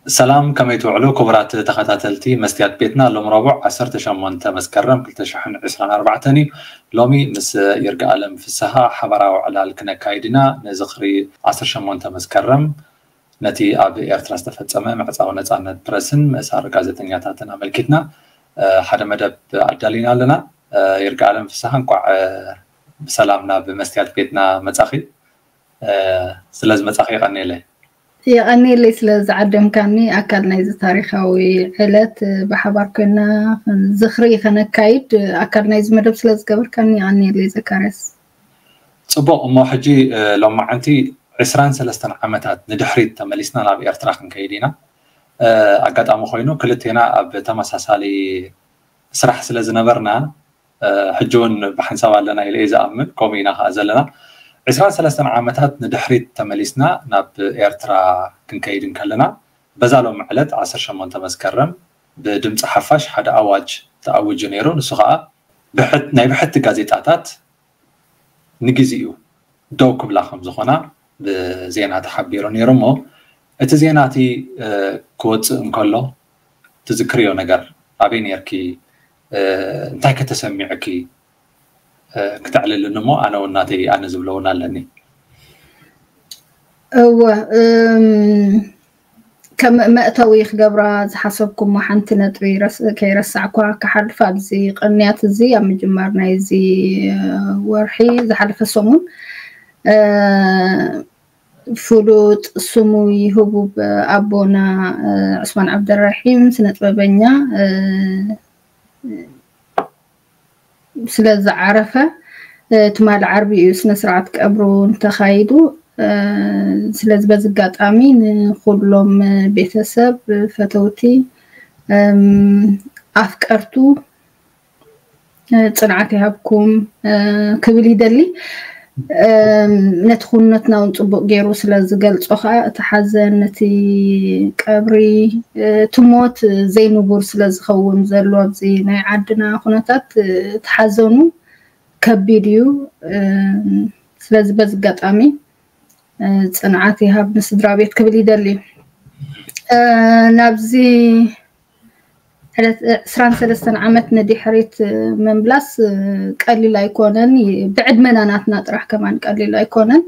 ሰላም፣ ከመይ ትውዕሉ ክቡራት ተኸታተልቲ መስትያት ቤትና? ሎም ረቡዕ ዓሰርተ ሸሞንተ መስከረም ክልተ ሽሕን ዕስራን ኣርባዕተን እዩ። ሎሚ ምስ ይርጋ ኣለም ፍስሃ ሓባራዊ ዕላል ክነካይድ ኢና። ንዝኽሪ ዓሰርተ ሸሞንተ መስከረም ነቲ ኣብ ኤርትራ ዝተፈጸመ ምዕጻው ነጻነት ፕረስን ምእሳር ጋዜጠኛታትን ኣመልኪትና ሓደ መደብ ኣዳሊና ኣለና። ይርጋ ኣለም ፍስሃ፣ እንኳዕ ብሰላም ናብ መስትያት ቤትና መጻኺ። ስለዚ መጻኺ የቐንየለይ። የቐንየለይ ስለ ዝዓደምካኒ፣ ኣካል ናይዚ ታሪኻዊ ዕለት ብሓባር ኮይና ዝኽሪ ከነካይድ ኣካል ናይዚ መደብ ስለ ዝገበርካኒ የቐንየለይ ዘካርያስ። ጽቡቕ። እሞ ሕጂ ሎማዓንቲ ዕስራን ሰለስተን ዓመታት ንድሕሪት ተመሊስና ናብ ኤርትራ ክንከይድ ኢና። ኣጋጣሚ ኮይኑ ክልቴና ኣብ ተመሳሳሊ ስራሕ ስለ ዝነበርና ሕጂ እውን ብሓንሳብ ኣለና ኢለ እየ ዝኣምን። ከምኡ ኢና ከዓ ዘለና። ዕስራን ሰለስተን ዓመታት ንድሕሪት ተመሊስና ናብ ኤርትራ ክንከይድ እንከለና፣ በዛ ሎም ዕለት ዓሰርተ ሸሞንተ መስከረም ብድምፂ ሓፋሽ ሓደ ኣዋጅ ተኣዊጁ ነይሩ። ንሱ ከዓ ናይ ብሕቲ ጋዜጣታት ንግዜኡ ደው ክብላ ከም ዝኾና ብዜና ተሓቢሩ ነይሩ። እሞ እቲ ዜና እቲ ክወፅእ እንከሎ ትዝክርዮ ነገር፣ ኣበይ ነርኪ? እንታይ ከተሰሚዕኪ? ክተዕልልኒ እሞ ኣነ እውን ናተይ ኣነ ዝብሎ እውን ኣለኒ። እወ፣ ከም መእተዊ ክገብራ ዝሓሰብኩሞ ሓንቲ ነጥቢ ከይረሳዕኳ ክሓልፍ፣ ኣብዚ ቅንያት እዚ ኣብ ምጅማር ናይዚ ወርሒ ዝሓለፈ ሰሙን ፍሉጥ ስሙይ ህቡብ ኣቦና ዑስማን ዓብደራሒም ስነ ጥበበኛ ስለ ዝዓረፈ ትማሊ ዓርቢ እዩ ስነ ስርዓት ቀብሩ እንተኻይዱ። ስለዚ በዚ ኣጋጣሚ ንኩሎም ቤተሰብ፣ ፈተውቲ፣ ኣፍቀርቱ ጽንዓት ይሃብኩም ክብል ይደሊ። ነቲ ኩነትና እውን ጽቡቕ ገይሩ ስለ ዝገልጾ ከዓ እቲ ሓዘን፣ ነቲ ቀብሪ፣ እቲ ሞት ዘይንቡር ስለ ዝኸውን ዘሎ ኣብዚ ናይ ዓድና ኩነታት እቲ ሓዘኑ ከቢድ እዩ። ስለዚ በዚ ኣጋጣሚ ጽንዓት ይሃብ ንስድራ ቤት ክብል ይደሊ። ናብዚ ዕለት ዕስራን ሰለስተን ዓመት ንድሕሪት ምምላስ ቀሊል ኣይኮነን። ብዕድመና ናትና ጥራሕ ከማን ቀሊል ኣይኮነን።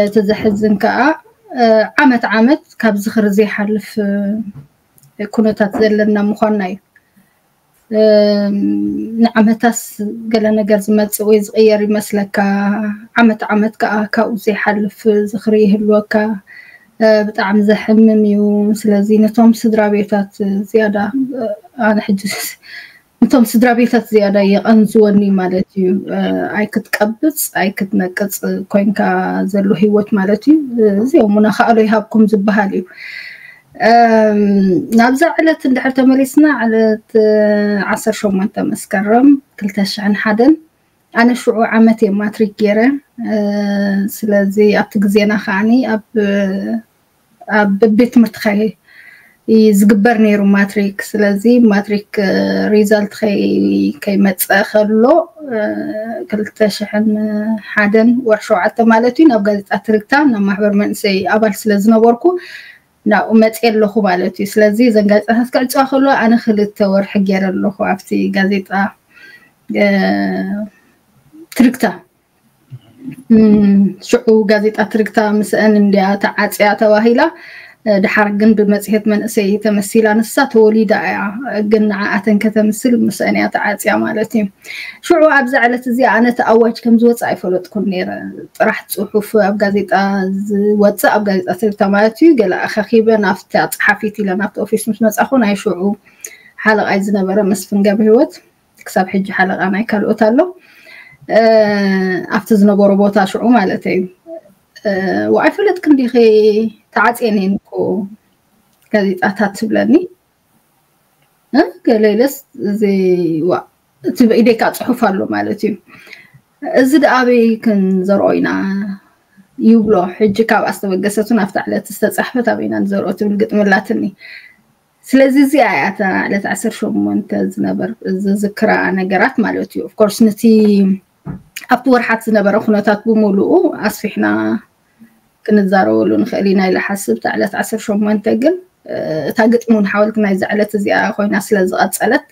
እቲ ዘሕዝን ከዓ ዓመት ዓመት ካብ ዝኽሪ ዘይሓልፍ ኩነታት ዘለና ምዃንና እዩ። ንዓመታስ ገለ ነገር ዝመፅእ ወይ ዝቕየር ይመስለካ። ዓመት ዓመት ከዓ ካብኡ ዘይሓልፍ ዝኽሪ ይህልወካ። ብጣዕሚ ዘሕምም እዩ። ስለዚ ነቶም ስድራ ቤታት ዝያዳ ኣነ ሕጂ ነቶም ስድራ ቤታት ዝያዳ የቐንዝወኒ ማለት እዩ። ኣይክትቀብፅ ኣይክትነቅፅ ኮይንካ ዘሎ ህይወት ማለት እዩ። እዚኦም እውን ኣኻእሎ ይሃብኩም ዝበሃል እዩ። ናብዛ ዕለት እንድሕር ተመሊስና፣ ዕለት ዓሰርተ ሸሞንተ መስከረም ክልተ ሽሕን ሓደን፣ ኣነ ሽዑ ዓመት እየ ማትሪክ ገይረ። ስለዚ ኣብቲ ግዜና ከዓኒ ኣብ ኣብ ቤት ትምህርቲ ከ ዝግበር ነይሩ ማትሪክ። ስለዚ ማትሪክ ሪዛልት ከይመፀ ከሎ ክልተ ሽሕን ሓደን ወርሒ ሸውዓተ ማለት እዩ ናብ ጋዜጣ ትርግታ ናብ ማሕበር መንእሰይ ኣባል ስለ ዝነበርኩ ናብኡ መፅየ ኣለኹ ማለት እዩ። ስለዚ እዘን ጋዜጣታት ክዕፅዋ ከሎ ኣነ ክልተ ወርሒ ገይረ ኣለኹ ኣብቲ ጋዜጣ ትርግታ። ሽዑ ጋዜጣ ትርግታ ምስአን እንድያ ተዓፅያ ተባሂላ። ድሓር ግን ብመፅሄት መንእሰይ ተመሲላ፣ ንሳ ተወሊዳ እያ ግን ንዓኣተን ከተምስል ምስአን እያ ተዓፅያ ማለት እዩ። ሽዑ ኣብዛ ዕለት እዚኣ ኣነ እቲ ኣዋጅ ከም ዝወፅእ ኣይፈለጥኩን ነይረ። ጥራሕ ፅሑፍ ኣብ ጋዜጣ ዝወፅእ ኣብ ጋዜጣ ትርግታ ማለት እዩ። ገለ ኣኸኺበ ናብታ ፀሓፊት ኢለ ናብቲ ኦፊስ ምስ መፃኹ ናይ ሽዑ ሓለቓይ ዝነበረ መስፍን ገብረ ህይወት ክሳብ ሕጂ ሓለቓ ናይ ካልኦት ኣሎ ኣብቲ ዝነበሮ ቦታ ሽዑ ማለት እዩ። ዋይ ፈለጥክን ዲኺ ተዓፅየን እየን እኮ ጋዜጣታት ትብለኒ። ገለ ኢለስ እዚ ዋ እቲ ብኢደይ ከዓ ፅሑፍ ኣሎ ማለት እዩ። እዚ ደኣ ኣበይ ክንዘርኦ ኢና ይብሎ። ሕጂ ካብ ኣስተበገሰቱን ኣብታ ዕለት ዝተፃሕፈት ኣበይና ንዘርኦ ትብል ግጥሚ ኣላትኒ። ስለዚ እዚኣ እያ እታ ዕለት ዓሰርተ ሸሞንተ ዝነበር ዝዝክራ ነገራት ማለት እዩ። ኦፍኮርስ ነቲ ኣብቲ ወርሓት ዝነበረ ኩነታት ብምሉኡ ኣስፊሕና ክንዛረበሉ ንኽእል ኢና ኢለ ሓስብ። እታ ዕለት ዓሰርተ ሸሞንተ ግን እታ ግጥሚ እውን ሓወልቲ ናይዛ ዕለት እዚኣ ኮይና ስለ ዝቐጸለት፣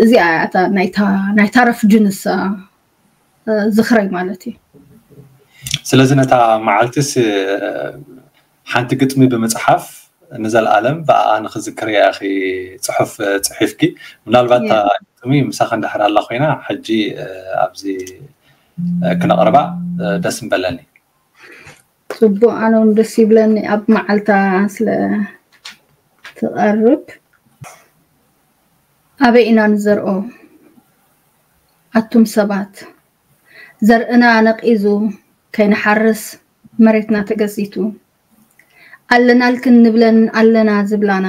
እዚኣ እያ እታ ናይታ ረፍዲ ንሳ ዝኽረይ ማለት እዩ። ስለዚ ነታ መዓልትስ ሓንቲ ግጥሚ ብምፅሓፍ ንዘለኣለም ብኣኣ ንክዝክርያ ኢኺ ፅሑፍ ፅሒፍኪ። ምናልባት እታ ግጥሚ ምሳኺ እንድሕር ኣላ ኮይና ሕጂ ኣብዚ ክነቕርባ ደስ ምበለኒ። ፅቡቅ፣ ኣነ እውን ደስ ይብለኒ ኣብ መዓልታ ስለ ትቐርብ። ኣበይ ኢና ንዘርኦ ኣቱም ሰባት? ዘርእና ነቒዙ ከይንሓርስ መሬትና ተገዚቱ። ኣለናልክን ንብለን ኣለና ዝብላና፣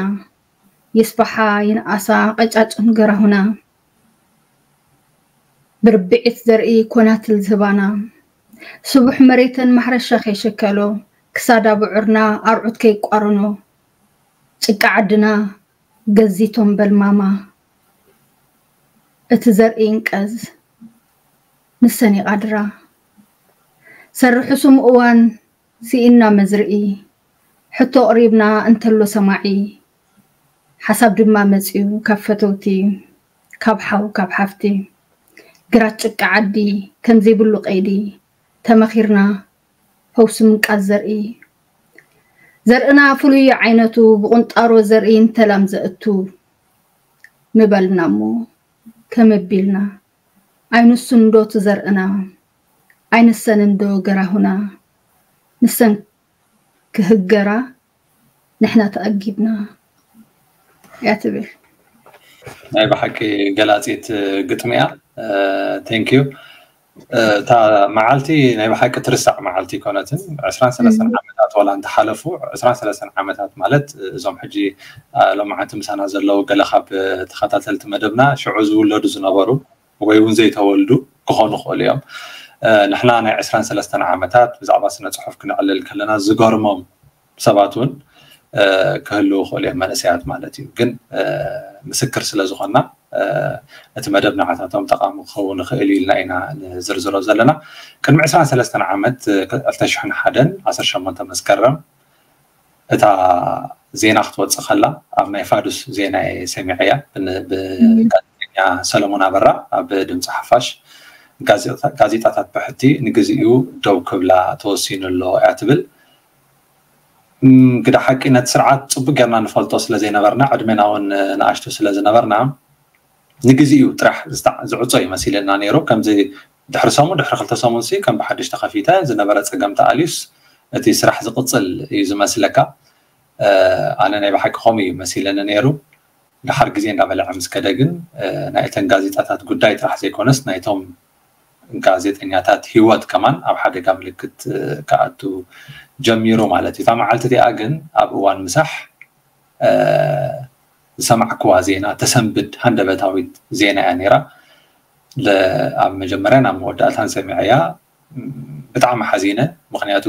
ይስፋሓ ይንኣሳ ቀጫጭን ገራሁና። ብርብዒት ዘርኢ ኮናትል ዝህባና፣ ስቡሕ መሬተን ማሕረሻ ከይሸከሎ፣ ክሳዳ ብዑርና ኣርዑት ከይቋርኖ፣ ጭቃ ዓድና ገዚቶም በልማማ። እቲ ዘርኢ ይንቀዝ ንሰን ይቓድራ። ሰርሑ ስም እዋን ስኢንና መዝርኢ፣ ሕቶ ኣቕሪብና እንተሎ ሰማዒ፣ ሓሳብ ድማ መጺኡ ካብ ፈተውቲ፣ ካብ ሓው ካብ ሓፍቲ። ግራት ጭቃ ዓዲ ከም ዘይብሉ ቀይዲ፣ ተመኺርና ፈውሲ ምንቃዝ ዘርኢ። ዘርእና ፍሉይ ዓይነቱ ብቁንጣሮ ዘርኢ እንተላም ዘእቱ ምበልና እሞ ከመቢልና፣ ኣይንሱን ዶ ትዘርእና? ኣይንሰንን ዶ ገራሁና? ንሰን ክህገራ ንሕና ተኣጊድና እያ ትብል። ናይ ብሓቂ ገላፂት ግጥሚ እያ። ቴንክ ዩ። እታ መዓልቲ ናይ ብሓቂ ትርሳዕ መዓልቲ ኣይኮነትን። ዕስራን ሰለስተን ዓመታት ዋላ እንተሓለፉ፣ ዕስራን ሰለስተን ዓመታት ማለት እዞም ሕጂ ሎማዓንቲ ምሳና ዘለዉ ገለ ካብ ተኸታተልቲ መደብና ሽዑ ዝውለዱ ዝነበሩ ወይ እውን ዘይተወልዱ ክኾኑ ይኽእሉ እዮም። ንሕና ናይ ዕስራን ሰለስተን ዓመታት ብዛዕባ ስነ ፅሑፍ ክነዕልል ከለና ዝገርሞም ሰባት እውን ክህልዉ ይኽእሉ እዮም፣ መንእሰያት ማለት እዩ። ግን ምስክር ስለ ዝኾንና እቲ መደብ ንዓታቶም ጠቓሚ ክኸውን ይኽእል እዩ ኢልና ኢና ንዝርዝሮ ዘለና። ቅድሚ ዕስራን ሰለስተን ዓመት ዕልተ ሽሕን ሓደን ዓሰርተ ሸሞንተ መስከረም እታ ዜና ክትወፅእ ከላ ኣብ ናይ ፋዱስ ዜና እየ ሰሚዐያ። ብጋዜጠኛ ሰለሞን ኣበራ ኣብ ድምፂ ሓፋሽ ጋዜጣታት ብሕቲ ንግዚኡ ደው ክብላ ተወሲኑ ኣሎ እያ ትብል። ግዳ ሓቂ ነቲ ስርዓት ፅቡቅ ጌርና ንፈልጦ ስለ ዘይነበርና፣ ዕድሜና እውን ንኣሽቱ ስለ ዝነበርና ንግዚኡ ጥራሕ ዝዕጾ እዩ መሲለና ነይሩ። ከምዚ ድሕሪ ሰሙን ድሕሪ ክልተ ሰሙን ሲ ከም ብሓድሽ ተኸፊተ ዝነበረ ፀገም ተኣልዩስ እቲ ስራሕ ዝቕፅል እዩ ዝመስለካ። ኣነ ናይ ብሓቂ ከምኡ እዩ መሲለኒ ነይሩ። ድሓር ግዜ እንዳበለዐ ምስ ከደ ግን ናይ እተን ጋዜጣታት ጉዳይ ጥራሕ ዘይኮነስ ናይቶም ጋዜጠኛታት ህይወት ከማን ኣብ ሓደጋ ምልክት ክኣቱ ጀሚሩ ማለት እዩ። እታ መዓልቲ እቲኣ ግን ኣብ እዋን ምሳሕ ዝሰማዕክዋ ዜና ተሰንብድ ሃንደበታዊት ዜና እያ ነይራ። ኣብ መጀመርያን ኣብ መወዳእታን ሰሚዐያ ብጣዕሚ ሓዚነ። ምክንያቱ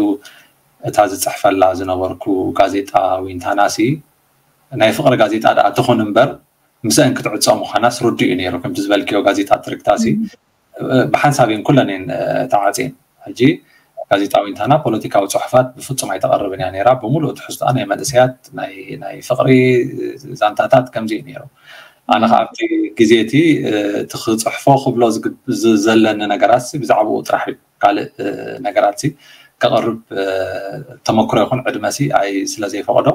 እታ ዝፅሕፈላ ዝነበርኩ ጋዜጣ ዊንታናሲ ናይ ፍቅሪ ጋዜጣ ደኣ ትኹን እምበር ምስአን ክትዕፀ ምዃናስ ርዱእ እዩ ነይሩ። ከምቲ ዝበልክዮ ጋዜጣ ትርክታሲ ብሓንሳብ እየን ኩለን እየን ተዓፅየን። ሕጂ ጋዜጣ ዊንታና ፖለቲካዊ ፅሑፋት ብፍፁም ኣይተቐርብን እያ ነይራ። ብምሉእ ትሕዝቶኣ ናይ መንእሰያት ናይ ፍቅሪ ዛንታታት ከምዚ እዩ ነይሩ። ኣነ ከዓ ኣብቲ ግዜ እቲ እቲ ክፅሕፎ ክብሎ ዘለኒ ነገራት ብዛዕባኡ ጥራሕ እዩ። ካልእ ነገራት ከቕርብ ተመክሮ ይኹን ዕድመ ሲ ኣይ ስለ ዘይፈቕዶ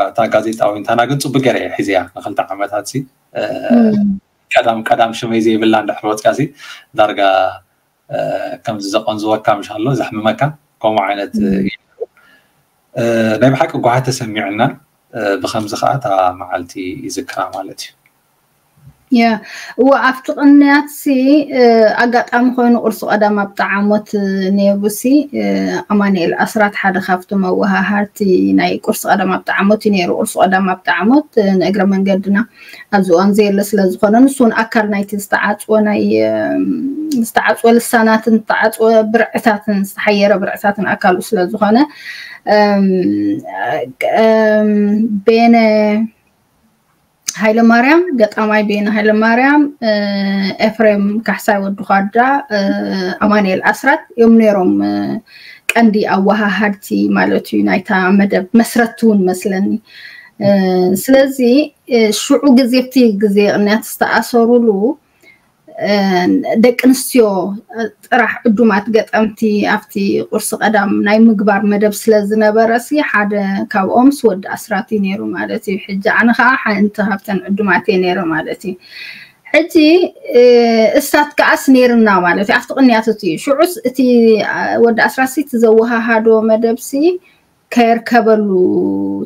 እታ ጋዜጣ ዊንታና ግን ፅቡቅ ገይረ እየ ሒዘያ ንክልተ ዓመታት ሲ ቀዳም ቀዳም ሽመይ ዘይብላ እንድሕር ወፅያ ሲ ዳርጋ ከምዚ ዘቐንዝወካ ምሻሎ ዘሕምመካ ከምኡ ዓይነት ናይ ብሓቂ ጓሃ ተሰሚዕና ብከምዚ ከዓ እታ መዓልቲ ይዝክራ ማለት እዩ። ያ እወ ኣብቲ ቅንያት ሲ ኣጋጣሚ ኮይኑ ቁርሲ ቀዳም ኣብ ጣዓሞት ነይሩ ሲ ኣማኑኤል ኣስራት ሓደ ካብቶም ኣወሃሃርቲ ናይ ቁርሲ ቀዳም ኣብ ጣዓሞት እዩ ነይሩ። ቁርሲ ቀዳም ኣብ ጣዓሞት ንእግረ መንገድና ኣብዚ እዋን ዘየለ ስለ ዝኾነ ንሱ እውን ኣካል ናይቲ ዝተዓፅወ ናይ ዝተዓፅወ ልሳናትን ዝተዓፅወ ብርዕታትን ዝተሓየረ ብርዕታትን ኣካሉ ስለ ዝኾነ ቤነ ሃይለማርያም ገጣማይ ቤነ ሃይለማርያም፣ ኤፍሬም ካሕሳይ ወዲ ኳዳ፣ ኣማኑኤል ኣስራት እዮም ነይሮም። ቀንዲ ኣወሃሃድቲ ማለት እዩ ናይታ መደብ መስረቲ እውን መስለኒ። ስለዚ ሽዑ ግዜ ኣብቲ ግዜ ቅንያት ዝተኣሰሩሉ ደቂ ኣንስትዮ ጥራሕ ዕዱማት ገጠምቲ ኣብቲ ቁርሲ ቀዳም ናይ ምግባር መደብ ስለ ዝነበረ ሲ ሓደ ካብኦምስ ወዲ ኣስራት እዩ ነይሩ ማለት እዩ። ሕጂ ኣነ ከዓ ሓንቲ ካብተን ዕዱማት እየ ነይረ ማለት እዩ። ሕጂ እሳት ከዓስ ነይርና ማለት እዩ ኣብቲ ቅንያት እቲ ሽዑስ እቲ ወዲ ኣስራት ሲ እቲ ዘወሃሃዶ መደብ ሲ ከየርከበሉ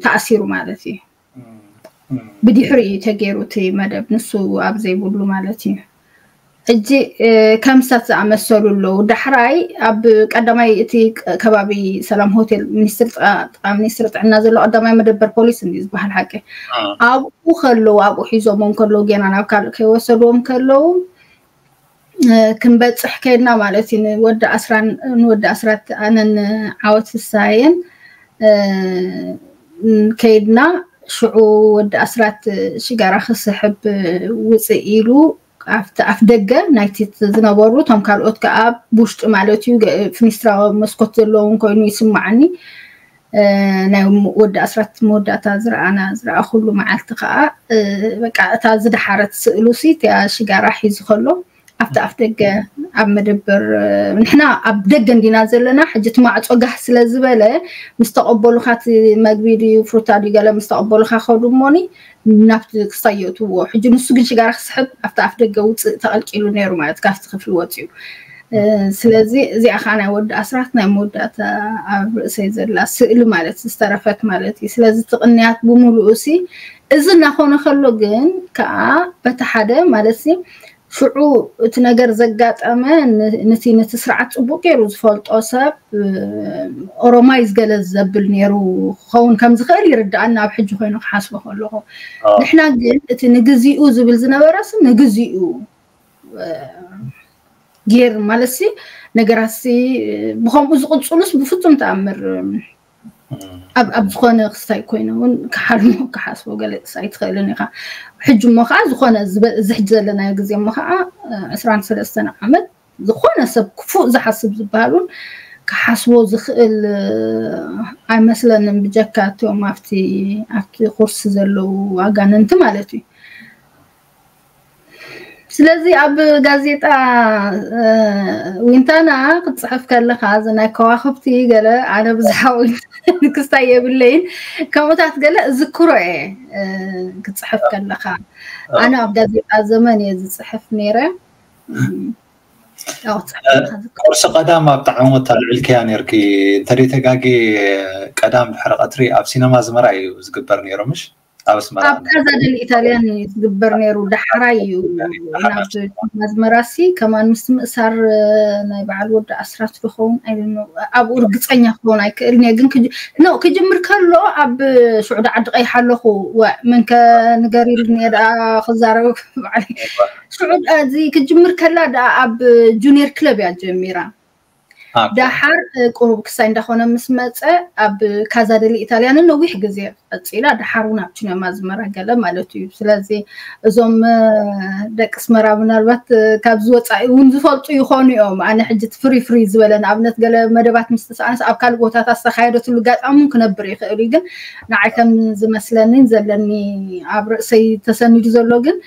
ተኣሲሩ ማለት እዩ። ብድሕሪ እዩ ተገይሩ እቲ መደብ ንሱ ኣብ ዘይብሉ ማለት እዩ። ሕጂ ከም እሳት ዝኣመሰሉ ኣለዉ። ዳሕራይ ኣብ ቀዳማይ እቲ ከባቢ ሰላም ሆቴል ሚኒስትሪ ጥዕና ዘሎ ቀዳማይ መደበር ፖሊስ እንዲ ዝበሃል ሓቂ ኣብኡ ከለዉ ኣብኡ ሒዞሞም ከለዉ ጌና ናብ ካልእ ከይወሰድዎም ከለዉ ክንበፅሕ ከይድና ማለት እዩ። ንወዲ ኣስራን ንወዲ ኣስራት ኣነን ዓወት ፍሳየን ከይድና ሽዑ ወዲ ኣስራት ሽጋራ ክስሕብ ውፅእ ኢሉ ኣብቲ ኣፍ ደገ ናይቲ ዝነበሩ እቶም ካልኦት ከዓ ውሽጢ ማለት እዩ ፍኒስትራ መስኮት ዘለውን ኮይኑ ይስማዓኒ። ናይ ወዲ ኣስራት መወዳእታ ዝረኣና ዝረኣኹሉ መዓልቲ ከዓ በቃ እታ ዝደሓረት ስእሉ ሲ እቲያ ሽጋራ ሒዙ ከሎ ኣብቲ ኣፍ ደገ ኣብ መደበር ንሕና ኣብ ደገ እንዲና ዘለና ሕጂ እቲ ማዕፆ ጋህ ስለ ዝበለ ምስ ተቐበሉካ እቲ መግቢ ድዩ ፍሩታ ድዩ ገለ ምስ ተቐበሉካ ከዱ እሞኒ ናብቲ ክሳይ የእትዎ ሕጂ ንሱ ግን ሽጋራ ክስሕብ ኣብቲ ኣፍ ደገ ውፅእ ተቐልቂሉ ነይሩ ማለት ካብቲ ክፍሊ ወፅዩ። ስለዚ እዚኣ ከዓ ናይ ወዲ ኣስራት ናይ መወዳእታ ኣብ ርእሰይ ዘላ ስእሊ ማለት ዝተረፈት ማለት እዩ። ስለዚ ትቕንያት ብምሉኡ ሲ እዚ እናኾነ ከሎ ግን ከዓ በቲ ሓደ ማለት ሲ ሽዑ እቲ ነገር ዘጋጠመ ንቲ ንቲ ስርዓት ፅቡቅ ገይሩ ዝፈልጦ ሰብ ኦሮማይ ዝገለ ዘብል ነይሩ ክኸውን ከም ዝኽእል ይርዳኣና ኣብ ሕጂ ኮይኑ ክሓስቦ ከለኹ። ንሕና ግን እቲ ንግዚኡ ዝብል ዝነበረ ሲ ንግዚኡ ጌር ማለት ሲ ነገራት ሲ ብከምኡ ዝቕፅሉስ ብፍፁም ተኣምር ኣብ ዝኾነ ክስታይ ኮይነ እውን ክሓልሞ ክሓስቦ ገለ ኣይትኽእልን ኢኻ። ሕጂ እሞ ከዓ ዝኾነ እዚ ሕጂ ዘለናዮ ግዜ እሞ ከዓ ዕስራን ሰለስተን ዓመት ዝኾነ ሰብ ክፉእ ዝሓስብ ዝበሃል እውን ክሓስቦ ዝኽእል ኣይመስለንን ብጀካ እቶም ኣብቲ ኣብቲ ኩርሲ ዘለዉ ኣጋንንቲ ማለት እዩ። ስለዚ ኣብ ጋዜጣ ዊንታና ክትፅሕፍ ከለካ እዚ ናይ ከዋክብቲ ገለ ኣነ ብዛዕባ ዊንታና ክስታይ የብለይን ከምኡታት ገለ እዝክሮ እየ። ክፅሕፍ ከለካ ኣነ ኣብ ጋዜጣ ዘመን እየ ዝፅሕፍ ነይረ። ቁርሲ ቀዳም ኣብ ጣዕሞት ኣልዕልክያ ነርኪ እንተደይ ተጋጌ ቀዳም ድሕሪ ቀትሪ ኣብ ሲነማ ዝመራ እዩ ዝግበር ነይሩ ምሽ ኣብ ኣስመራ ኣብ ካዛ ደል ኢታልያን እዩ ዝግበር ነይሩ። ዳሕራይ እዩ ናብ ኣስመራ ሲ ከማን ምስቲ ምእሳር ናይ በዓል ወዲ ኣስራት ዝኸውን ኣይደኖ ኣብኡ ርግፀኛ ክኸውን ኣይክእልን እየ። ግን ክጅ- ኖ ክጅምር ከሎ ኣብ ሽዑ ዓዲ ቀይሕ ኣለኹ። ወ- መን ከ ንገር ኢሉኒ እየ ደኣ ክዛረብ ባዕለይ። ሽዑ እዚ ክጅምር ከላ ደኣ ኣብ ጁኒየር ክለብ እያ ጀሚራ። ደሓር ቁሩብ ክሳይ እንዳኾነ ምስ መፀ ኣብ ካዛ ደሊ ኢታልያን ነዊሕ ግዜ ቀፂላ ደሓር እውን ኣብ ቺነማ ዝመራ ገለ ማለት እዩ። ስለዚ እዞም ደቂ ኣስመራ ምናልባት ካብዚ ወፃኢ እውን ዝፈልጡ ይኾኑ እዮም። ኣነ ሕጂ እቲ ፍሪ ፍሪ ዝበለ ንኣብነት ገለ መደባት ምስ ተሰኣነስ ኣብ ካልእ ቦታታት ዝተኻየደትሉ ኣጋጣሚ እውን ክነብር ይኽእል እዩ። ግን ንዓይ ከም ዝመስለኒን ዘለኒ ኣብ ርእሰይ ተሰኒዱ ዘሎ ግን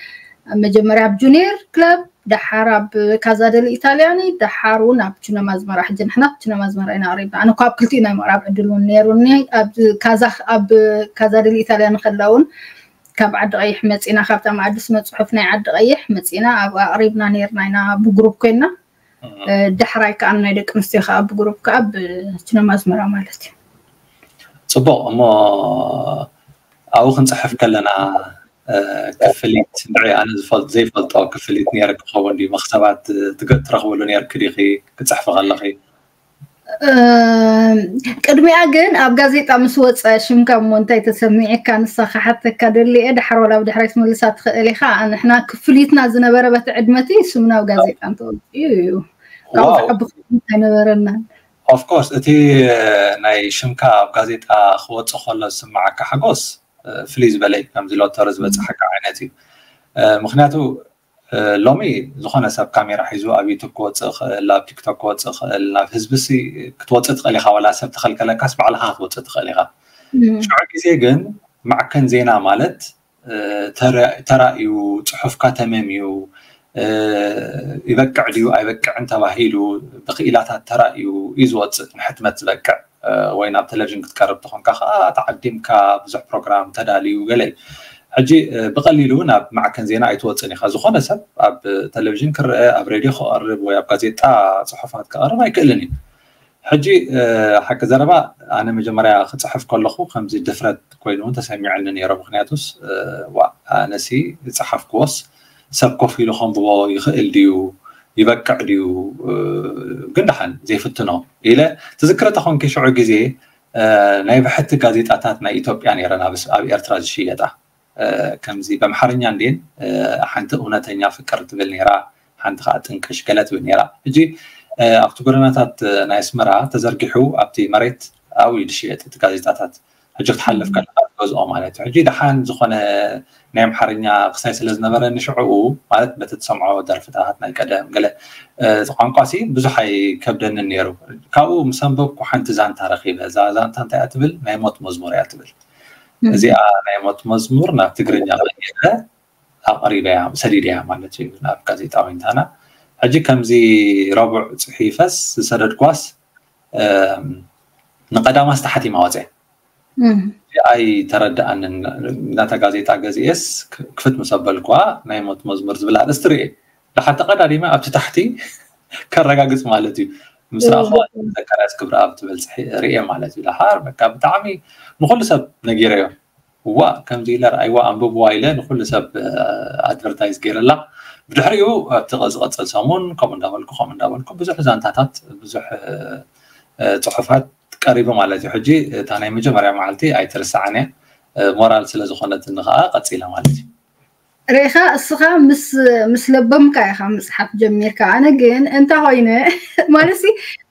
መጀመርያ ኣብ ጁኒየር ክለብ ደሓር ኣብ ካዛ ደሊ ኢታልያኒ ደሓር እውን ኣብ ቹነማ ኣዝመራ ሕጂ ንሕና ቹነማ ኣዝመራ ኢና ኣቕሪብና ኣነ እኳ ኣብ ክልቲኡ ናይ ምቕራብ ዕድል እውን ነይሩኒ ኣብ ካዛ ኣብ ካዛ ደሊ ኢታልያኒ ከላ እውን ካብ ዓዲ ቀይሕ መፂና ካብታ ማዕዲ ስነ ፅሑፍ ናይ ዓዲ ቀይሕ መፂና ኣብ ኣቕሪብና ነይርና ኢና ብግሩፕ ኮይና ድሕራይ ከዓ ናይ ደቂ ኣንስትዮ ከዓ ብግሩፕ ከዓ ብቹነማ ኣዝመራ ማለት እዩ ፅቡቅ እሞ ኣብኡ ክንፅሕፍ ከለና ክፍሊት ንዒ ኣነ ዝፈልጥ ዘይፈልጦ ክፍሊት ነይረ ክኸውን ድዩ መክሰባት ትረኽብሉ ነርክ ዲኺ ክፅሕፊ ከለኺ ቅድሚኣ ግን ኣብ ጋዜጣ ምስ ወፀ ሽምካ እሞ እንታይ ተሰሚዕካ ንሳ ክሓተካ ደሊየ ድሓር ወላ ብድሕራይ ትመልሳ ትኽእል ኢኻ ንሕና ክፍሊትና ዝነበረ በቲ ዕድመቲ ስምና ኣብ ጋዜጣ እንተወፅኡ እዩ ካብኡ ዝዓቢ ክፍሊት ኣይነበረናን ኦፍኮርስ እቲ ናይ ሽምካ ኣብ ጋዜጣ ክወፅእ ከሎ ዝስምዓካ ሓጎስ ፍልይ ዝበለ እዩ ከምዚ ሎተሪ ዝበፅሓካ ዓይነት እዩ ምክንያቱ ሎሚ ዝኾነ ሰብ ካሜራ ሒዙ ኣብ ዩቱብ ክወፅእ ይኽእል፣ ኣብ ቲክቶክ ክወፅእ ይኽእል። ናብ ህዝቢ ሲ ክትወፅእ ትኽእል ኢኻ፣ ዋላ ሰብ ተኸልከለካስ ባዕልኻ ክትወፅእ ትኽእል ኢኻ። ሽዑ ግዜ ግን ማዕከን ዜና ማለት ተራእዩ፣ ፅሑፍካ ተመምዩ፣ ይበቅዕ ድዩ ኣይበቅዕን ተባሂሉ ብክኢላታት ተራእዩ እዩ ዝወፅእ፣ ንሕትመት ዝበቅዕ። ወይ ናብ ቴሌቪዥን ክትቀርብ ተኾንካ ከዓ ተዓዲምካ ብዙሕ ፕሮግራም ተዳልዩ ገለ እዩ። ሕጂ ብቐሊሉ ናብ ማዕከን ዜና ኣይትወፅን ኢኻ። ዝኾነ ሰብ ኣብ ቴሌቪዥን ክረአ፣ ኣብ ሬድዮ ክቐርብ ወይ ኣብ ጋዜጣ ፅሑፋት ክቐርብ ኣይክእልን እዩ። ሕጂ ሓቂ ዘረባ፣ ኣነ መጀመርያ ክፅሕፍ ከለኹ ከምዚ ድፍረት ኮይኑ እውን ተሰሚዐኒ ነይሮ። ምክንያቱስ ዋ፣ ኣነሲ ዝፀሓፍክዎስ ሰብ ኮፍ ኢሉ ከንብቦ ይኽእል ድዩ፣ ይበቅዕ ድዩ፣ ግን ደሓን ዘይፍትኖ ኢለ። ትዝክረ ተኾንኪ ሽዑ ግዜ ናይ ብሕቲ ጋዜጣታት ናይ ኢትዮጵያ ነይረን ኣብ ኤርትራ ዝሽየጣ። ከምዚ በምሓርኛ እንዴን ሓንቲ እውነተኛ ፍቅር ትብል ነይራ፣ ሓንቲ ከዓ ጥንቅሽ ገለ ትብል ነይራ። ሕጂ ኣብቲ ጎደናታት ናይ ኣስመራ ተዘርጊሑ ኣብቲ መሬት ኣብኡ እዩ ዝሽየጥ እቲ ጋዜጣታት። ሕጂ ክትሓልፍ ከለካ ትገዝኦ ማለት እዩ። ሕጂ ደሓን ዝኾነ ናይ ኣምሓርኛ ክሳይ ስለ ዝነበረ ንሽዕኡ ማለት በቲ ትሰምዖ ደርፍታት ናይ ቀደም ገለ ቋንቋ ሲ ብዙሕ ኣይከብደንን ነይሩ። ካብኡ ምስ ኣንበብኩ ሓንቲ ዛንታ ረኺበ። እዛ ዛንታ እንታይ እያ ትብል? ናይ ሞት መዝሙር እያ ትብል። እዚኣ ናይ ሞት መዝሙር ናብ ትግርኛ ቀይረ ኣቕሪበያ፣ ሰዲደያ ማለት እዩ ናብ ጋዜጣ ዊንታና። ሕጂ ከምዚ ረቡዕ ጽሒፈስ ዝሰደድኳስ ንቀዳማስ ተሓቲማ ወፀ። ኣይተረድኣንን። ናታ ጋዜጣ ገዚኤስ ክፍት ምስ ኣበልኳ ናይ ሞት መዝሙር ዝብል ኣርእስቲ ርኤ። ደሓር ተቐዳዲመ ኣብቲ ታሕቲ ከረጋግፅ ማለት እዩ። ምስ ረኣኹዋ ዘካርያስ ክብረኣብ ትብል ርኤ ማለት እዩ። ደሓር በቃ ብጣዕሚ ንኩሉ ሰብ ነጊረዮ። እዋ ከምዚ ኢለ ረኣይዋ ኣንብብዋ ኢለ ንኩሉ ሰብ ኣድቨርታይዝ ገይረላ። ብድሕሪኡ ኣብቲ ዝቐፅል ሰሙን ከምኡ እንዳበልኩ ከምኡ እንዳበልኩ ብዙሕ ዛንታታት ብዙሕ ፅሑፋት ቀሪቡ ማለት እዩ። ሕጂ እታ ናይ መጀመርያ መዓልቲ ኣይትርስዓን እያ። ሞራል ስለ ዝኾነትኒ ከዓ ቀፂለ ማለት እዩ። ርኢኻ እስኻ ምስ ምስ ለበምካ ኢኻ ምፅሓፍ ጀሚርካ። ኣነ ግን እንተ ኮይነ ማለት ሲ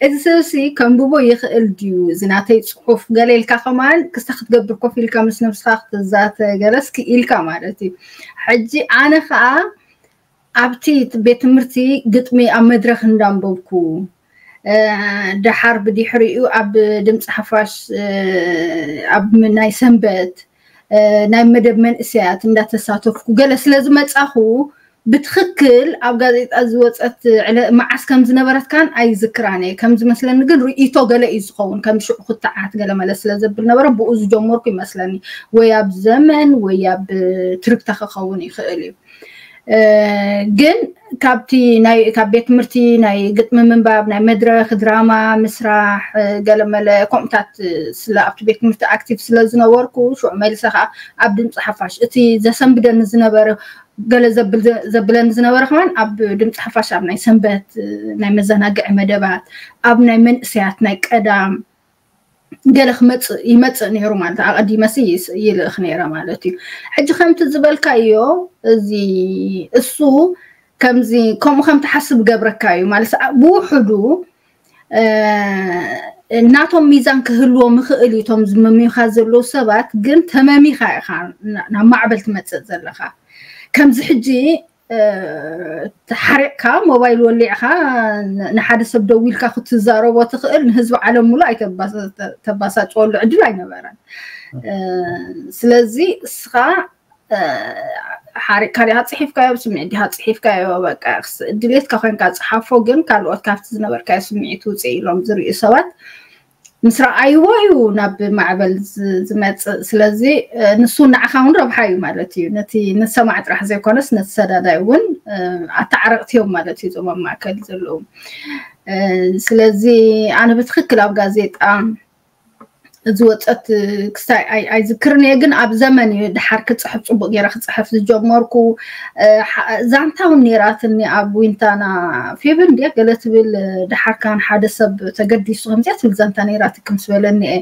እቲ ሰብ ሲ ከንብቦ ይኽእል ድዩ እዚ ናተይ ፅሑፍ ገለ ኢልካ ከማን ክስታ ክትገብር ኮፍ ኢልካ ምስ ነብስኻ ክትዛተ ገለስ ክኢልካ ማለት እዩ። ሕጂ ኣነ ከዓ ኣብቲ ቤት ትምህርቲ ግጥሚ ኣብ መድረኽ እንዳንበብኩ ደሓር ብድሕሪኡ ኣብ ድምፂ ሓፋሽ ኣብ ናይ ሰንበት ናይ መደብ መንእሰያት እንዳተሳተፍኩ ገለ ስለ ዝመፃኹ ብትኽክል ኣብ ጋዜጣ ዝወፀት መዓስ ከም ዝነበረት ካን ኣይዝክራን እየ። ከም ዝመስለኒ ግን ርእይቶ ገለ እዩ ዝኸውን፣ ከም ሽዑ ክትዓት ገለ መለ ስለ ዘብል ነበረ ብኡ ዝጀመርኩ ይመስለኒ። ወይ ኣብ ዘመን ወይ ኣብ ትርግታ ክኸውን ይኽእል እዩ። ግን ካብቲ ናይ ካብ ቤት ትምህርቲ ናይ ግጥሚ ምንባብ ናይ መድረክ ድራማ ምስራሕ ገለመለ ከምኡታት ስለ ኣብቲ ቤት ትምህርቲ ኣክቲቭ ስለ ዝነበርኩ ሽዑ መልሰ ከዓ ኣብ ድምፂ ሓፋሽ እቲ ዘሰንብደኒ ዝነበረ ገለ ዘብለኒ ዝነበረ ከማን ኣብ ድምፂ ሓፋሽ ኣብ ናይ ሰንበት ናይ መዘናግዒ መደባት ኣብ ናይ መንእሰያት ናይ ቀዳም ገለ ክመፅእ ይመፅእ ነይሩ ማለት ኣቐዲመሲ ይልእኽ ነይረ ማለት እዩ። ሕጂ ከምቲ ዝበልካዮ እዚ እሱ ከምዚ ከምኡ ከም ትሓስብ ገብረካ እዩ ማለት ብውሕዱ ናቶም ሚዛን ክህልዎ ምኽእል እዩ። እቶም ዝመምዩኻ ዘለዉ ሰባት ግን ተመሚኻ ኢኻ ናብ ማዕበል ትመፅእ ዘለኻ። ከምዚ ሕጂ ሓሪቕካ ሞባይል ወሊዕካ ንሓደ ሰብ ደዊልካ ክትዛረቦ ትኽእል ንህዝቢ ዓለም ሙሉ ኣይተባሳጭወሉ ዕድል ኣይነበረን። ስለዚ እስኻ ሓሪቕካ ዲኻ ፅሒፍካዮ ብስምዒት ዲኻ ፅሒፍካዮ በቃ ድሌትካ ኮይንካ ፅሓፎ ግን ካልኦት ካብቲ ዝነበርካዮ ስምዒት ውፅእ ኢሎም ዝርእዩ ሰባት ምስ ረኣይዎ እዩ ናብ ማዕበል ዝመፅእ። ስለዚ ንሱ ንዓኻ እውን ረብሓ እዩ ማለት እዩ። ነቲ ንሰማዕ ጥራሕ ዘይኮነስ ነቲ ሰዳዳይ እውን ኣተዓረቕቲ እዮም ማለት እዩ እዞም ኣብ ማእከል ዘለዉ። ስለዚ ኣነ ብትኽክል ኣብ ጋዜጣ ዝወፀት ክስታይ ኣይዝክርን እየ፣ ግን ኣብ ዘመን እዩ ድሓር ክፅሕፍ ፅቡቅ ገይረ ክፅሕፍ ዝጀመርኩ። ዛንታ እውን ነይራትኒ ኣብ ዊንታና ፌብን ድያ ገለ ትብል ድሓር ካን ሓደ ሰብ ተገዲሱ ከምዚኣ ትብል ዛንታ ነይራትኪ ምስ በለኒ እየ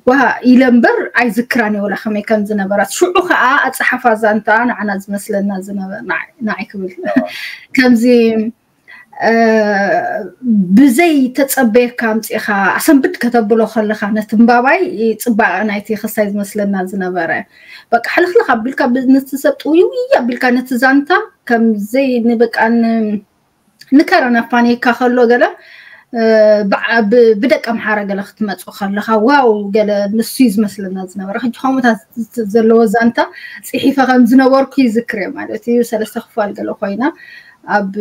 ጓ ኢለ እምበር ኣይዝክራን እየ ወላ ከመይ ከም ዝነበራት። ሽዑ ከዓ ኣፀሓፋ ዛንታ ንዓና ዝመስለና ዝነበ ንዓይ ክብል ከምዚ ብዘይ ተፀበየካ ኣምፂእኻ ኣሰንብድ ከተብሎ ከለኻ ነቲ እምባባይ ፅባቐ ናይቲ ክስታይ ዝመስለና ዝነበረ በቃ ሕልኽልኽ ኣቢልካ ነቲ ሰብ ጥውይውይ ኣቢልካ ነቲ ዛንታ ከምዘይ ንበቃ ንከረን ኣፋንየካ ከሎ ገለ ብደቂ ኣምሓራ ገለ ክትመፁ ከለካ ዋው ገለ ንሱ እዩ ዝመስለና ዝነበረ። ሕጂ ከምኡታት ዘለዎ ዛንታ ፅሒፈ ከም ዝነበርኩ ይዝክር እየ ማለት እዩ። ሰለስተ ክፋል ገለ ኮይና ኣብ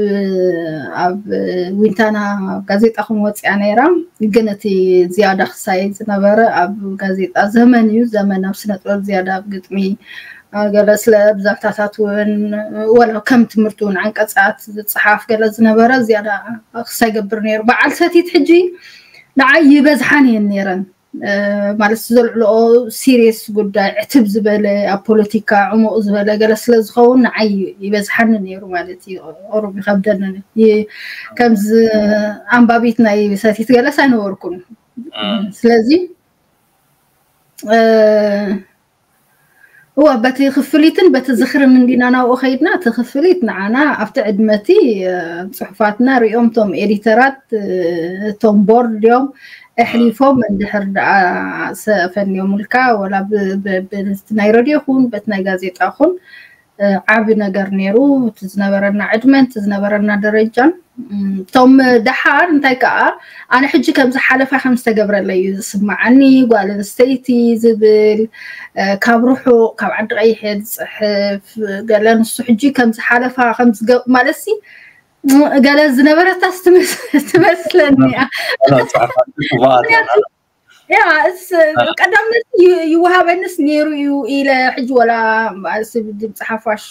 ኣብ ዊንታና ጋዜጣ ከም ወፂኣ ነይራ። ግን እቲ ዝያዳ ክሳይ ዝነበረ ኣብ ጋዜጣ ዘመን እዩ። ዘመን ኣብ ስነ ጥበብ ዝያዳ ኣብ ግጥሚ ገለ ስለ ብዛዕታታት እውን ወላ ከም ትምህርቲ እውን ዓንቀፃት ዝፀሓፍ ገለ ዝነበረ ዝያዳ ክሳይ ገብር ነይሩ። በዓል ሰቲት ሕጂ ንዓይ ይበዝሓን እየን ነይረን። ማለት ዘልዕልኦ ሲሪየስ ጉዳይ ዕትብ ዝበለ ኣብ ፖለቲካ ዕሙቕ ዝበለ ገለ ስለ ዝኸውን ንዓይ ይበዝሓኒ ነይሩ ማለት እዩ። ኦሮም ይኸብደኒ ከምዚ ኣንባቢት ናይ ሰቲት ገለስ ኣይነበርኩን። ስለዚ እዋ በቲ ክፍሊትን በቲ ዝኽርን እንዲና ናብኡ ከይድና እቲ ክፍሊት ንዓና ኣብቲ ዕድመቲ ፅሑፋትና ሪኦም ቶም ኤዲተራት ቶም ቦርድ እዮም ኣሕሊፎም እንድሕር ደኣ ሰፈንዮምልካ ወላ በቲ ናይ ረድዮ ኹን በቲ ናይ ጋዜጣ ኹን ዓቢ ነገር ነይሩ። እቲ ዝነበረና ዕድመን እቲ ዝነበረና ደረጃን እቶም ደሓር እንታይ ከዓ ኣነ ሕጂ ከምዚ ሓለፋ ከም ዝተገብረለይ እዩ ዝስማዓኒ። ጓል ኣንስተይቲ ዝብል ካብ ርሑቕ ካብ ዓዲ ቀይሕ ዝፅሕፍ ገለ ንሱ ሕጂ ከምዚ ሓለፋ ከምዚ ማለት ሲ ገለ ዝነበረታስ ትመስለኒ እያ። ያ እስ ቀዳምነት ይወሃበንስ ነይሩ እዩ ኢለ ሕጂ ወላ ድምፂ ሓፋሽ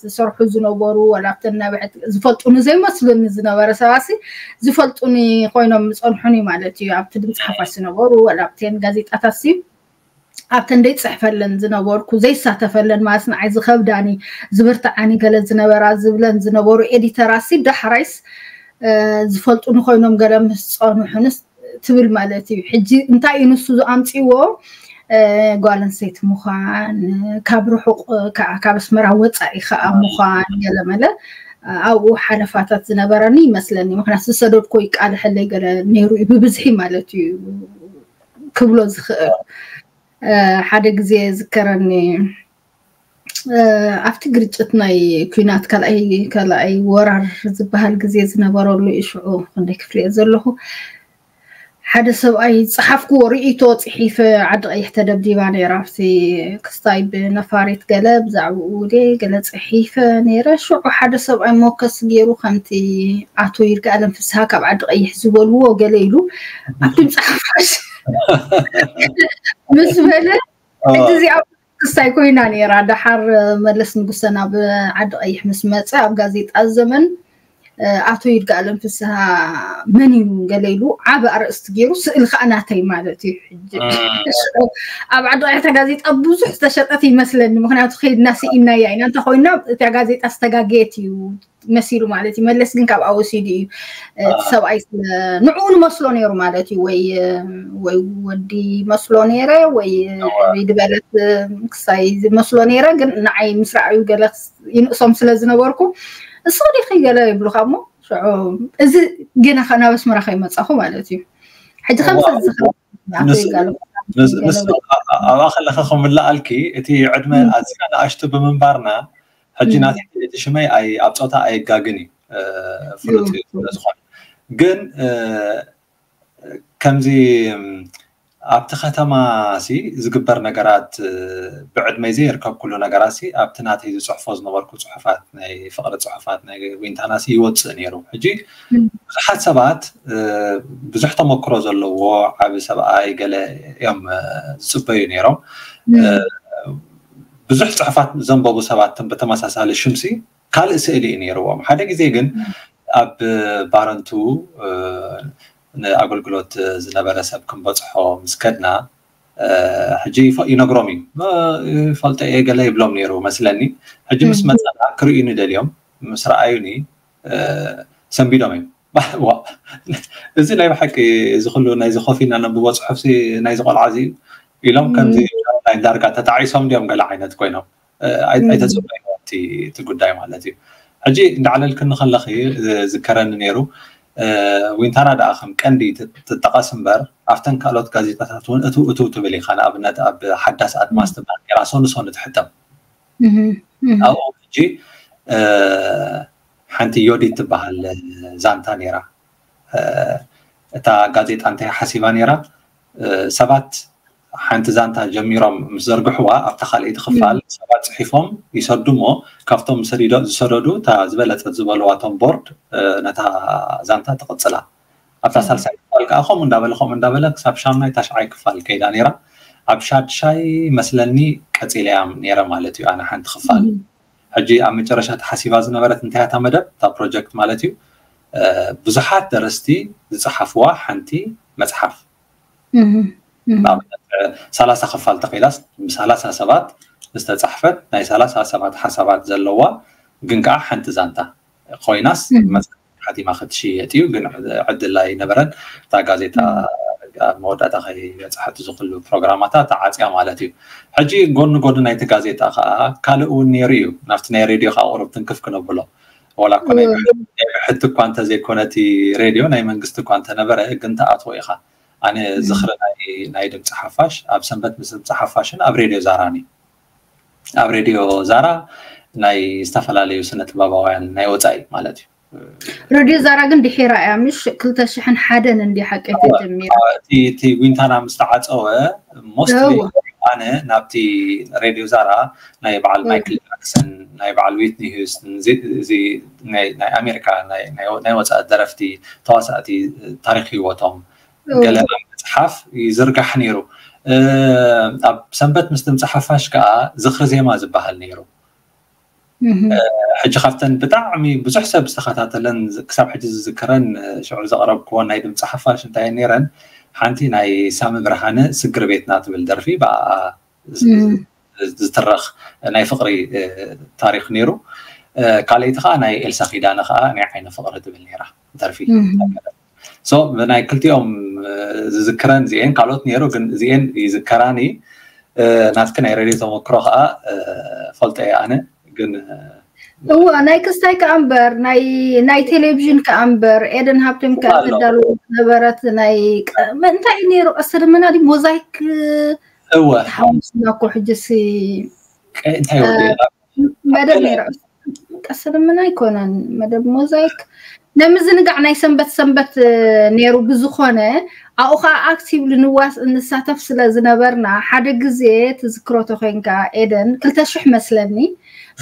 ዝሰርሑ ዝነበሩ ወላ ኣብተን ናብዐት ዝፈልጡኒ ዘይመስሉኒ ዝነበረ ሰባሲ ዝፈልጡኒ ኮይኖም ዝፀንሑኒ ማለት እዩ። ኣብቲ ድምፂ ሓፋሽ ዝነበሩ ወላ ኣብተን ጋዜጣታት ሲ ኣብተን ደይፅሕፈለን ዝነበርኩ ዘይሳተፈለን ማለት ንዓይ ዝኸብዳኒ ዝብርትዓኒ ገለ ዝነበራ ዝብለን ዝነበሩ ኤዲተራሲ ዳሕራይስ ዝፈልጡኒ ኮይኖም ገለ ምስ ፀኑሑንስ ትብል ማለት እዩ። ሕጂ እንታይ እዩ ንሱ ዝኣምፅዎ ጓል ኣንስተይቲ ምዃን ካብ ርሑቕ ካብ ኣስመራ ወፃኢ ከዓ ምዃን ገለመለ ኣብኡ ሓለፋታት ዝነበረኒ ይመስለኒ። ምክንያቱ ዝሰደድኮ ይቃልሐለይ ገለ ነይሩ እዩ ብብዝሒ ማለት እዩ ክብሎ ዝኽእል። ሓደ ግዜ ዝከረኒ ኣብቲ ግርጭት ናይ ኩናት ካልኣይ ካልኣይ ወራር ዝበሃል ግዜ ዝነበረሉ እዩ። ሽዑ ክንደይ ክፍሊ እየ ዘለኹ ሓደ ሰብኣይ ዝፀሓፍክዎ ርእይቶ ፅሒፈ ዓዲ ቀይሕ ተደብዲባ ነይራ ኣብቲ ክስታይ ብነፋሪት ገለ ብዛዕባኡ ድየ ገለ ፅሒፈ ነይረ። ሽዑ ሓደ ሰብኣይ ሞከስ ገይሩ ከምቲ ኣቶ ይርጋኣለም ፍስሃ ካብ ዓዲ ቀይሕ ዝበልዎ ገለ ኢሉ ኣብ ድምፂ ሓፋሽ ምስ በለ ሕጂ እዚኣ ክስታይ ኮይና ነይራ። ደሓር መለስ ንጉሰ ናብ ዓዲ ቀይሕ ምስ መፀ ኣብ ጋዜጣ ዘመን ኣቶ ይርጋኣለም ፍስሃ መን እዩ ገለ ኢሉ ዓቢ ኣርእስቲ ገይሩ ስእሊ ከዓ ናተይ ማለት እዩ። ሕጂ ኣብ ዓዲ ቀይሕ እታ ጋዜጣ ብዙሕ ዝተሸጠት ይመስለኒ። ምክንያቱ ከይድና ስኢናያ ኢና። እንተ ኮይና እታ ጋዜጣ ዝተጋገየት እዩ መሲሉ ማለት እዩ። መለስ ግን ካብኣ ወሲዱ እዩ እቲ ሰብኣይ ንዕኡ ንመስሎ ነይሩ ማለት እዩ። ወይ ወይ ወዲ ይመስሎ ነይረ ወይ ሪድ በለት ክሳይ ዝመስሎ ነይረ። ግን ንዓይ ምስ ረኣዩ ገለ ይንእሶም ስለ ዝነበርኩ እሱ ዲኺ ገለ ይብሉካ እሞ ሽዑ እዚ ገና ናብ ኣስመራ ከይመፃኹ ማለት እዩ። ሕጂ ከምዚ ዝኸ ኣብኣ ከለካ ከምልኣልኪ እቲ ዕድመ ኣዝና ንኣሽቱ ብምንባርና ሕጂ ናተይ እቲ ሽመይ ኣብ ፆታ ኣየጋግን እዩ ፍሉጥ እዩ ስለዝኾነ ግን ከምዚ ኣብቲ ከተማ ሲ ዝግበር ነገራት ብዕድመይ ዘይርከብ ኩሉ ነገራት ሲ ኣብቲ ናተይ ዝፅሕፎ ዝነበርኩ ፅሑፋት ናይ ፍቅሪ ፅሑፋት ናይ ዊንታና ሲ ይወፅእ ነይሩ። ሕጂ ብዙሓት ሰባት ብዙሕ ተመክሮ ዘለዎ ዓቢ ሰብኣይ ገለ እዮም ዝፅበዩ ነይሮም። ብዙሕ ፅሑፋት ዘንበቡ ሰባት ብተመሳሳሊ ሽምሲ ካልእ ስእሊ እዩ ነይርዎም። ሓደ ግዜ ግን ኣብ ባረንቱ ንኣገልግሎት ዝነበረ ሰብ ክንበፅሖ ምስ ከድና ሕጂ ይነግሮም እዩ ይፈልጦ እየ ገለ ይብሎም ነይሩ መስለኒ። ሕጂ ምስ መፀና ክርእዩኒ ደልዮም ምስ ረኣዩኒ ሰንቢዶም እዮም። እዚ ናይ ብሓቂ እዚ ኩሉ ናይዚ ኮፍ ኢልና ነንብቦ ፅሑፍሲ ናይዚ ቆልዓ እዚ እዩ ኢሎም ከምዚ ዳርጋ ተጣዒሶም ድዮም ገለ ዓይነት ኮይኖም ኣይተፅበዩ እቲ ጉዳይ ማለት እዩ። ሕጂ እንዳዕለልክኒ ከለኺ ዝከረኒ ነይሩ ዊንታና ደኣ ከም ቀንዲ ትጠቐስ እምበር ኣብተን ካልኦት ጋዜጣታት እውን እትው እትው ትብል ኢኻ። ንኣብነት ኣብ ሓዳስ ኣድማስ ትበሃል ነይራ ሶኒ ሶኒ ትሕተም ኣብኡ ሕጂ ሓንቲ ዮዲት ትበሃል ዛንታ ነይራ። እታ ጋዜጣ እንታይ ሓሲባ ነይራ? ሰባት ሓንቲ ዛንታ ጀሚሮም ምስ ዘርግሕዋ ኣብታ ካልኣይቲ ክፋል ሰባት ፅሒፎም ይሰዱ እሞ ካብቶም ዝሰደዱ እታ ዝበለፀት ዝበልዋ እቶም ቦርድ ነታ ዛንታ ትቕፅላ። ኣብታ ሳልሳይ ክፋል ከዓ ከምኡ እንዳበለ ከምኡ እንዳበለ ክሳብ ሻምናይ ታሽዓይ ክፋል ከይዳ ነይራ። ኣብ ሻድሻይ መስለኒ ቀፂለያም ነይረ ማለት እዩ ኣነ ሓንቲ ክፋል። ሕጂ ኣብ መጨረሻ ተሓሲባ ዝነበረት እንታይ እታ መደብ እታ ፕሮጀክት ማለት እዩ ብዙሓት ደረስቲ ዝፀሓፍዋ ሓንቲ መፅሓፍ ሰላሳ ክፋል ተኸይዳስ ብሰላሳ ሰባት ዝተፃሕፈት ናይ ሰላሳ ሰባት ሓሳባት ዘለዋ ግን ከዓ ሓንቲ ዛንታ ኮይናስ ሓቲማ ክትሽየጥ እዩ ግን ዕድል ኣይነበረን። እታ ጋዜጣ ኣብ መወዳእታ ከይበፅሐት ዝክሉ ፕሮግራማታ ተዓፅያ ማለት እዩ። ሕጂ ጎኒ ጎኒ ናይቲ ጋዜጣ ከዓ ካልእ እውን ነይሩ እዩ። ናብቲ ናይ ሬድዮ ከዓ ቁሩብ ትንክፍ ክነብሎ ዋላ እኮ ናይ ብሕቲ እኳ እንተዘይኮነ እቲ ሬድዮ ናይ መንግስቲ እኳ እንተነበረ ግን ተኣትዎ ኢኻ። ኣነ ዝኽሪ ናይ ድምፂ ሓፋሽ ኣብ ሰንበት ምስ ድምፂ ሓፋሽን ኣብ ሬድዮ ዛራን እዩ። ኣብ ሬድዮ ዛራ ናይ ዝተፈላለዩ ስነ ጥበባውያን ናይ ወፃኢ ማለት እዩ። ሬድዮ ዛራ ግን ድሒራ እያ ምሽ ክልተ ሽሕን ሓደን እንዲ ሓቂ ተጀሚራ። እቲ ዊንታና ምስ ተዓፀወ ሞስትሊ ኣነ ናብቲ ሬድዮ ዛራ ናይ በዓል ማይክል ጃክሰን ናይ በዓል ዊትኒ ሂውስተን እዚ ናይ ኣሜሪካ ናይ ወፃኢ ደረፍቲ ተዋሳእቲ ታሪክ ህይወቶም ገለ ኣብ መፅሓፍ ይዝርጋሕ ነይሩ። ኣብ ሰንበት ምስ ድምፂ ሓፋሽ ከዓ ዝኽሪ ዜማ ዝበሃል ነይሩ። ሕጂ ካብተን ብጣዕሚ ብዙሕ ሰብ ዝተኸታተለን ክሳብ ሕጂ ዝዝክረን ሽዑ ዘቕረብክወን ናይ ድምፂ ሓፋሽ እንታይ ነይረን ሓንቲ ናይ ሳሚ ብርሃነ ስግር ቤትና ትብል ደርፊ ብኣ ዝትረኽ ናይ ፍቕሪ ታሪክ ነይሩ። ካልኣይቲ ከዓ ናይ ኤልሳ ኪዳነ ከዓ ናይ ዓይነ ፍቕሪ ትብል ነይራ ደርፊ። ብናይ ክልቲኦም ዝዝክረን እዚኤን ካልኦት ነይሩ ግን እዚኤን ይዝከራኒ። ናትኪ ናይ ሬድዮ ተመክሮ ከዓ ፈልጦ እየ ኣነ ግን እወ ናይ ክስታይ ከዓ እምበር ናይ ቴሌቪዥን ከዓ እምበር ኤደን ሃብቶም ከዓ ትዳለወ ዝነበረት ናይ እንታይ ነይሩ ቀስተ ደመና ዲ ሞዛይክ እወ ሓሙስና እኮ ሕጅሲ እንታይ መደብ ነይሩ። ቀስተ ደመና ኣይኮነን መደብ ሞዛይክ ናይ ምዝንጋዕ ናይ ሰንበት ሰንበት ነይሩ። ብዝኾነ ኣብኡ ከዓ ኣክቲቭሊ ንዋስ እንሳተፍ ስለ ዝነበርና ሓደ ግዜ ትዝክሮ ተኮይንካ ኤደን ክልተ ሽሕ መስለኒ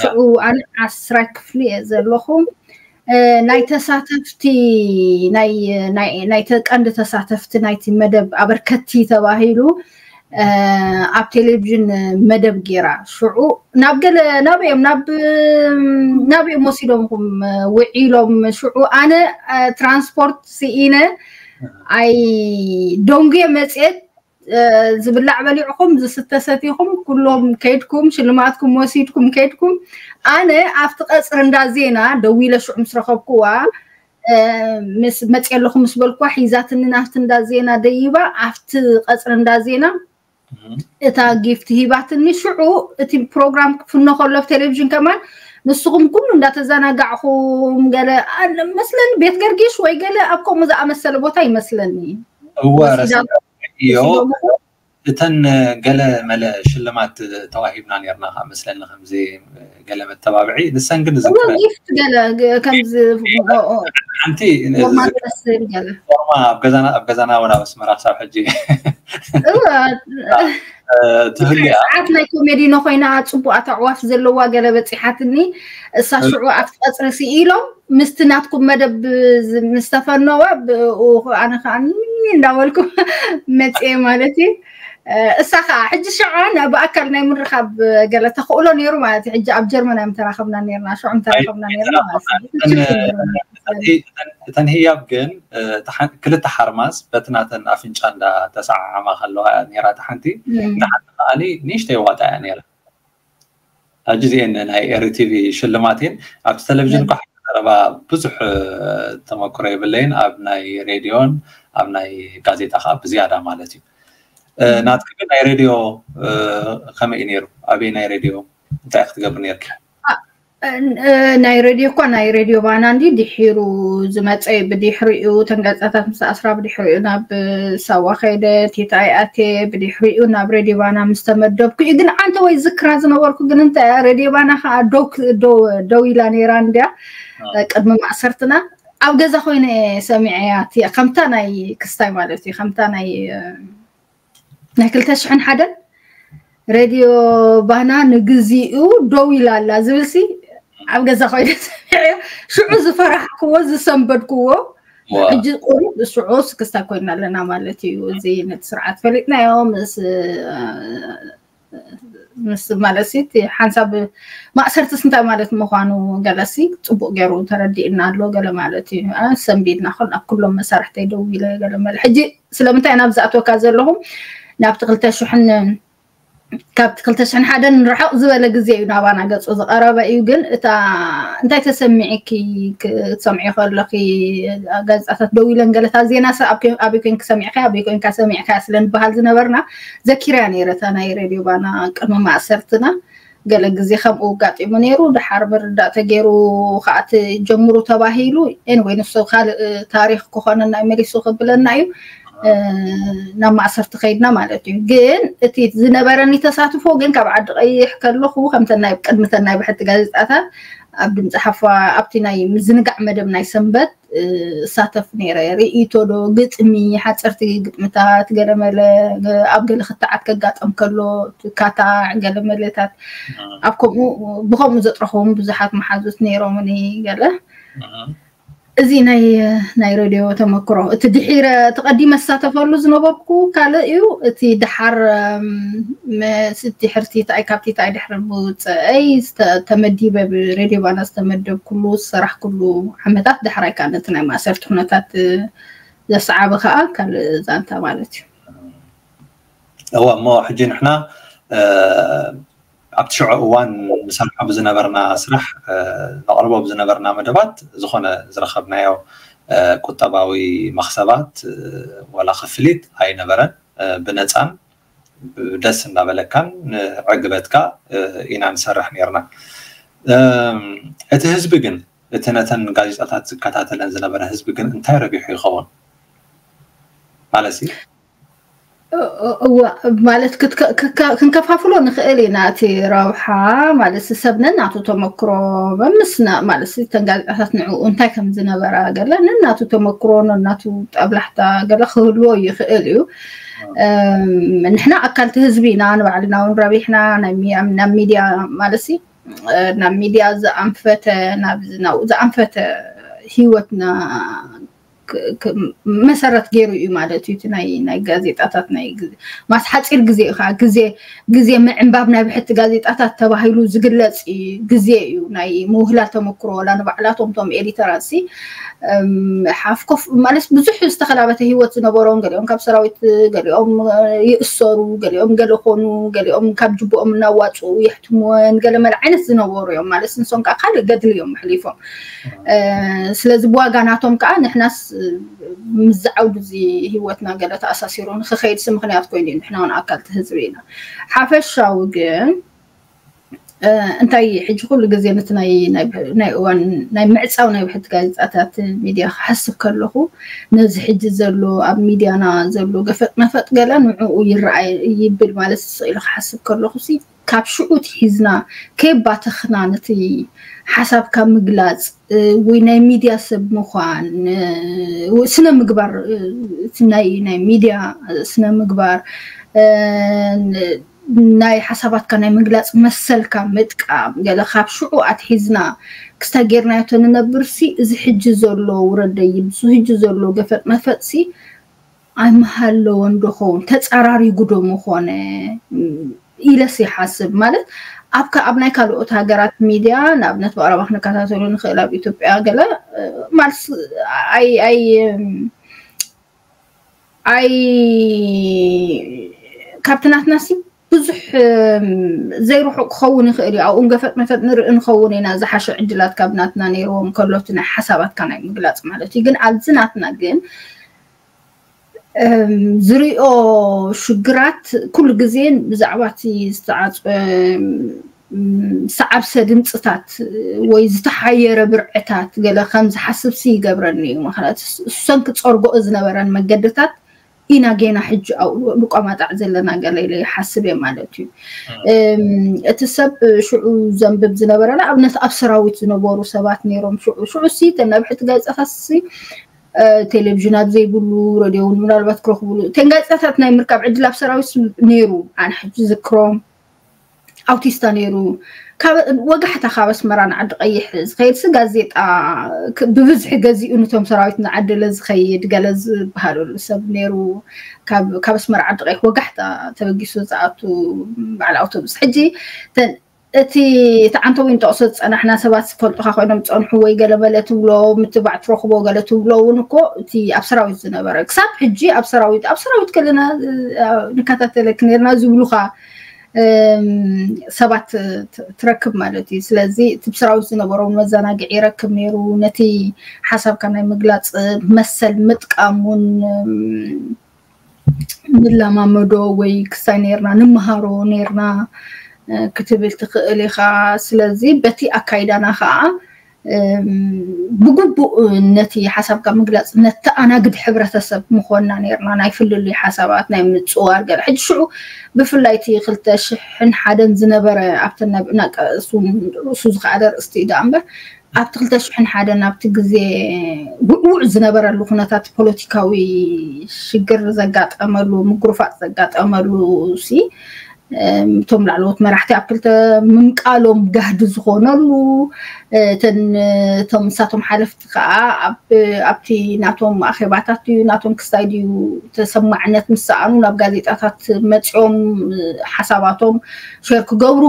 ሽዑ ኣነ ዓስራይ ክፍሊ እየ ዘለኹ። ናይ ተሳተፍቲ ናይ ቀንዲ ተሳተፍቲ ናይቲ መደብ ኣበርከቲ ተባሂሉ ኣብ ቴሌቪዥን መደብ ገይራ ሽዑ ናብ ገለ ናበዮም ናበዮም ወሲዶምኩም ውዒሎም ሽዑ ኣነ ትራንስፖርት ስኢነ ኣይ ደንጉየ መፅየት ዝብላዕ በሊዕኩም ዝስተ ሰቲኹም ኩሎም ከይድኩም ሽልማትኩም ወሲድኩም ከይድኩም ኣነ ኣብቲ ቀፅሪ እንዳ ዜና ደዊለ ሽዑ ምስ ረኸብኩዋ ምስ መፅየ ኣለኹ ምስ በልኩዋ ሒዛትኒ ናብቲ እንዳ ዜና ደይባ ኣብቲ ቀፅሪ እንዳ ዜና እታ ጊፍት ሂባትኒ ሽዑ እቲ ፕሮግራም ክፍኖ ከሎ ኣብ ቴሌቪዥን ከማን ንስኹም ኩሉ እንዳተዘናጋዕኹም ገለ መስለኒ ቤት ገርጊሽ ወይ ገለ ኣብ ከምኡ ዝኣመሰለ ቦታ ይመስለኒ እወ ረሲዮ እተን ገለ መለ ሽልማት ተዋሂብና ነርና ከዓ መስለኒ ከምዚ ገለ መተባብዒ ንሰን ግን ጊፍት ገለ ከምዚ ሓንቲ ፎርማ ኣብ ገዛና እውን ኣብ ኣስመራ ክሳብ ሕጂ ትህሉ እያ። ሰዓት ናይ ኮሜዲ ነኮይና ፅቡቅ ኣተዕዋፍ ዘለዋ ገለ በፂሓትኒ እሳ ሽዑ ኣብቲ ቀፅሪ ስኢሎም ምስቲ ናትኩም መደብ ምስ ተፈነወ ኣነ ከዓ እንዳበልኩ መፅየ ማለት እዩ። እሳ ከዓ ሕጂ ሽዑ ብኣካል ናይ ምርኻብ ገለ ተኽእሎ ነይሩ ማለት እዩ። ሕጂ ኣብ ጀርመን እዮም ተራኸብና ነርና ሽዑ ተራኸብና ነርና ማለት እዩ። እተን ህያብ ግን ክልተ ሓርማዝ በቲ ናተን ኣፍንጫ እንዳተሰዓዓማ ከለዋ እያ ነይራ እታ ሓንቲ። እታ ሓንቲ ከዓኒ ንእሽተይ ዋጣ እያ ነይራ። ሕጂ እዚአን ናይ ኤሪ ቲቪ ሽልማት እየን። ኣብቲ ቴሌቪዥን እኳ ሓንቲ ዘረባ ብዙሕ ተመክሮ የብለይን፣ ኣብ ናይ ሬድዮን ኣብ ናይ ጋዜጣ ከዓ ብዝያዳ ማለት እዩ። ናትኪ ግን ናይ ሬድዮ ከመይ እዩ ነይሩ? ኣበይ ናይ ሬድዮ እንታይ ክትገብር ነርኪ? ናይ ሬድዮ እኳ ናይ ሬድዮ ባና እንዲ ድሒሩ ዝመፀ እዩ። ብድሕሪኡ ተንጋፃታት ምስ ኣስራ ብድሕሪኡ ናብ ሳዋ ከይደ ቲታይ ኣቴ ብድሕሪኡ ናብ ሬድዮ ባና ምስ ተመደብኩ እዩ። ግን ዓንተ ወይ ዝክራ ዝነበርኩ ግን እንታይ ሬድዮ ባና ከዓ ደው ኢላ ነይራ እንዲያ ቅድሚ ማእሰርትና ኣብ ገዛ ኮይነ ሰሚዐያ እያ ከምታ ናይ ክስታይ ማለት እዩ ከምታ ናይ ናይ ክልተ ሽሕን ሓደን ሬድዮ ባና ንግዚኡ ደው ኢላ ኣላ ዝብል ሲ ኣብ ገዛ ኮይነ ሰሚዐዮ ሽዑ ዝፈራሕክዎ ዝሰንበድክዎ ሕጂ ቁሩብ ሽዑ ስክስታ ኮይና ኣለና ማለት እዩ። እዚ ነቲ ስርዓት ፈሊጥናዮ ምስ ምስ ማለት ሲ ሓንሳብ ማእሰርትስ እንታይ ማለት ምዃኑ ገለሲ ፅቡቅ ገይሩ ተረዲእና ኣሎ ገለ ማለት እዩ። ሰንቢድና ኣብ ኩሎም መሳርሕተይ ደው ኢለ ገለ መለ ሕጂ ስለምንታይ ናብ ዝኣትወካ ዘለኹም ናብቲ ክልተ ሽሕን ካብቲ ክልተ ሽሕን ሓደን ርሕቕ ዝበለ ግዜ እዩ ናባና ገፁ ዝቐረበ እዩ። ግን እታ እንታይ ተሰሚዕኪ ክትሰምዒ ከለኺ ጋዜጣታት ደው ኢለን ገለታት ዜና ኣበይ ኮይንኪ ሰሚዕካ ኣበይ ኮይንካ ሰሚዕካ ስለ ንበሃል ዝነበርና ዘኪርያ ነይረ እታ ናይ ሬድዮ ባና ቅድሚ ማእሰርትና ገለ ግዜ ከምኡ ኣጋጢሙ ነይሩ። ድሓር ምርዳእ ተገይሩ ከዓ ትጀምሩ ተባሂሉ ኤንወይ ንሱ ካልእ ታሪክ ክኾነና መሊሱ ክብለና እዩ። ናብ ማእሰርቲ ከይድና ማለት እዩ። ግን እቲ ዝነበረኒ ተሳትፎ ግን ካብ ዓዲ ቀይሕ ከለኹ ከምተን ናይ ቅድምተን ናይ ብሕቲ ጋዜጣታት ኣብ ድምፂ ሓፋ ኣብቲ ናይ ምዝንጋዕ መደብ ናይ ሰንበት እሳተፍ ነይረ። ርእይቶ ዶ ግጥሚ፣ ሓፀርቲ ግጥምታት፣ ገለመለ ኣብ ገለ ክትዓት ከጋጠም ከሎ ካታዕ ገለመለታት ኣብ ከምኡ ብከምኡ ዘጥረኹም ብዙሓት መሓዙት ነይሮምኒ ገለ እዚ ናይ ናይ ሬድዮ ተመክሮ እቲ ድሒረ ተቐዲመ ዝሳተፈሉ ዝነበርኩ ካልእ እዩ። እቲ ድሓር ምስቲ ሕርቲ ታይ ካብቲ ታይ ድሕሪ ብውፅአይ ተመዲበ ብሬድዮ ባና ዝተመደብኩሉ ዝሰራሕኩሉ ዓመታት ዳሕራይ ከዓ ነቲ ናይ ማእሰርቲ ኩነታት ዘሰዓበ ከዓ ካልእ ዛንታ ማለት እዩ። እወ እሞ ሕጂ ንሕና ኣብቲ ሽዑ እዋን ንሰርሖ ብዝነበርና ስራሕ ነቕርቦ ብዝነበርና መደባት ዝኾነ ዝረኸብናዮ ቁጠባዊ መኽሰባት ዋላ ክፍሊት ኣይነበረን። ብነፃን ደስ እናበለካን ዕግበትካ ኢና ንሰርሕ ነርና። እቲ ህዝቢ ግን እቲ ነተን ጋዜጣታት ዝከታተለን ዝነበረ ህዝቢ ግን እንታይ ረቢሑ ይኸውን ማለት እዩ? እዋ ማለት ክንከፋፍሎ ንኽእል ኢና እቲ ረብሓ ማለት ሰብ ነናቱ ተመክሮ መምስና ማለት እተን ጋዜጣታት ንዕኡ እንታይ ከም ዝነበራ ገለ ነናቱ ተመክሮ ነናቱ ጠብላሕታ ገለ ክህልዎ ይኽእል እዩ። ንሕና ኣካልቲ ህዝቢ ኢና ንባዕልና እውን ረቢሕና ናብ ሚድያ ማለት ናብ ሚድያ ዝኣንፈተ ናብ ዝናው ዝኣንፈተ ህይወትና መሰረት ገይሩ እዩ ማለት እዩ። እቲ ናይ ናይ ጋዜጣታት ናይ ማስ ሓፂር ግዜ እዩ ከዓ ግዜ ግዜ ምዕንባብ ናይ ብሕቲ ጋዜጣታት ተባሂሉ ዝግለፅ ግዜ እዩ። ናይ ምውህላል ተመክሮ ዋላ ንባዕላቶም ቶም ኤዲተራት ሲ ሓፍኮፍ ማለት ብዙሕ ዝተኸላበተ ህይወት ዝነበሮም ገሊኦም ካብ ሰራዊት ገሊኦም ይእሰሩ ገሊኦም ገለ ኮኑ ገሊኦም ካብ ጅቦኦም እናዋፅኡ የሕትምወን ገለ መለ ዓይነት ዝነበሩ እዮም ማለት ንሶም ከዓ ካልእ ገድሊ እዮም ኣሕሊፎም። ስለዚ ብዋጋ ናቶም ከዓ ንሕናስ ምስ ዝዓውዱ እዚ ህይወትና ገለ ተኣሳሲሩ ንክኸይድሲ ምክንያት ኮይኑ እዩ። ንሕና እውን ኣካልቲ ህዝቢ ኢና። ሓፈሻዊ ግን እንታይ ሕጂ ኩሉ ግዜ ነቲ ናይ እዋን ናይ ምዕፃው ናይ ብሕቲ ጋዜጣታት ሚድያ ክሓስብ ከለኹ ነዚ ሕጂ ዘሎ ኣብ ሚድያና ዘሎ ገፈጥ መፈጥ ገለ ንዕኡ ይረኣይ ይብል ማለት ስቕ ኢሉ ክሓስብ ከለኹ ሲ ካብ ሽዑ ትሒዝና ከየባተኽና ነቲ ሓሳብካ ምግላፅ ወይ ናይ ሚድያ ሰብ ምዃን ስነ ምግባር ናይ ናይ ሚድያ ስነ ምግባር ናይ ሓሳባትካ ናይ ምግላፅ መሰልካ ምጥቃም ገለ ካብ ሽዑ ኣትሒዝና ክስታይ ጌርናዮ ተንነብርሲ እዚ ሕጂ ዘሎ ውረደይ ምስ ሕጂ ዘሎ ገፈጥ መፈጥሲ ኣይምሃለወን ዶ ኸውን ተፀራሪጉ ዶ ምኾነ ኢለስ ይሓስብ ማለት ኣብ ኣብ ናይ ካልኦት ሃገራት ሚድያ ንኣብነት ብቐረባ ክንከታተሉ ንኽእል ኣብ ኢትዮጵያ ገለ ማለት ኣይ ኣይ ኣይ ካብቲ ናትና ሲ ብዙሕ ዘይርሑቕ ክኸውን ይኽእል እዩ። ኣብኡ ገፈጥ መፈጥ ንርኢ ንኸውን ኢና ዝሓሸ ዕድላት ካብ ናትና ነይርዎም ከሎ እቲ ናይ ሓሳባትካ ናይ ምግላፅ ማለት እዩ። ግን ኣብዚ ናትና ግን ዝሪኦ ሽግራት ኩሉ ግዜ ብዛዕባ እቲ ዝተዓፀ ሰዓብሰ ድምፅታት ወይ ዝተሓየረ ብርዕታት ገለ ከም ዝሓስብ ሲ ይገብረኒ እዩ። ምክንያቱ እሰን ክፀርጎኦ ዝነበረን መገድታት ኢና ጌና ሕጂ ኣብኡ ንቆማጣዕ ዘለና ገለ ኢለ ይሓስብ እየ ማለት እዩ። እቲ ሰብ ሽዑ ዘንብብ ዝነበረ ንኣብነት ኣብ ሰራዊት ዝነበሩ ሰባት ነይሮም። ሽዑ ሽዑ ሲ ተን ነብሕቲ ጋዜጣታት ሲ ቴሌቪዥን ኣብ ዘይብሉ ረድዮ እውን ምናልባት ክረኽብሉ እተን ጋዜጣታት ናይ ምርካብ ዕድል ኣብ ሰራዊት ነይሩ። ኣነ ሕጂ ዝክሮም ኣውቲስታ ነይሩ። ወጋሕታ ካብ ኣስመራ ንዓዲ ቀይሕ ዝኸይድ ሲ ጋዜጣ ብብዝሒ ገዚኡ ንቶም ሰራዊት ንዓደለ ዝኸይድ ገለ ዝበሃለሉ ሰብ ነይሩ። ካብ ኣስመራ ዓዲ ቀይሕ ወጋሕታ ተበጊሱ ዝኣቱ በዓል ኣውቶቡስ። ሕጂ እቲ እቲ ዓንተዊን ጠቕሶ ዝፀናሕና ሰባት ዝፈልጡካ ኮይኖም ዝፀንሑ ወይ ገለመለ ትብሎ ምትባዕ ትረኽቦ ገለ ትብሎ እውን እኮ እቲ ኣብ ሰራዊት ዝነበረ ክሳብ ሕጂ ኣብ ሰራዊት ኣብ ሰራዊት ከለና ንከታተለክ ነርና ዝብሉካ ሰባት ትረክብ ማለት እዩ። ስለዚ እቲ ብሰራዊት ዝነበሮም መዘናግዒ ይረክብ ነይሩ። ነቲ ሓሳብካ ናይ ምግላፅ መሰል ምጥቃም እውን ንለማመዶ ወይ ክሳይ ነርና ንምሃሮ ነርና ክትብል ትኽእል ኢኻ። ስለዚ በቲ ኣካይዳና ከዓ ብግቡእ ነቲ ሓሳብካ ምግላፅ ነተኣናግድ ሕብረተሰብ ምኾንና ነርና። ናይ ፍልልይ ሓሳባት ናይ ምፅዋር ገለ ሕጂ ሽዑ ብፍላይ እቲ ክልተ ሽሕን ሓደን ዝነበረ ኣብተን ናይ ብዕናቀ ርእሱ ዝኸኣለ ርእስቲ እዩ ደኣ እምበር ኣብቲ ክልተ ሽሕን ሓደን ኣብቲ ግዜ ውዕውዕ ዝነበረሉ ኩነታት ፖለቲካዊ ሽግር ዘጋጠመሉ ምጉርፋጥ ዘጋጠመሉ ሲ እቶም ላዕለዎት መራሕቲ ኣብ ክልተ ምምቃሎም ጋህዲ ዝኾነሉ እቶም እሳቶም ሓለፍቲ ከዓ ኣብቲ ናቶም ኣኼባታት ድዩ ናቶም ክስታይ ድዩ ተሰማዕነት ምስ ሰኣኑ ናብ ጋዜጣታት መፂኦም ሓሳባቶም ሸር ክገብሩ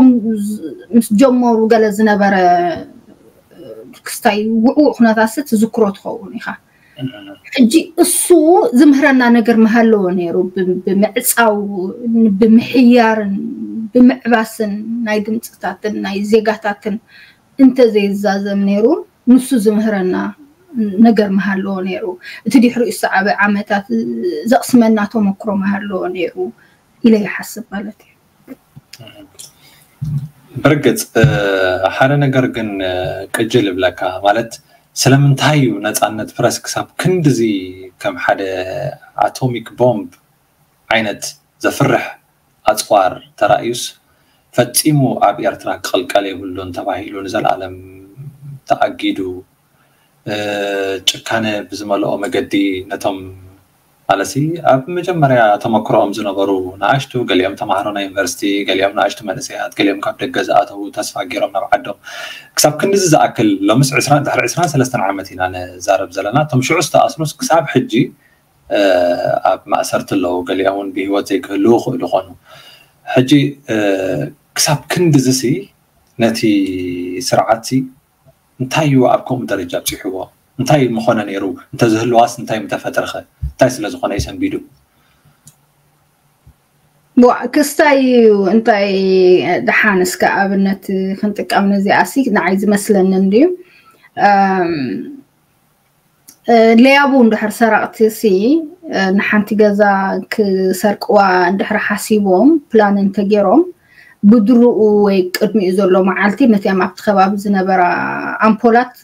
ምስ ጀመሩ ገለ ዝነበረ ክስታይ ውዕውዕ ኩነታት ሲ ትዝክሮ ትኸውን ኢኻ። ሕጂ እሱ ዝምህረና ነገር ምሃለዎ ነይሩ። ብምዕፃው ብምሕያርን ብምዕባስን ናይ ድምፅታትን ናይ ዜጋታትን እንተዘይዛዘም ነይሩ ንሱ ዝምህረና ነገር ምሃለዎ ነይሩ። እቲ ድሕሪኡ ዝሰዓበ ዓመታት ዘቕስመና ተመክሮ ምሃለዎ ነይሩ ኢለ ይሓስብ ማለት እዩ። ብርግፅ ሓደ ነገር ግን ቅጅል ይብለካ ማለት ስለምንታይ እዩ ነፃነት ፕረስ ክሳብ ክንድዚ ከም ሓደ ኣቶሚክ ቦምብ ዓይነት ዘፍርሕ ኣፅዋር ተራእዩስ ፈፂሙ ኣብ ኤርትራ ክቕልቀል የብሉን ተባሂሉ ንዘለኣለም ተኣጊዱ ጭካነ ብዝመልኦ መገዲ ነቶም ማለትሲ ኣብ መጀመርያ ተመክሮኦም ዝነበሩ ንኣሽቱ ገሊኦም ተማሃሮ ናይ ዩኒቨርሲቲ ገሊኦም ንኣሽቱ መንእሰያት ገሊኦም ካብ ደገ ዝኣተዉ ተስፋ ገይሮም ናብ ዓዶም ክሳብ ክንድዚ ዝኣክል ሎምስ ዕስራን ድሕሪ ዕስራን ሰለስተን ዓመት ኢና ንዛረብ ዘለና እቶም ሽዑ ዝተኣስሩስ ክሳብ ሕጂ ኣብ ማእሰርቲ ኣለዉ ገሊኦም እውን ብሂወት ዘይክህልዉ ክእሉ ኮኑ ሕጂ ክሳብ ክንድዚ ሲ ነቲ ስርዓት ሲ እንታይ እዩ ኣብ ከምኡ ደረጃ ኣብፂሕዎ እንታይ ምኾነ ነይሩ እንተዝህልዋስ እንታይ ምተፈጥረኸ እንታይ ስለዝኾነ እዩ ሰንቢዱ ክስታይ እዩ እንታይ ደሓን እስከ ኣብነት ክንጥቀም ነዚኣ ሲ ንዓይ ዝመስለኒ እንድዩ ለያቡ እንድሕር ሰረቕቲ ሲ ንሓንቲ ገዛ ክሰርቅዋ እንድሕር ሓሲቦም ፕላን እንተገይሮም ብድርኡ ወይ ቅድሚኡ ዘሎ መዓልቲ ነቲኣም ኣብቲ ከባቢ ዝነበራ ኣምፖላት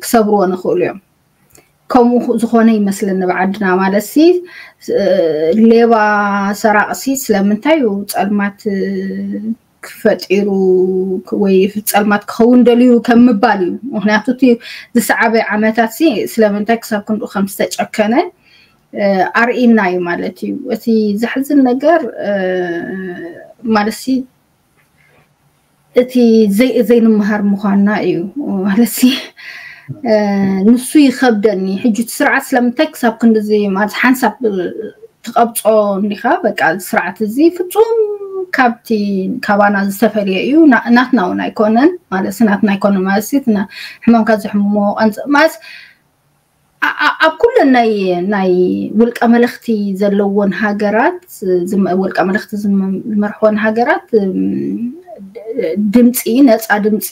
ክሰብርዎ ንኽእሉ እዮም። ከምኡ ዝኾነ ይመስለኒ ብዓድና ማለት ሲ ሌባ ሰራቕ ሲ ስለምንታይ እዩ ጸልማት ክፈጢሩ ወይ ጸልማት ክኸውን ደልዩ ከም ምባል እዩ። ምክንያቱ እቲ ዝሰዓበ ዓመታት ሲ ስለምንታይ ክሳብ ክንዱ ከም ዝተጨከነ ኣርኢና እዩ ማለት እዩ። እቲ ዘሕዝን ነገር ማለት ሲ እቲ ዘይንምሃር ምዃንና እዩ ማለት ሲ ንሱ ይኸብደኒ ሕጂ እቲ ስርዓት ስለምንታይ ክሳብ ክንድዚ ማለት ሓንሳብ ትቐብጾ እንዲኻ በቃ ስርዓት እዚ ፍጹም ካብቲ ካባና ዝተፈልየ እዩ ናትና እውን ኣይኮነን ማለት ናትና ኣይኮነን ማለት ሕማምካ ዘሕምሞ ቀንጽ ማለት ኣብ ኩለን ናይ ናይ ውልቀ መለኽቲ ዘለዎን ሃገራት ውልቀ መለኽቲ ዝመርሕወን ሃገራት ድምፂ ነፃ ድምፂ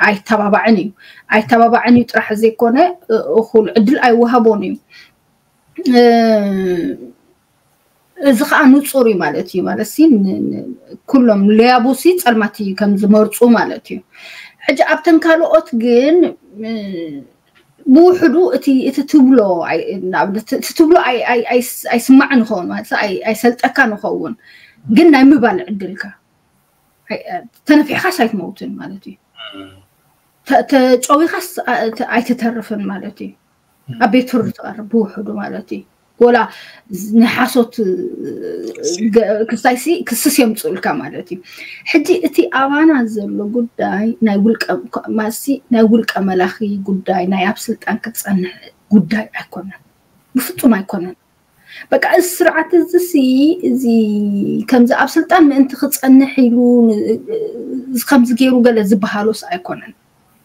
ኣይተባባዕን እዩ ኣይተባባዕን እዩ ጥራሕ ዘይኮነ እኩል ዕድል ኣይወሃቦን እዩ እዚ ከዓ ንፁር እዩ ማለት እዩ። ማለት ሲ ኩሎም ለያቡ ሲ ፀልማት እዩ ከም ዝመርፁ ማለት እዩ። ሕጂ ኣብተን ካልኦት ግን ብውሕዱ እቲ እቲ ትብሎ እቲ ትብሎ ኣይስማዕ ንኸውን ማለት ኣይሰልጠካ ንኸውን፣ ግን ናይ ምባል ዕድልካ ተነፊሕካስ ኣይትመውትን ማለት እዩ። ተጨዊኻስ ኣይትተርፍን ማለት እዩ። ኣብ ቤት ፍርዲ ትቐርብ ብውሕዱ ማለት እዩ። ወላ ንሓሶት ክስታይሲ ክስስ የምፅኡልካ ማለት እዩ። ሕጂ እቲ ኣባና ዘሎ ጉዳይ ናይ ውልቀ ማሲ ናይ ውልቀ መላኺ ጉዳይ ናይ ኣብ ስልጣን ክትፀንሕ ጉዳይ ኣይኮነን፣ ብፍፁም ኣይኮነን። በቃ እዚ ስርዓት እዚ ሲ እዚ ከምዚ ኣብ ስልጣን ምእንቲ ክፀንሕ ኢሉ ከምዚ ገይሩ ገለ ዝበሃሎስ ኣይኮነን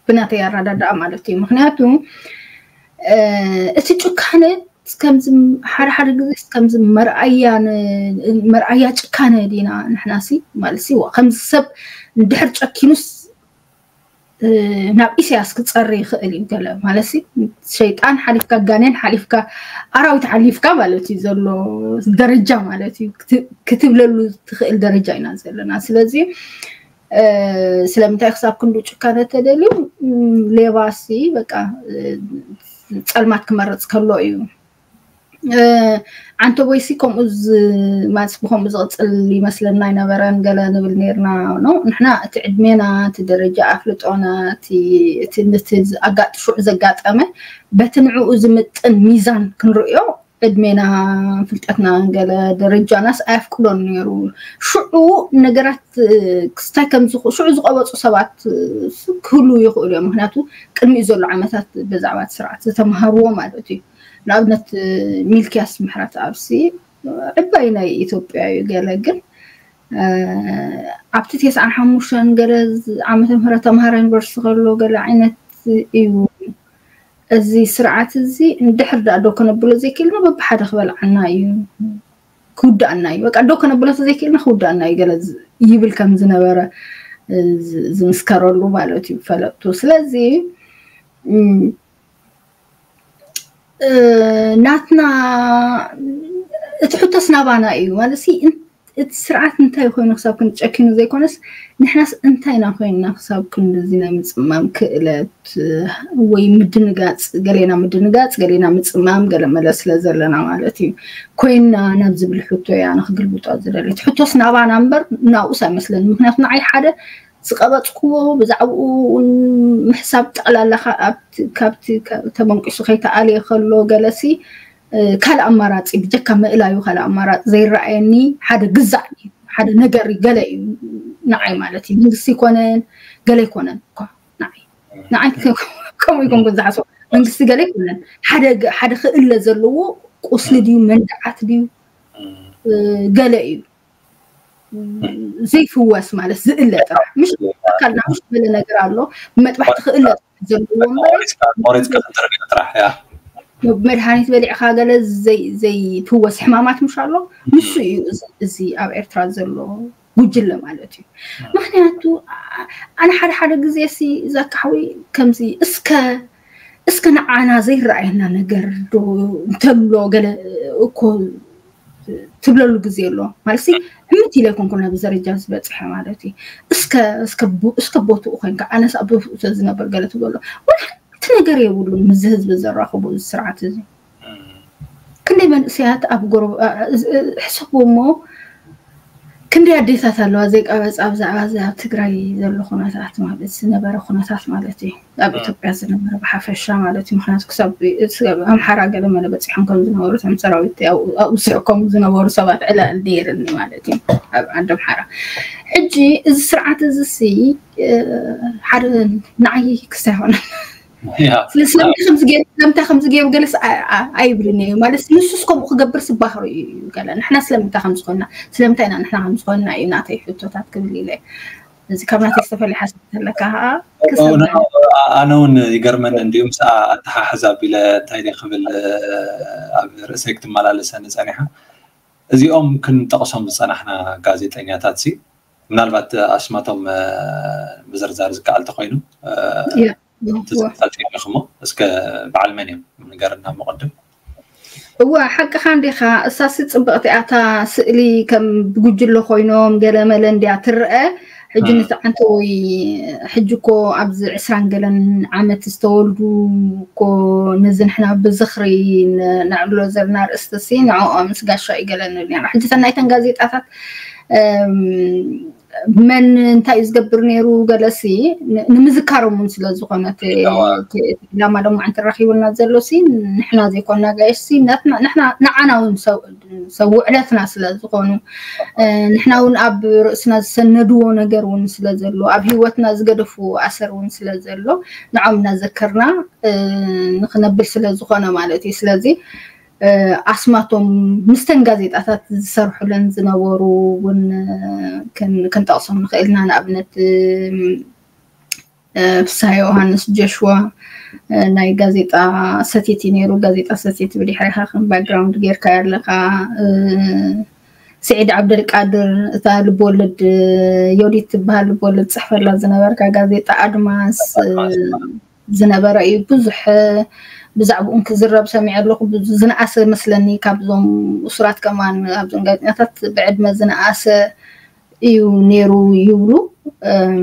ብናተይ ኣረዳድኣ ማለት እዩ። ምክንያቱ እቲ ጭካነ ከምዚ ሓደ ሓደ ግዜ ከምዚ መርኣያ መርኣያ ጭካነ ዲና ንሕናሲ ማለትሲ ከምዚ ሰብ እንድሕር ጨኪኑስ ናብ ኢሳያስ ክፀሪ ይኽእል እዩ። ገለ ማለት ሸይጣን ሓሊፍካ ጋኔን ሓሊፍካ ኣራዊት ሓሊፍካ ማለት እዩ ዘሎ ደረጃ ማለት እዩ ክትብለሉ ትኽእል ደረጃ ኢና ዘለና። ስለዚ ስለምንታይ ክሳብ ክንዱ ጭካነ ተደልዩ ሌባሲ በቃ ፀልማት ክመርፅ ከሎ እዩ። ዓንተ ወይሲ ከምኡ ማስ ብከምኡ ዝቕፅል ይመስለና ኣይነበረን ገለ ንብል ነርና ነው። ንሕና እቲ ዕድሜና እቲ ደረጃ ኣፍልጦና እቲ ነቲ ሽዑ ዘጋጠመ በቲ ንዕኡ ዝምጥን ሚዛን ክንርእዮ ዕድሜና ፍልጠትና ገለ ደረጃናስ ኣየፍቅዶን ነይሩ። ሽዑ ነገራት ክስታይ ከም ሽዑ ዝቀበፁ ሰባት ክህሉ ይኽእሉ እዮም። ምክንያቱ ቅድሚኡ ዘሎ ዓመታት ብዛዕባ እቲ ስርዓት ዝተምሃርዎ ማለት እዩ። ንኣብነት ሚልክያስ ምሕረት ኣብሲ ዕባይ ናይ ኢትዮጵያ እዩ። ገለ ግን ኣብቲ ተስዓን ሓሙሽተን ገለ ዓመተ ምህረት ተምሃራ ዩኒቨርሲቲ ከሎ ገለ ዓይነት እዩ። እዚ ስርዓት እዚ እንድሕር ዳ ዶ ከነብሎ ዘይክእልና በብሓደ ክበልዓና እዩ፣ ክውዳእና እዩ። በቃ ዶ ከነብሎ ዘይክእልና ክውዳእና እዩ ገለ ይብል ከም ዝነበረ ዝምስከረሉ ማለት እዩ ፈለጥቱ። ስለዚ ናትና እቲ ሕቶስ ናባና እዩ ማለት እቲ ስርዓት እንታይ ኮይኑ ክሳብ ክንጨኪኑ ዘይኮነስ ንሕናስ እንታይ ኢና ኮይንና ክሳብ ክንድዚ ናይ ምፅማም ክእለት ወይ ምድንጋፅ ገሌና ምድንጋፅ ገሌና ምፅማም ገለ መለ ስለ ዘለና ማለት እዩ ኮይንና ናብ ዝብል ሕቶ እያ ንክግልብጦ ዝደሊ። እቲ ሕቶስ ናባና እምበር ናብኡስ ኣይመስለኒ። ምክንያቱ ንዓይ ሓደ ዝቀበፅክዎ ብዛዕባኡ እውን ምሕሳብ ጠቕላላ ካብቲ ተመንቂሱ ከይተኣልየ ከሎ ገለሲ ካልእ ኣማራፂ ብጀካ ምእላዩ ካልእ ኣማራፂ ዘይረኣየኒ ሓደ ግዛዕ ሓደ ነገር ገለ እዩ ንዓይ ማለት እዩ። መንግስቲ ይኮነን ገለ ይኮነን እኳ ንዓይ ንዓይ ከምኡ ይኮንኩ ዝሓስቦ መንግስቲ ገለ ይኮነን ሓደ ክእለ ዘለዎ ቁስሊ ድዩ መንድዓት ድዩ ገለ እዩ ዘይፍወስ ማለት ዝእለ ጥራሕ ምሽ ኣካልና ምሽ ዝበለ ነገር ኣሎ ብመጥባሕቲ ክእለ ዘለዎ እምበር ቆሪፅካ ቆሪፅካ ክትርግእ ጥራሕ እያ። መድሃኒት በሊዕካ ገለ ዘይፍወስ ሕማማት ምሽ ኣሎ ንሱ እዩ እዚ ኣብ ኤርትራ ዘሎ ጉጅለ ማለት እዩ። ምክንያቱ ኣነ ሓደ ሓደ ግዜ ሲ ዘካሕዊ ከምዚ እስከ እስከ ንዓና ዘይረኣየና ነገር ዶ እንተሎ ገለ እኮ ትብለሉ ግዜ ኣሎ ማለት ሲ ዕምት ኢለ ይኮንኩ ናብ ደረጃ ዝበፅሐ ማለት እዩ። እስከ እስከ ቦትኡ ኮይንካ ኣነስ ኣብ ቦትኡ ዝነበር ገለ ትብሎ ወላ ሓንቲ ነገር የብሉን ምስዚ ህዝቢ ዘራኽቡ እዚ ስርዓት እዚ። ክንደይ መንእሰያት ኣብ ጎረ ሕሰቡ እሞ ክንደይ ኣዴታት ኣለዋ ዘይቀበፃ ብዛዕባ እዚ ኣብ ትግራይ ዘሎ ኩነታት ማለት ዝነበረ ኩነታት ማለት እዩ ኣብ ኢትዮጵያ ዝነበረ ብሓፈሻ ማለት እዩ። ምክንያቱ ክሳብ ኣምሓራ ገለ መለ በፂሖም ከም ዝነበሩ እቶም ሰራዊት ኣብኡ ስዕኮም ዝነበሩ ሰባት ዕላል ነይርኒ ማለት እዩ ኣብ ዓዲ ኣምሓራ። ሕጂ እዚ ስርዓት እዚ ሲ ሓደ ንዓይ ክስታይ ሆነ ስለምንታይ ከምዚ ገይሩ ገለስ ኣይብልን እዩ ማለት ንሱስ ከምኡ ክገብር ስባህሩ እዩ ገለ ንሕና ስለምንታይ ከምዝኮንና ስለምንታይ ኢና ንሕና ከምዝኮንና እዩ ናተይ ሕቶታት ክብል ኢለ እዚ ካብ ናተይ ዝተፈለየ ሓሳብ ተለካ ከዓ ኣነ እውን ይገርመን እንዲሁ ምስ ኣተሓሕዛ ቢለ እንታይ ክብል ኣብ ርእሰይ ክትመላለሰኒ ፀኒሓ እዚኦም ክንጠቕሶም ዝፀናሕና ጋዜጠኛታት ሲ ምናልባት ኣስማቶም ምዝርዛር ዝከኣል ተኮይኑ ትዝርታትሞ እስከ በዓል መን እዮም ንገርና መቐድም እወ፣ ሓቅኻ እንዲኻ። እሳሲ ጽብቕቲ እያ እታ ስእሊ፣ ከም ብጉጅለ ኮይኖም ገለ መለ እንድያ ትረአ። ሕጂ እ። ንትዓንተ ወይ ሕጂ እኮ ኣብዚ ዕስራን ገለን ዓመት ዝተወልዱ እኮ፣ ነዚ ንሕና ብዝኽሪ ን-፣ ነዕልሎ ዘለና ኣርእስቲ ሲ ንዕኦም ምስ ጋሻ እዩ ገለ ንብል ኢና። ሕጂ እተን ናይተን ጋዜጣታት፣ እም፣ መን እንታይ እዩ ዝገብር ነይሩ ገለሲ ን-፣ ንምዝካሮም እውን ስለ ዝኾነ እቲ፣ እዋ። እቲ፣ እቲ ዕላማ ሎማዓንቲ ረኺቡና ዘሎ ሲ ንሕና ዘይኮና ጋይሽ ሲ ናትና፣ ንሕና፣ ንዓና እውን ሰብ፣ ሰብ ውዕለትና ስለ ዝኾኑ፣ እ፣ ንሕና እውን ኣብ ርእስና ዝሰነድዎ ነገር እውን ስለ ዘሎ፣ ኣብ ህይወትና ዝገደፍዎ ኣሰር እውን ስለ ዘሎ፣ ንዖም እናዘከርና፣ እ፣ ንኽነብል ስለ ዝኾነ ማለት እዩ። ስለዚ፣ እ፣ ኣስማቶም ምስተን ጋዜጣታት ዝሰርሑለን ዝነበሩ እውን፣ እ፣ ክን-፣ ክንጠቕሶም ንኽእል ኢና። ንኣብነት፣ እ፣ እ፣ ፍስሃ ዮሃንስ ጆሽዋ፣ እ፣ ናይ ጋዜጣ ሰቲት እዩ ነይሩ። ጋዜጣ ሰቲት ብድሕሪኻ ከም ባክግራውንድ ጌርካያ ኣለኻ። እ፣ ስዒድ ዓብደልቃድር፣ እታ ልብወለድ፣ እ፣ ዮዲት ትበሃል ልብወለድ ጽሕፈላ ዝነበርካ ጋዜጣ ኣድማስ፣ እ፣ ዝነበረ እዩ። ብዙሕ፣ እ፣ ብዛዕባኡ ክዝረብ ሰሚዐ ኣለኹ። ብዙ ዝነኣሰ መስለኒ ካብዞም እሱራት ከማን፣ ካብዞም ጋዜጠኛታት ብዕድመ ዝነኣሰ እዩ ነይሩ ይብሉ። እም፣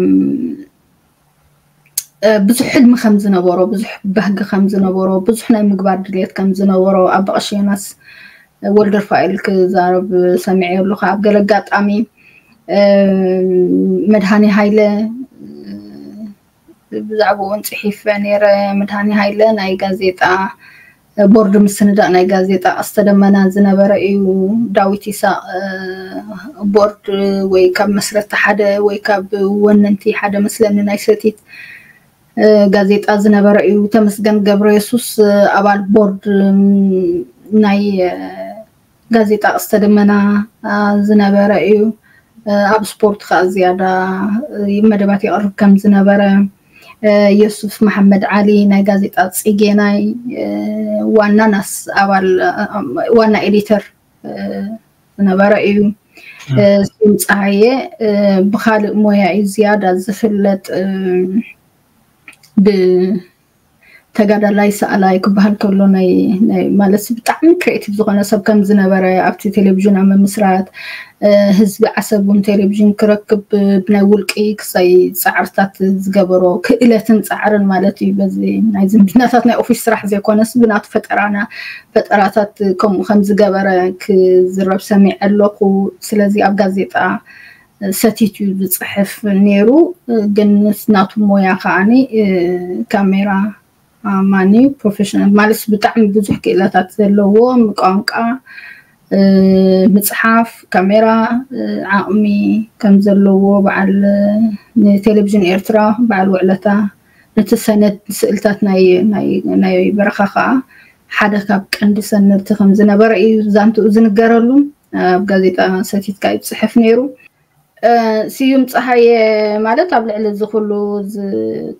እ፣ ብዙሕ ሕልሚ ከም ዝነበሮ፣ ብዙሕ ባህጊ ከም ዝነበሮ፣ ብዙሕ ናይ ምግባር ድልየት ከም ዝነበሮ ኣባ ቀሺ ዮናስ ወልደርፋኤል ክዛረብ ሰሚዐ ኣለኹ። ኣብ ገለ ኣጋጣሚ፣ እ፣ መድሃኔ ሃይለ፣ እ፣ ብዛዕባኡ እውን ጽሒፈ ነይረ። መድሃኔ ሃይለ ናይ ጋዜጣ ቦርድ ምስንዳእ ናይ ጋዜጣ ቀስተ ደመና ዝነበረ እዩ። ዳዊት ይስሐቅ፣ እ፣ ቦርድ ወይ ካብ መስረቲ ሓደ ወይ ካብ ወነንቲ ሓደ መስለኒ ናይ ሰቲት፣ እ፣ ጋዜጣ ዝነበረ እዩ። ተመስገን ገብረ የሱስ፣ እ፣ ኣባል ቦርድ፣ እም፣ ናይ፣ እ፣ ጋዜጣ ቀስተ ደመና፣ እ፣ ዝነበረ እዩ። እ፣ ኣብ ስፖርት ከኣ ዝያዳ፣ እ፣ መደባት የቕርብ ከም ዝነበረ፣ እ፣ የሱፍ መሓመድ ዓሊ ናይ ጋዜጣ ጽጌ ናይ፣ እ፣ ዋና ናስ ኣባል፣ እ፣ ዋና ኤዲተር፣ እ፣ ዝነበረ እዩ። እ፣ ስዩም ጸሃየ፣ እ፣ ብኻልእ ሞያ እዩ ዝያዳ ዝፍለጥ፣ እ፣ ብ-፣ ተጋዳላይ ሰኣላይ ክበሃል ከሎ ናይ፣ ናይ ማለት ብጣዕሚ ክሬቲቭ ዝኾነ ሰብ ከም ዝነበረ ኣብቲ ቴሌቪዥን ኣብ ምምስራት፣ እ፣ ህዝቢ ዓሰብ እውን ቴሌቪዥን ክረክብ ብናይ ውልቂ ክሳይ ጻዕርታት ዝገበሮ ክእለትን ጻዕርን ማለት እዩ። በዚ ናይ ዝምድናታት ናይ ኦፊስ ስራሕ ዘይኮነስ ብናቱ ፈጠራና፣ ፈጠራታት ከምኡ ከም ዝገበረ ክዝረብ ሰሚዐ ኣለኹ። ስለዚ ኣብ ጋዜጣ ሰቲት እዩ ዝጽሕፍ ነይሩ። ግን ምስ ናቱ ሞያ ከዓኒ፣ እ፣ ካሜራ ማን እዩ ፕሮፌሽናል ማለት ብጣዕሚ ብዙሕ ክእለታት ዘለዎ፣ ቋንቋ፣ እ፣ ምጽሓፍ፣ ካሜራ፣ እ፣ ዓቕሚ ከም ዘለዎ በዓል፣ እ፣ ንቴሌቪዥን ኤርትራ በዓል ውዕለታ ነቲ ሰነድ ስእልታት ናይ፣ ናይ፣ ናይ በረኻ ከኣ ሓደ ካብ ቀንዲ ሰነድቲ ከም ዝነበረ እዩ ዛንትኡ ዝንገረሉ። ኣብ ጋዜጣ ሰቲት ከኣ ይጽሕፍ ነይሩ። እ፣ ስዩም ጸሃየ ማለት ኣብ ልዕሊ እዚ ኩሉ ዝ-፣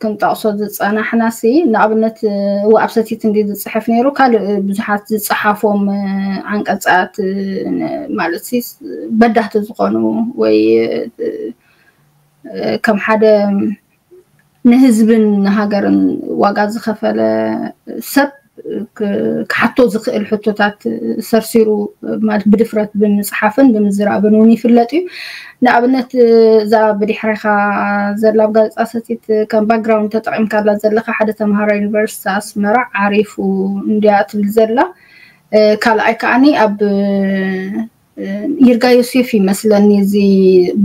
ክንጠቕሶ ዝጸናሕናሲ፣ ንኣብነት፣ እ፣ እወ ኣብ ሰቲት እንዲ ዝጽሕፍ ነይሩ፣ ካልእ ብዙሓት ዝጸሓፎም፣ እ፣ ዓንቀጻት፣ እ፣ ን-፣ ማለት ሲ፣ በዳህቲ ዝኾኑ ወይ፣ እ፣ እ፣ ከም ሓደ ንህዝብን ንሃገርን ዋጋ ዝኸፈለ ሰብ ክ-፣ ክሓቶ ዝኽእል ሕቶታት ሰርሲሩ፣ ማለት ብድፍረት ብምጽሓፍን ብምዝራብን እውን ይፍለጥ እዩ። ንኣብነት፣ እዛ ብድሕሬኻ ዘላ ኣብ ጋዜጣ ሰቲት ከም ባክግራውንድ ተጠቒምካላ ዘለኻ፣ ሓደ ተምሃራይ ዩኒቨርሲቲ ኣስመራ ዓሪፉ እንድያ ትብል ዘላ። እ፣ ካልኣይ ከዓኒ ኣብ ይርጋ ዮሴፍ ይመስለኒ፣ እዚ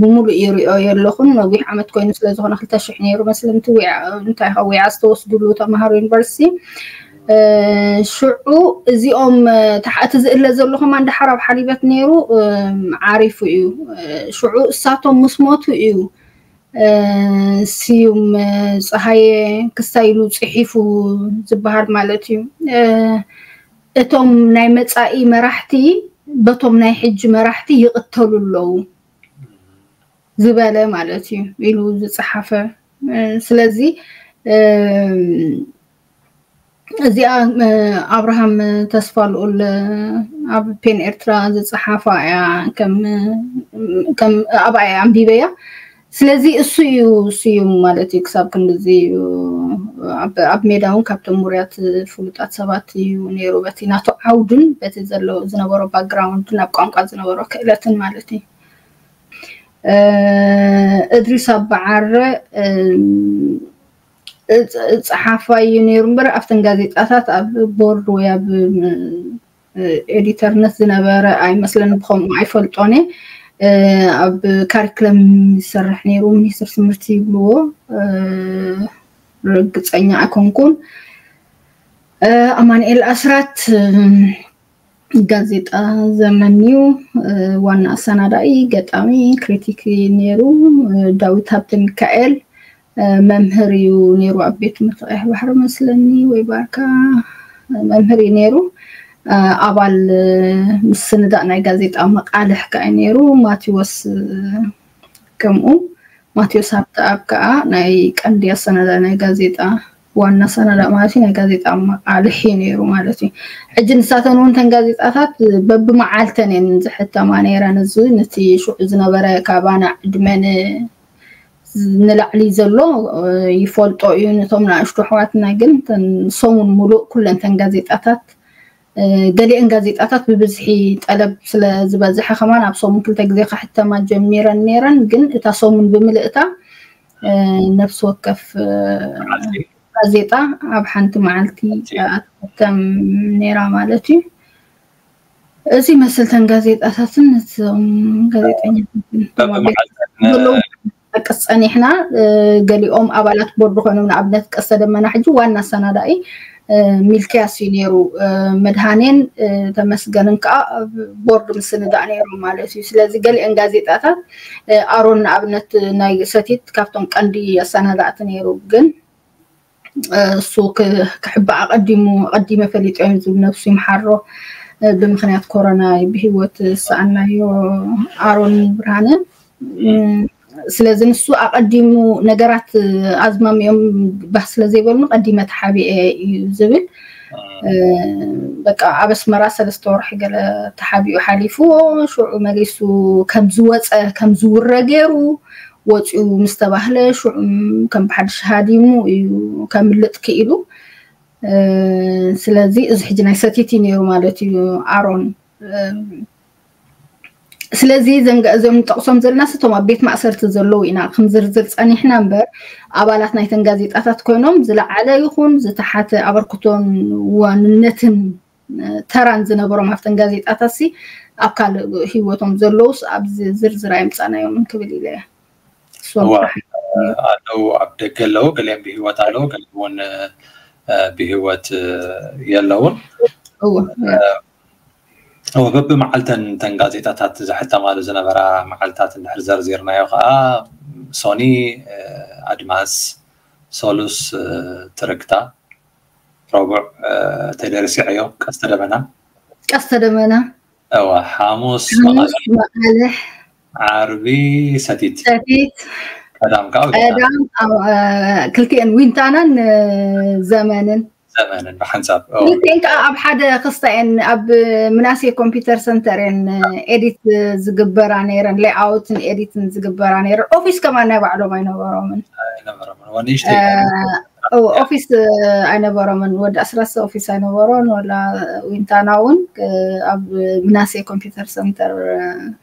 ብምሉእ ይሪኦ የለኹን። ነዊሕ ዓመት ኮይኑ ስለ ዝኾነ፣ ክልተ ሽሕ ነይሩ መስለኒ፣ እቲ ዊዓ፣ እንታይ ኸ ዊዓ ዝተወስድሉ ተምሃሮ ዩኒቨርሲቲ። እ፣ ሽዑ እዚኦም፣ እ፣ ተሓ-፣ እቲ ዝእለ ዘሎ ከማን ደሓር ኣብ ሓሊበት ነይሩ፣ እ፣ ዓሪፉ እዩ። እ፣ ሽዑ እሳቶም ምስ ሞቱ እዩ፣ እ፣ ስዩም፣ እ፣ ጸሃየ ክስታይ ኢሉ ጽሒፉ ዝበሃል ማለት እዩ። እ፣ እቶም ናይ መጻኢ መራሕቲ በቶም ናይ ሕጂ መራሕቲ ይቕተሉ ኣለዉ ዝበለ ማለት እዩ ኢሉ ዝጸሓፈ። እ፣ ስለዚ፣ እ፣ እዚኣ፣ እ፣ ኣብርሃም ተስፋልኡል ኣብ ፔን ኤርትራ ዝጸሓፋ እያ። ከም፣ ከም ኣብኣ እየ ኣንቢበያ። ስለዚ እሱ እዩ ስዩም ማለት እዩ። ክሳብ ክንድዚ እዩ ኣብ ሜዳ እውን ካብቶም ውሩያት ፍሉጣት ሰባት እዩ ነይሩ። በቲ ናቱ ዓውድን በቲ ዘሎ ዝነበሮ ባክግራውንድን ኣብ ቋንቋ ዝነበሮ ክእለትን ማለት እዩ። እድሪስ ኣባዓረ ጸሓፋይ እዩ ነይሩ እምበር ኣብተን ጋዜጣታት ኣብ ቦርድ ወይ ኣብ ኤዲተርነት ዝነበረ ኣይመስለን። ብኸምኡ ኣይፈልጦን እየ። ኣብ ካሪክለም ይሰርሕ ነይሩ፣ ሚኒስትር ትምህርቲ ይብልዎ፣ ርግፀኛ ኣይኮንኩን። ኣማንኤል ኣስራት ጋዜጣ ዘመን እዩ፣ ዋና ኣሰናዳኢ፣ ገጣሚ፣ ክሪቲክ ነይሩ። ዳዊት ሃብተ ሚካኤል መምህር እዩ ነይሩ ኣብ ቤት ትምህርቲ ቀይሕ ባሕሪ መስለኒ ወይ ባርካ መምህር እዩ ነይሩ። ኣባል ምስንዳእ ናይ ጋዜጣ መቃልሕ ከዓ እዩ ነይሩ። ማቴዎስ ከምኡ ማቴዎስ ሃብተኣብ ከዓ ናይ ቀንዲ ኣሰናዳኢ ናይ ጋዜጣ ዋና ኣሰናዳኢ ማለት እዩ፣ ናይ ጋዜጣ መቃልሕ እዩ ነይሩ ማለት እዩ። ሕጂ ንሳተን እውን ተን ጋዜጣታት በብመዓልተን እየን ዝሕተማ ነይረን። እዚ ነቲ ሽዑ ዝነበረ ካባና ዕድመን ንላዕሊ ዘሎ ይፈልጦ እዩ። ነቶም ንኣሽቱ ኣሕዋትና ግን ሰሙን ሙሉእ ኩለን ተን ጋዜጣታት፣ ገሊአን ጋዜጣታት ብብዝሒ ጠለብ ስለ ዝበዝሐ ከማን ኣብ ሰሙን ክልተ ግዜ ክሕተማ ጀሚረን ነይረን። ግን እታ ሰሙን ብምልእታ ነፍሲ ወከፍ ጋዜጣ ኣብ ሓንቲ መዓልቲ ኣትሕተም ነይራ ማለት እዩ። እዚ መስል ተን ጋዜጣታትን እቶም ጋዜጠኛታትን ጠቅስ ጸኒሕና። ገሊኦም ኣባላት ቦርድ ኮይኖም፣ ንኣብነት ቀስተ ደመና ሕጂ ዋና ኣሰናዳኢ ሚልክያስ እዩ ነይሩ። መድሃኔን ተመስገንን ከዓ ቦርድ ምስንዳእ ነይሮም ማለት እዩ። ስለዚ ገሊአን ጋዜጣታት ኣሮን ንኣብነት ናይ ሰቲት ካብቶም ቀንዲ ኣሰናዳእቲ ነይሩ። ግን እሱ ክሕባእ ኣቀዲሙ ኣቀዲመ ፈሊጦ እዮም ዝብል ነብሱ ይምሓሮ። ብምክንያት ኮሮና ብሂወት ዝሰኣናዮ ኣሮን ብርሃነ። ስለዚ ንሱ ኣቀዲሙ ነገራት ኣዝማሚኦም ባህ ስለ ዘይበሉኒ ቀዲመ ተሓቢኤ እዩ ዝብል። በቃ ኣብ ኣስመራ ሰለስተ ወርሒ ገለ ተሓቢኡ ሓሊፉዎ። ሽዑ መሊሱ ከም ዝወፀ ከም ዝውረ ገይሩ ወፂኡ ምስ ተባህለ ሽዑ ከም ብሓድሽ ሃዲሙ እዩ ከምልጥ ክኢሉ። ስለዚ እዚ ሕጂ ናይ ሰቲት እዩ ነይሩ ማለት እዩ ኣሮን። ስለዚ እዞም ንጠቕሶም ዘለና ስቶም ኣብ ቤት ማእሰርቲ ዘለዉ ኢና ክንዝርዝር ጸኒሕና እምበር ኣባላት ናይተን ጋዜጣታት ኮይኖም ዝለዓለ ይኹን ዝተሓተ ኣበርክቶን ዋንነትን ተራን ዝነበሮም ኣብተን ጋዜጣታት ሲ ኣብ ካልእ ህይወቶም ዘለዉስ ኣብዚ ዝርዝር ኣየምጻናዮምን ክብል ኢለ እየ። ኣለዉ፣ ኣብ ደገ ኣለዉ፣ ገሊኦም ብህይወት ኣለዉ፣ ገሊኦም እውን ብህይወት የለውን። እወ በቢ መዓልተን ተን ጋዜጣታት ዝሕተማሉ ዝነበራ መዓልታት እንድሕር ዘርዚርናዮ ከዓ ሶኒ ኣድማስ፣ ሶሉስ ትርክታ፣ ረቡዕ ተደርሲዐዮ ቀስተ ደመና። ቀስተ ደመና። እወ ሓሙስ መቃልሕ፣ ዓርቢ ሰቲት። ሰቲት። ቀዳም ከዓ ቀዳም። ክልቲኤን ዊንታናን ዘመንን። ዘመንን ብሓንሳብ። ክልቲኤን ከዓ ኣብ ሓደ ክስታ እየን ኣብ ምናሴ ኮምፒውተር ሰንተር እየን ኤዲት ዝግበራ ነይረን፣ ሌይኣውትን ኤዲትን ዝግበራ ነይረን። ኦፊስ ከማን ናይ ባዕሎም ኣይነበሮምን። ኣይነበሮምን። ወንእሽተይ ኦፊስ ኣይነበሮምን። ወዲ ኣስራሰ ኦፊስ ኣይነበሮን። ወላ ዊንታና እውን ኣብ ምናሴ ኮምፒውተር ሰንተር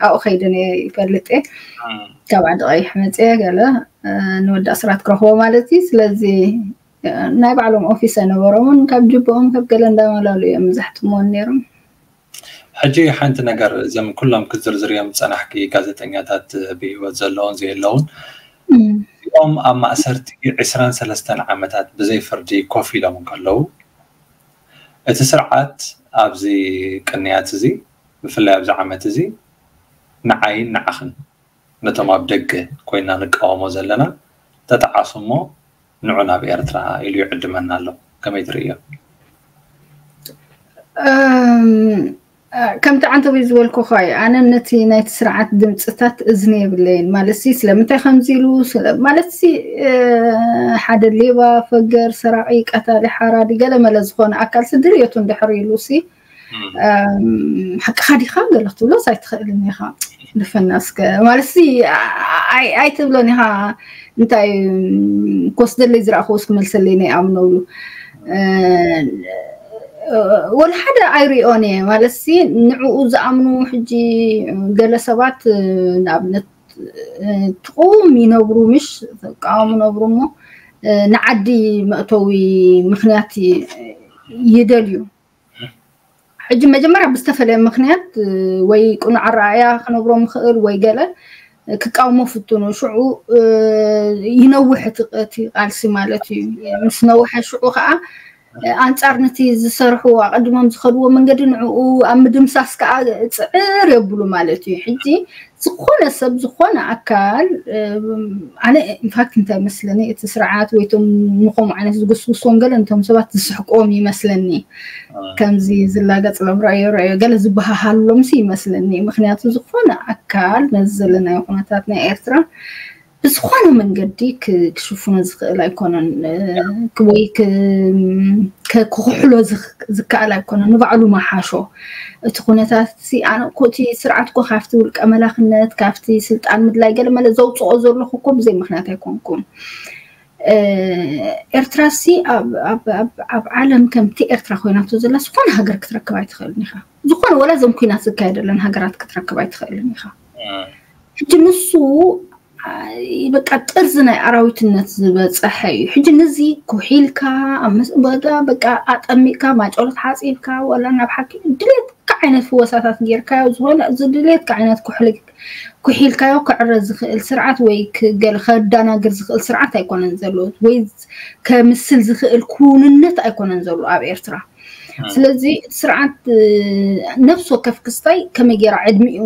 ኣብኡ ከይደ ነየ ይፈልጥ እየ። ካብ ዓዲ ቀይሕ መፅየ ገለ ንወዲ ኣስራት ክረኽቦ ማለት እዩ። ስለዚ ናይ ባዕሎም ኦፊስ ኣይነበሮምን። ካብ ጅቦኦም ካብ ገለ እንዳመላሉ እዮም ዘሕትምዎን ነይሮም። ሕጂ ሓንቲ ነገር፣ እዞም ኩሎም ክትዝርዝርዮም ዝጸናሕኪ ጋዜጠኛታት ብህይወት ዘለውን ዘየለውን፣ እዚኦም ኣብ ማእሰርቲ ዕስራን ሰለስተን ዓመታት ብዘይ ፍርዲ ኮፍ ኢሎም እንከለዉ፣ እቲ ስርዓት ኣብዚ ቅንያት እዚ፣ ብፍላይ ኣብዚ ዓመት እዚ፣ ንዓይን ንዓኽን ነቶም ኣብ ደገ ኮይና ንቃወሞ ዘለና ተጠዓሱ እሞ ንዑ ናብ ኤርትራ ኢሉ ይዕድመና ኣሎ። ከመይ ትርእዮ? ከምቲ ዓንተቦይ ዝበልኩኻ እዩ። ኣነ ነቲ ናይቲ ስርዓት ድምፅታት እዝኒ የብለይን። ማለት ሲ ስለምንታይ ከምዚ ኢሉ ስለ- ማለት ሲ ሓደ ሌባ፣ ፈገር፣ ሰራቂ፣ ቀታሊ፣ ሓራዲ ገለ መለ ዝኾነ ኣካል ሲ ድልየቱ እንድሕር ኢሉ ሲ ሓቅኻ ዲኻ ገለ ክትብሎስ ኣይትኽእልን ኢኻ። ልፈና እስከ ማለት ሲ ኣይትብሎን ኢኻ። እንታይ ኮስደለይ ዝረእኽዎ እስክመልሰለይ ናይ ኣምነብሉ ወላ ሓደ ኣይሪኦን እየ ማለት ሲ ንዕኡ ዝኣምኑ ሕጂ ገለ ሰባት ንኣብነት ትቑም ይነብሩ ምሽ ተቃወሙ ነብሩ እሞ ንዓዲ መእተዊ ምክንያት ይደልዩ። ሕጂ መጀመርያ ብዝተፈለየ ምክንያት ወይ ቁኑዕ ኣረኣያ ክነብሮም ይኽእል ወይ ገለ ክቃወሞ ፍትኑ ሽዑ ይነውሕ እቲ ቃልሲ ማለት እዩ። ምስ ነውሐ ሽዑ ከዓ ኣንጻር ነቲ ዝሰርሕዎ ኣቐድሞም ዝኸድዎ መንገዲ ንዕኡ ኣብ ምድምሳስ ከዓ ፅዕር የብሉ ማለት እዩ። ሕጂ ዝኾነ ሰብ ዝኾነ ኣካል ኣነ ኢንፋክት እንታይ መስለኒ እቲ ስርዓት ወይቶም ንኸምኡ ዓይነት ዝጉስጉሶም ገለ እንቶም ሰባት ዝስሕቅዎም ይመስለኒ። ከምዚ ዝላገጽሎም ረኣዮ ረኣዮ ገለ ዝበሃሃሎም ሲ ይመስለኒ። ምክንያቱ ዝኾነ ኣካል ነዚ ዘለናዮ ኩነታት ናይ ኤርትራ ብዝኾነ መንገዲ ክሽፍኖ ዝኽእል ኣይኮነን ወይ ክክሕሎ ዝከኣል ኣይኮነን። ንባዕሉ መሓሾ እቲ ኩነታት ኣነ እኮ እቲ ስርዓት እኮ ካብቲ ውልቀ መላክነት ካብቲ ስልጣን ምድላይ ገለ መለ ዘውፅኦ ዘለኹ እኮ ብዘይ ምክንያት ኣይኮንኩም። ኤርትራ ሲ ኣብ ዓለም ከምቲ ኤርትራ ኮይናቶ ዘላ ዝኾነ ሃገር ክትረክብ ኣይትኽእልን ኢኻ። ዝኾነ ወላ እዞም ኩናት ዝካየደለን ሃገራት ክትረክብ ኣይትኽእልን ኢኻ። ሕጂ ንሱ በቃ ጥርዚ ናይ ኣራዊትነት ዝበፀሐ እዩ። ሕጂ ንዚ ኩሒልካ በቃ ኣጠሚቅካ ማጨሎት ሓፂብካ ወላ ናብ ሓኪም ድሌትካ ዓይነት ፍወሳታት ጌርካዮ ዝኾነ ዝድሌትካ ዓይነት ኩሒልካዮ ክዕረ ዝኽእል ስርዓት ወይ ገለ ከዳናግር ዝኽእል ስርዓት ኣይኮነን ዘሎ ወይ ከምስል ዝኽእል ክውንነት ኣይኮነን ዘሎ ኣብ ኤርትራ። ስለዚ እቲ ስርዓት ነፍሲ ወከፍ ክስታይ ከመይ ገይራ ዕድሚኡ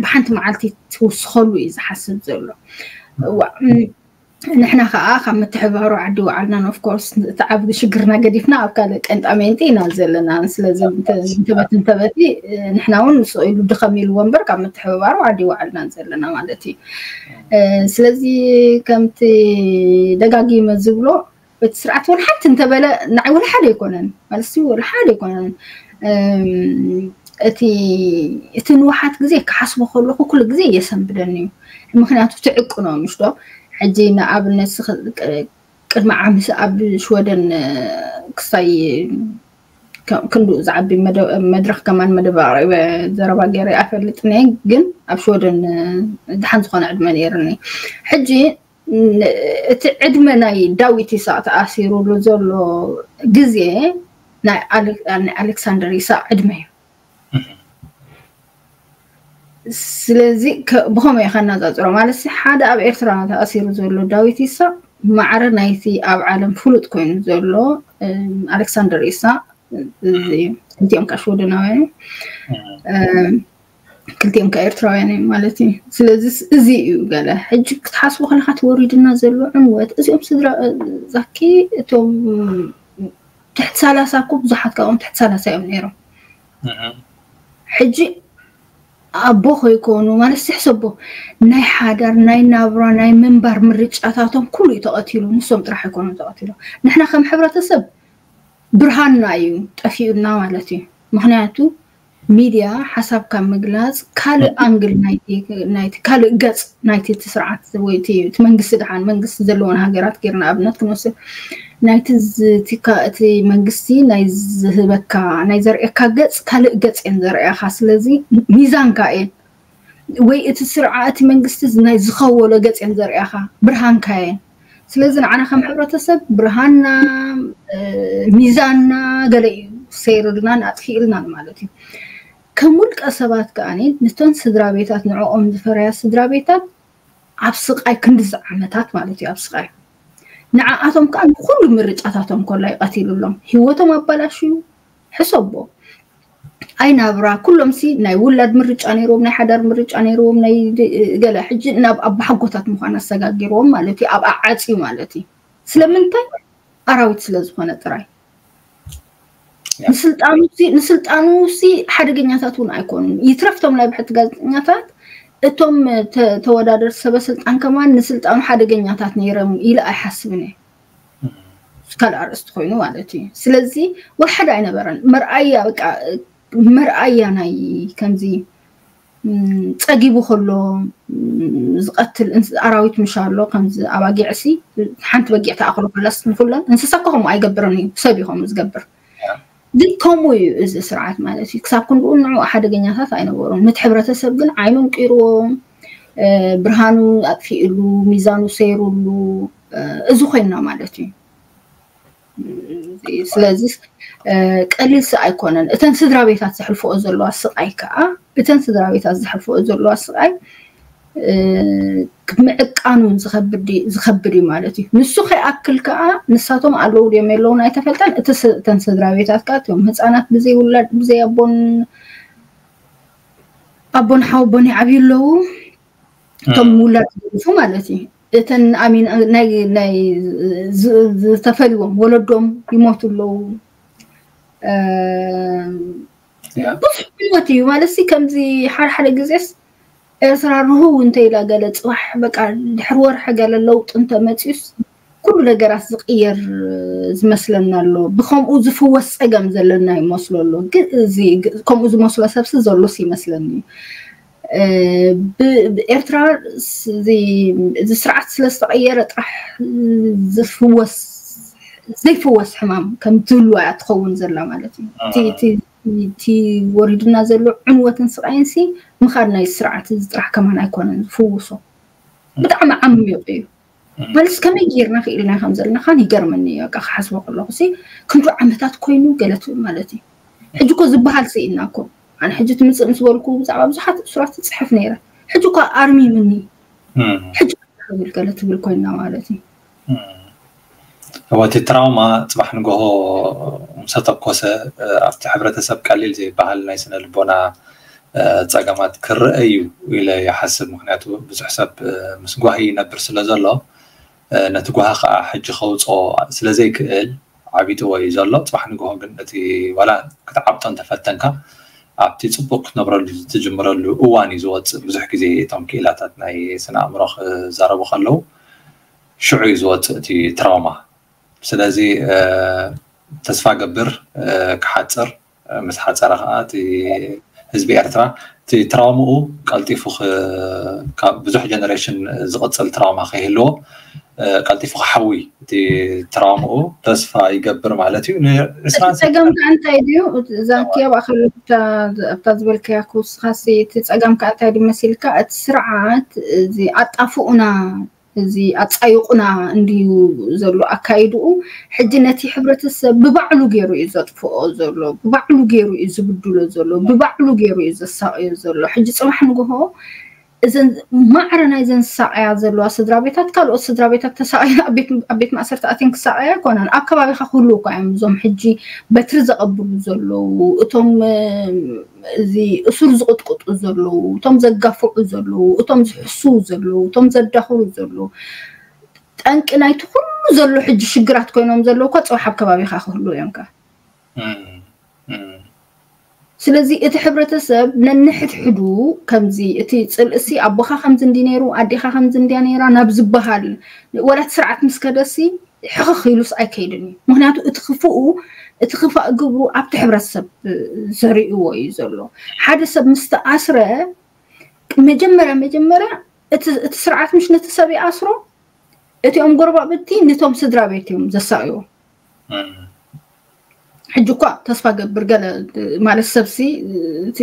ብሓንቲ መዓልቲ ትውስኸሉ እዩ ዝሓስብ ዘሎ። ንሕና ከዓ ካብ ምትሕባሩ ዓዲ ወዓልናን ኦፍኮርስ እቲ ዓብዲ ሽግርና ገዲፍና ኣብ ካልእ ቀንጣ ሜንጢ ኢና ዘለና። ስለዚ እንተበት እንተበቲ ንሕና እውን ስቕ ኢሉ ድኸም ኢልዎ እምበር ካብ ምትሕብባሩ ዓዲ ወዓልናን ዘለና ማለት እዩ። ስለዚ ከምቲ ደጋጊመ ዝብሎ እቲ ስርዓት ወላ ሓንቲ እንተበለ ንዓይ ወላ ሓደ ኣይኮነን ማለት ወላ ሓደ ኣይኮነን። እቲ እቲ ንውሓት ግዜ ክሓስቦ ከለኹ ኩሉ ግዜ የሰንብደኒ እዩ። ምክንያቱ ትዕቅኖ ምሽ ዶ ሕጂ ንኣብነት ቅድሚ ዓመት ኣብ ሽወደን ክሳይ ክንዱ ዝዓቢ መድረክ ከማን መደብ ኣቅሪበ ዘረባ ገይረ ኣፈልጥኒ ግን ኣብ ሽወደን ድሓን ዝኾነ ዕድመ ነይርኒ። ሕጂ እቲ ዕድመ ናይ ዳዊት ይስሐቅ ተኣሲሩሉ ዘሎ ግዜ ናይ ኣሌክሳንደር ይስሐቅ ዕድመ እዩ። ስለዚ ብኸመይ ከነፃፅሮ ማለት ሓደ ኣብ ኤርትራ ተኣሲሩ ዘሎ ዳዊት ይስሐቅ ማዕረ ናይቲ ኣብ ዓለም ፍሉጥ ኮይኑ ዘሎ ኣሌክሳንደር ይስሐቅ ክልቲኦም ከዓ ሽወደናውያን እዮም። ክልቲኦም ከዓ ኤርትራውያን እዮም ማለት እዩ። ስለዚ እዚ እዩ ገለ ሕጂ ክትሓስቡ ከለካ ተወሪድና ዘሎ ዕንወት እዚኦም ስድራ ዛኪ እቶም ትሕቲ ሰላሳ እኮ ብዙሓት ካብኦም ትሕቲ ሰላሳ እዮም ነይሮም። ሕጂ ኣቦ ከይኮኑ ማለት ሕሰቦ ናይ ሓዳር ናይ ናብራ ናይ ምንባር ምርጫታቶም ኩሉ እዩ ተቐቲሉ። ንሶም ጥራሕ ኣይኮኑን ተቐቲሎም። ንሕና ከም ሕብረተሰብ ብርሃንና እዩ ጠፊኡና ማለት እዩ። ምክንያቱ ሚድያ ሓሳብካ ምግላፅ ካልእ ኣንግል ናይቲ ካልእ ገፅ ናይቲ እቲ ስርዓት ወይ እቲ መንግስቲ ድሓን መንግስቲ ዘለዎን ሃገራት ጌርና ኣብነት ክንወስድ ናይቲ እቲ መንግስቲ ናይ ዝህበካ ናይ ዘርእየካ ገፅ ካልእ ገፅ እየን ዘርእያካ። ስለዚ ሚዛንካ እየን ወይ እቲ ስርዓት መንግስቲ ናይ ዝኸወሎ ገፅ እየን ዘርእያካ ብርሃንካ እየን። ስለዚ ንዓና ከም ሕብረተሰብ ብርሃንና ሚዛንና ገለ እዩ ሰይርልናን ኣጥፊእልናን ማለት እዩ። ከም ውልቀ ሰባት ከኣ ነተን ስድራ ቤታት ንዕኦም ዝፈረያ ስድራ ቤታት ኣብ ስቃይ ክንድዚ ዓመታት ማለት እዩ ኣብ ስቃይ ንዓኣቶም ከኣ ንኩሉ ምርጫታቶም ኮላ ይቀቲሉሎም ህይወቶም ኣባላሽዩ ሕሰቦ ኣይ ናብራ ኩሎም ሲ ናይ ውላድ ምርጫ ነይርዎም ናይ ሓዳር ምርጫ ነይርዎም ናይ ገለ ሕጂ ናብ ኣባሓጎታት ምዃን ኣሰጋጊርዎም ማለት እዩ ኣብ ኣዓፅዩ ማለት እዩ ስለምንታይ ኣራዊት ስለ ዝኾነ ጥራይ ንስልጣኑ ሲ ሓደገኛታት እውን ኣይኮኑን ይትረፍቶም ናይ ብሕቲ ጋዜጠኛታት እቶም ተወዳደርቲ ሰበ ስልጣን ከማን ንስልጣኑ ሓደገኛታት ነይሮም ኢለ ኣይሓስብን እየ ካልእ ኣርእስቲ ኮይኑ ማለት እዩ ስለዚ ወላ ሓደ ኣይነበረን መርኣያ በቃ መርኣያ ናይ ከምዚ ጸጊቡ ከሎ ዝቀትል ኣራዊት ምሽ ኣሎ። ከምዚ ኣባጊዕሲ ሓንቲ በጊዕ ተኣክሎ ከላስ ንኩለን እንስሳ እኮ ከምኡ ኣይገብርን እዩ፣ ሰብ እዩ ከምኡ ዝገብር። ግን ከምኡ እዩ እዚ ስርዓት ማለት እዩ። ክሳብ ክንድኡ ንዑ ሓደገኛታት ኣይነበሩን። ነቲ ሕብረተሰብ ግን ዓይኖም ቅይርዎ፣ ብርሃኑ ኣጥፊእሉ፣ ሚዛኑ ሰይሩሉ፣ እዚ ኮይና ማለት እዩ። ስለዚ ቀሊል ስ ኣይኮነን። እተን ስድራ ቤታት ዘሕልፈኦ ዘለዋ ስቃይ ከዓ እተን ስድራ ቤታት ዘሕልፈኦ ዘለዋ ስቃይ ምዕቃኑ ዝኸብድ እዩ ማለት እዩ። ንሱ ከይኣክል ከዓ ንሳቶም ኣለዉ ድዮም የለውን ኣይተፈልጠን። እቲ እተን ስድራ ቤታት ከዓ እቶም ህፃናት ብዘይ ውላድ ብዘይ ኣቦን ኣቦን ሓወቦን ይዓብዩ ኣለዉ። እቶም ውላድ ዝሞቱ ማለት እዩ። እተን ኣሚን ናይ ናይ ዝተፈልዎም ወለዶም ይሞቱ ኣለዉ። ብዙሕ ህይወት እዩ ማለት ሲ ከምዚ ሓደ ሓደ ግዜስ ኤርትራ ርህው እንተ ኢላ ገለ ፅባሕ በቃ ድሕሪ ወርሒ ገለ ለውጢ እንተመፅዩስ ኩሉ ነገራት ዝቅየር ዝመስለና ኣሎ። ብከምኡ ዝፍወስ ፀገም ዘለና ይመስሎ ኣሎ። ግን እዚ ከምኡ ዝመስሎ ሰብሲ ዘሎስ ይመስለኒ። ኤርትራ እዚ ስርዓት ስለዝተቀየረ ጥራሕ ዝፍወስ ዘይፍወስ ሕማም ከም ዝህልዋ እያ ትኸውን ዘላ ማለት እዩ። እቲ ወሪድና ዘሎ ዕንወትን ስቃይን ሲ ምኻድ ናይ ስርዓት እዚ ጥራሕ ከማን ኣይኮነን ዝፍውሶ። ብጣዕሚ ዓሚቕ እዩ። ማለት ከመይ ጌርና ክኢልና ከም ዘለናኻን ይገርመኒ እዩ። በቃ ክሓስቦ ከለኹ ሲ ክንዱ ዓመታት ኮይኑ ገለ ትብል ማለት እዩ። ሕጂ እኮ ዝበሃል ስኢና እኮ ኣነ ሕጂ ትምፅእ ምስ በልኩ ብዛዕባ ብዙሓት እሱራት ትፅሕፍ ነይረ። ሕጂ እኳ ኣርሚምኒ ሕጂ ክብል ገለ ትብል ኮይና ማለት እዩ። እወ እቲ ትራውማ ፅባሕ ንግሆ ምሰተኮሰ ኣብቲ ሕብረተሰብ ቀሊል ዘይበሃል ናይ ስነ ልቦና ፀገማት ክረአ እዩ ኢለ ይሓስብ። ምክንያቱ ብዙሕ ሰብ ምስ ጓሂ ይነብር ስለ ዘሎ ነቲ ጓሂ ከዓ ሕጂ ከውፅኦ ስለ ዘይክእል ዓቢጥዎ እዩ ዘሎ። ፅባሕ ንግሆ ግን እቲ ዋላ ክትዓብጦ እንተፈተንካ ኣብቲ ፅቡቅ ክትነብረሉ ትጅምረሉ እዋን እዩ ዝወፅእ። ብዙሕ ግዜ እቶም ክኢላታት ናይ ስነ ኣእምሮ ክዛረቡ ከለዉ ሽዑ እዩ ዝወፅእ እቲ ትራውማ። ስለዚ ተስፋ ገብር ክሓፅር ምስ ሓፀረ ከዓ እቲ ህዝቢ ኤርትራ እቲ ትራውምኡ ቀልጢፉ ካብ ብዙሕ ጀነሬሽን ዝቕፅል ትራውማ ከይህልዎ ቀልጢፉ ክሓዊ እቲ ትራውምኡ ተስፋ ይገብር ማለት እዩ። ንዕስራን ጸገም ከዓ እንታይ ድዩ? ዛኪ ኣብ ኣኸል ኣብታ ዝበልካያ ክውስኻሲ እቲ ጸገም ከዓ እንታይ ድዩ መሲልካ? እቲ ስርዓት እዚ ኣጣፍኡና እዚ ኣጻይቑና እንድዩ ዘሎ ኣካይድኡ። ሕጂ ነቲ ሕብረተሰብ ብባዕሉ ገይሩ እዩ ዘጥፍኦ ዘሎ፣ ብባዕሉ ገይሩ እዩ ዝብድሎ ዘሎ፣ ብባዕሉ ገይሩ እዩ ዘሳቕዮ ዘሎ። ሕጂ ጽባሕ ንግሆ እዘን ማዕረ ናይዘን ዝሳቐያ ዘለዋ ስድራ ቤታት ካልኦት ስድራ ቤታት ተሳቐያ ኣብ ቤት ማእሰርቲ ኣትየን ክሳቐያ ኣይኮናን። ኣብ ከባቢኻ ክህልዉ እኳ እዮም እዞም ሕጂ በትሪ ዘቐብሉ ዘለዉ፣ እቶም እዚ እሱር ዝቕጥቅጡ ዘለዉ፣ እቶም ዘጋፍዑ ዘለዉ፣ እቶም ዝሕስዉ ዘለዉ፣ እቶም ዘዳኽሩ ዘለዉ። ጠንቂ ናይቲ ኩሉ ዘሎ ሕጂ ሽግራት ኮይኖም ዘለዉ እኳ ጽባሕ ኣብ ከባቢኻ ክህልዉ እዮም ከ። ስለዚ እቲ ሕብረተሰብ ነንሕድሕዱ ከምዚ እቲ ጽልእሲ ኣቦኻ ከምዚ እንዲ ነይሩ ኣዴኻ ከምዚ እንድያ ነይራ ናብ ዝበሃል ወላ እቲ ስርዓት ምስ ከደሲ ሕኽኽ ኢሉስ ኣይከይድን እዩ። ምክንያቱ እቲ ክፍኡ እቲ ክፋእ ግብሩ ኣብቲ ሕብረተሰብ ዘርእዎ እዩ ዘሎ። ሓደ ሰብ ምስ ተኣስረ መጀመርያ መጀመርያ እቲ ስርዓት ምሽ ነቲ ሰብ ይኣስሮ፣ እቲኦም ጎረባብቲ ንቶም ስድራ ቤት እዮም ዘሳቕይዎ። ሕጂ እኳ ተስፋ ገብር ገለ ማለት ሰብሲ እቲ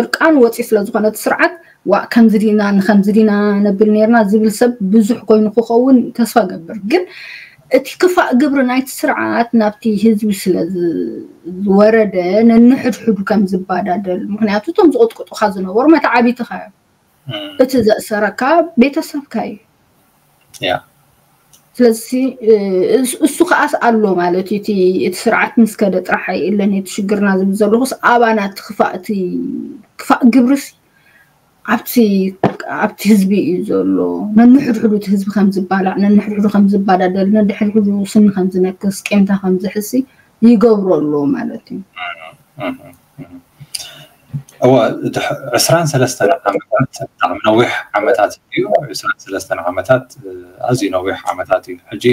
እርቃን ወፂ ስለ ዝኾነ እቲ ስርዓት ዋእ ከምዚ ዲና ንከምዚ ዲና ነብል ነርና ዝብል ሰብ ብዙሕ ኮይኑ ክኸውን ተስፋ ገብር። ግን እቲ ክፋእ ግብሪ ናይቲ ስርዓት ናብቲ ህዝቢ ስለ ዝወረደ ነንሕድሕዱ ከም ዝባዳደል፣ ምክንያቱ እቶም ዝቕጥቅጡካ ዝነበሩ መተዓቢትኻ እዮም። እቲ ዘእሰረካ ቤተሰብካ እዩ። ያ ስለዚ እሱ ከዓስ ኣሎ ማለት እዩ። እቲ ስርዓት ምስ ከደ ጥራሕ ኣይእለን እቲ ሽግርና ዝብል ዘለኹስ ኣባና እቲ ክፋእ እቲ ክፋእ ግብርስ ኣብቲ ኣብቲ ህዝቢ እዩ ዘሎ። ነንሕድሕዱ እቲ ህዝቢ ከም ዝባላዕ፣ ነንሕድሕዱ ከም ዝባዳደል፣ ነንድሕድሕዱ ስኒ ከም ዝነክስ፣ ቂምታ ከም ዝሕሲ ይገብሮ ኣሎ ማለት እዩ። እወ ዕስራን ሰለስተን ዓመታት ብጣዕሚ ነዊሕ ዓመታት እዩ። ዕስራን ሰለስተን ዓመታት ኣዝዩ ነዊሕ ዓመታት እዩ። ሕጂ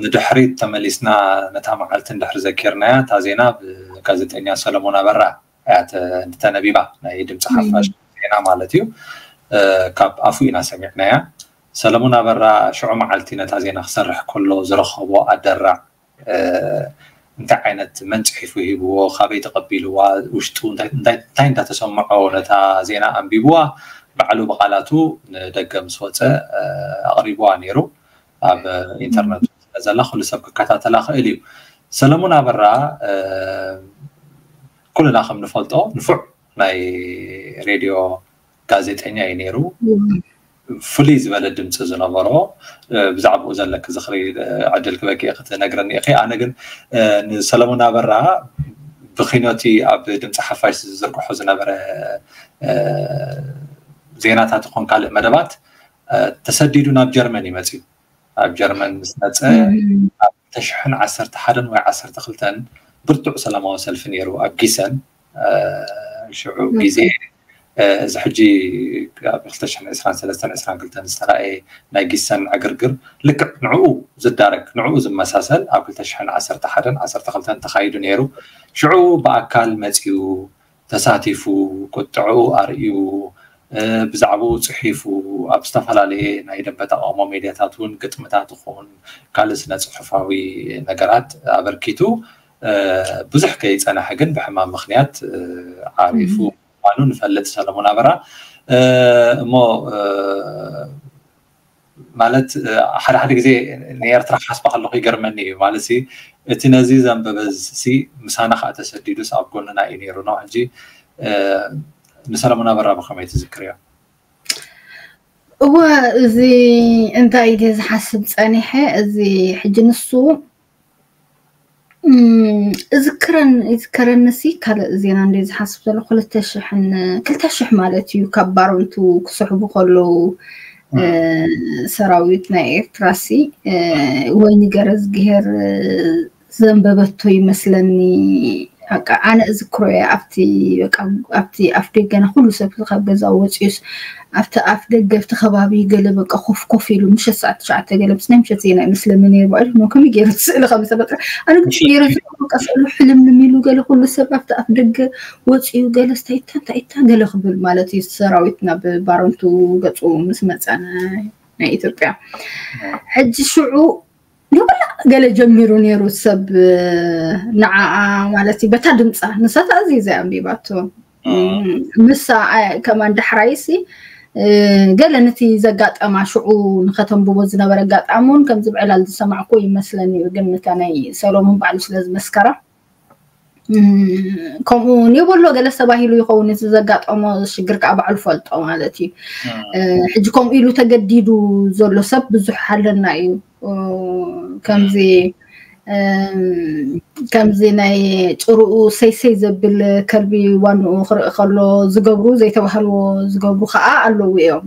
ንድሕሪት ተመሊስና ነታ መዓልቲ እንድሕሪ ዘኪርናያ እታ ዜና ብጋዜጠኛ ሰለሞን ኣበራ እያ ተነቢባ፣ ናይ ድምፂ ሓፋሽ ዜና ማለት እዩ። ካብ ኣፉ ኢና ሰሚዕናያ። ሰለሙን ኣበራ ሽዑ መዓልቲ ነታ ዜና ክሰርሕ ከሎ ዝረኸቦ ኣደራዕ እንታይ ዓይነት መን ፅሒፉ ሂብዎ፣ ካበይ ተቐቢልዋ፣ ውሽጡ እንታይ እንዳተሰምዖ ነታ ዜና ኣንቢብዋ፣ ባዕሉ ብቓላቱ ንደገ ምስ ወፀ ኣቕሪብዋ ነይሩ። ኣብ ኢንተርነት ዘላ ኩሉ ሰብ ክከታተላ ክእል እዩ። ሰለሙን ኣበራ ኩልና ከም ንፈልጦ ንፉዕ ናይ ሬድዮ ጋዜጠኛ እዩ ነይሩ። ፍሉይ ዝበለ ድምፂ ዝነበሮ፣ ብዛዕባኡ ዘለኪ ዝኽሪ ዕድል ክበኪ ክትነግረኒ ኢኺ። ኣነ ግን ንሰለሙን ኣበራ ብኪኖቲ ኣብ ድምፂ ሓፋሽ ዝዝርግሖ ዝነበረ ዜናታት ይኹን ካልእ መደባት ተሰዲዱ ናብ ጀርመን እዩ መፅዩ። ኣብ ጀርመን ምስ መፀ ኣብ ክልተ ሽሕን ዓሰርተ ሓደን ወይ ዓሰርተ ክልተን ብርቱዕ ሰላማዊ ሰልፊ ነይሩ ኣብ ጊሰን። ሽዑ ግዜ እዚ ሕጂ ኣብ ክልተ ሽሕን ዕስራን ሰለስተን ዕስራን ክልተን ዝተራእየ ናይ ጊሰን ዕግርግር ልክዕ ንዕኡ ዝዳረግ፣ ንዕኡ ዝመሳሰል ኣብ ክልተ ሽሕን ዓሰርተ ሓደን ዓሰርተ ክልተን ተኻይዱ ነይሩ። ሽዑ ብኣካል መፂኡ ተሳቲፉ፣ ቁጥዕኡ ኣርእዩ፣ ብዛዕባኡ ፅሒፉ፣ ኣብ ዝተፈላለየ ናይ ደንበ ተቃውሞ ሜድያታት እውን ግጥምታት ይኹን ካልእ ስነ ፅሑፋዊ ነገራት ኣበርኪቱ። ብዙሕ ከይፀናሐ ግን ብሕማም ምኽንያት ዓሪፉ ምዃኑ ንፈልጥ። ሰለሙን ኣበራ እሞ ማለት ሓደ ሓደ ግዜ ንኤርትራ ክሓስባ ከለኹ ይገርመኒ እዩ። ማለት እቲ ነዚ ዘንበበ ሲ ምሳና ከዓ ተሰዲዱስ ኣብ ጎንና እዩ ነይሩ ነው። ሕጂ ንሰለሙን ኣበራ ብኸመይ ትዝክርዮ? እወ፣ እዚ እንታይ ድየ ዝሓስብ ፀኒሐ፣ እዚ ሕጂ ንሱ እዝክረን ይዝከረኒ ሲ ካልእ ዜና እንደ ዝሓስብ ዘሎ ክልተ ሽሕን ክልተ ሽሕ ማለት እዩ። ካብ ባረንቱ ክስሕቡ ከለዉ ሰራዊት ናይ ኤርትራ ሲ ወይኒ ገረዝግሄር ዘንበበቶ ይመስለኒ። በቃ ኣነ እዝክሮ እየ። ኣብቲ በቃ ኣብቲ ኣፍ ደገና ኩሉ ሰብ ካብ ገዛ ወፂኡስ ኣብቲ ኣፍ ደገ ኣብቲ ከባቢ ገለ በቃ ኮፍ ኮፍ ኢሉ ምሸት ሰዓት ትሽዓተ ገለ ምስ ናይ ምሸት ዜና ይመስለኒ ነይሩ። ባዕሉ ነው ከመይ ገይሩ እቲ ስእሊ ከም ዝተፈጥረ ኣነ ግን ገይሩ በቃ ስእሉ ሕልምልም ኢሉ ገለ ኩሉ ሰብ ኣብቲ ኣፍ ደገ ወፂኡ ገለ ስታይታ እንታይታ ገለ ክብል ማለት እዩ። ሰራዊት ናብ ባረንቱ ገፁ ምስ መፀ ናይ ኢትዮጵያ ሕጂ ሽዑ ንብላ ገለ ጀሚሩ ነይሩ ሰብ ንዓኣ ማለት እዩ በታ ድምፃ ንሳ ተኣዚዘ ኣንቢባቶ ምሳ ከማን ዳሕራይሲ ገለ ነቲ ዘጋጠማ ሽዑ ንኸተንብቦ ዝነበረ ኣጋጣሚ እውን ከምዚ ብዕላል ዝሰማዕኩ ይመስለኒ እዩ። ግን ነታ ናይ ሰሎሙን ባዕሉ ስለ ዝመስከራ ከምኡ የበሎ ገለ ተባሂሉ ይኸውን እቲ ዘጋጠሞ ሽግር ከዓ ባዕሉ ፈልጦ ማለት እዩ። ሕጂ ከምኡ ኢሉ ተገዲዱ ዘሎ ሰብ ብዙሕ ኣለና እዩ። ከምዚ ከምዚ ናይ ጭርኡ ሰይሰይ ዘብል ከልቢ ዋንኡ ክርኢ ከሎ ዝገብሩ ዘይተባህልዎ ዝገብሩ ከዓ ኣለዉ እዮም።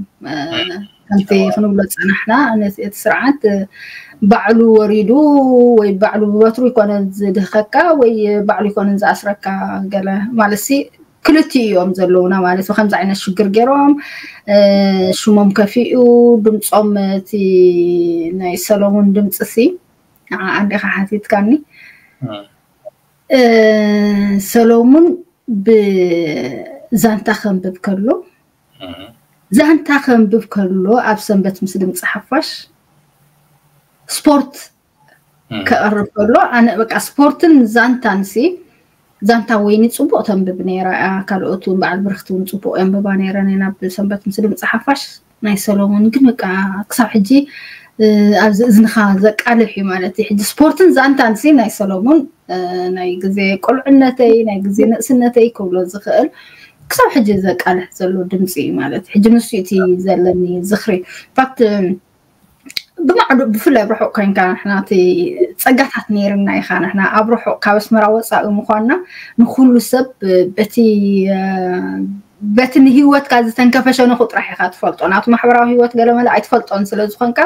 ከምቲ ክንብሎ ዝፀናሕና እቲ ስርዓት ባዕሉ ወሪዱ ወይ ባዕሉ ብበትሩ ይኮነን ዝድህከካ ወይ ባዕሉ ይኮነን ዝኣስረካ ገለ ማለት ሲ ክልቲኡ እዮም ዘለውና ማለት ከምዚ ዓይነት ሽግር ገይሮም ሽሞም ከፊኡ ድምፆም እቲ ናይ ሰሎሙን ድምፂ ሲ ንዓ እንዲኻ ሓቲትካኒ ሰሎሙን ብዛንታ ከንብብ ከሎ ዛንታ ከንብብ ከሎ ኣብ ሰንበት ምስ ድምፂ ሓፋሽ ስፖርት ከቕርብ ከሎ ኣነ በቃ ስፖርትን ዛንታን ሲ ዛንታ ወይኒ ፅቡቕ ተንብብ ነይራ እያ። ካልኦት እውን በዓል ብርክቲ እውን ፅቡቕ የንብባ ነይረን እየን ኣብ ሰንበት ምስ ድምፂ ሓፋሽ ናይ ሰሎሞን ግን በቃ ክሳብ ሕጂ ኣብዚ እዝንኻ ዘቃልሕ እዩ ማለት እዩ። ሕጂ ስፖርትን ዛንታን ሲ ናይ ሰሎሞን ናይ ግዜ ቁልዕነተይ ናይ ግዜ ንእስነተይ ክብሎ ዝኽእል ክሳብ ሕጂ ዘቃልሕ ዘሎ ድምፂ እዩ ማለት እዩ። ሕጂ ንሱ እቲ ዘለኒ ዝኽሪ ፋክት ብማዕዶ ብፍላይ ኣብ ርሑቕ ኮይንካ ንሕና እቲ ፀጋታት ነይርና ኢኻ ንሕና ኣብ ርሑቕ ካብ ኣስመራ ወፃኢ ምኳንና ንኩሉ ሰብ በቲ በቲ ንሂወትካ ዝተንከፈ ሸነኹ ጥራሕ ኢኻ ትፈልጦ ናቱ ማሕበራዊ ሂወት ገለመለ ኣይትፈልጦን ስለ ዝኾንካ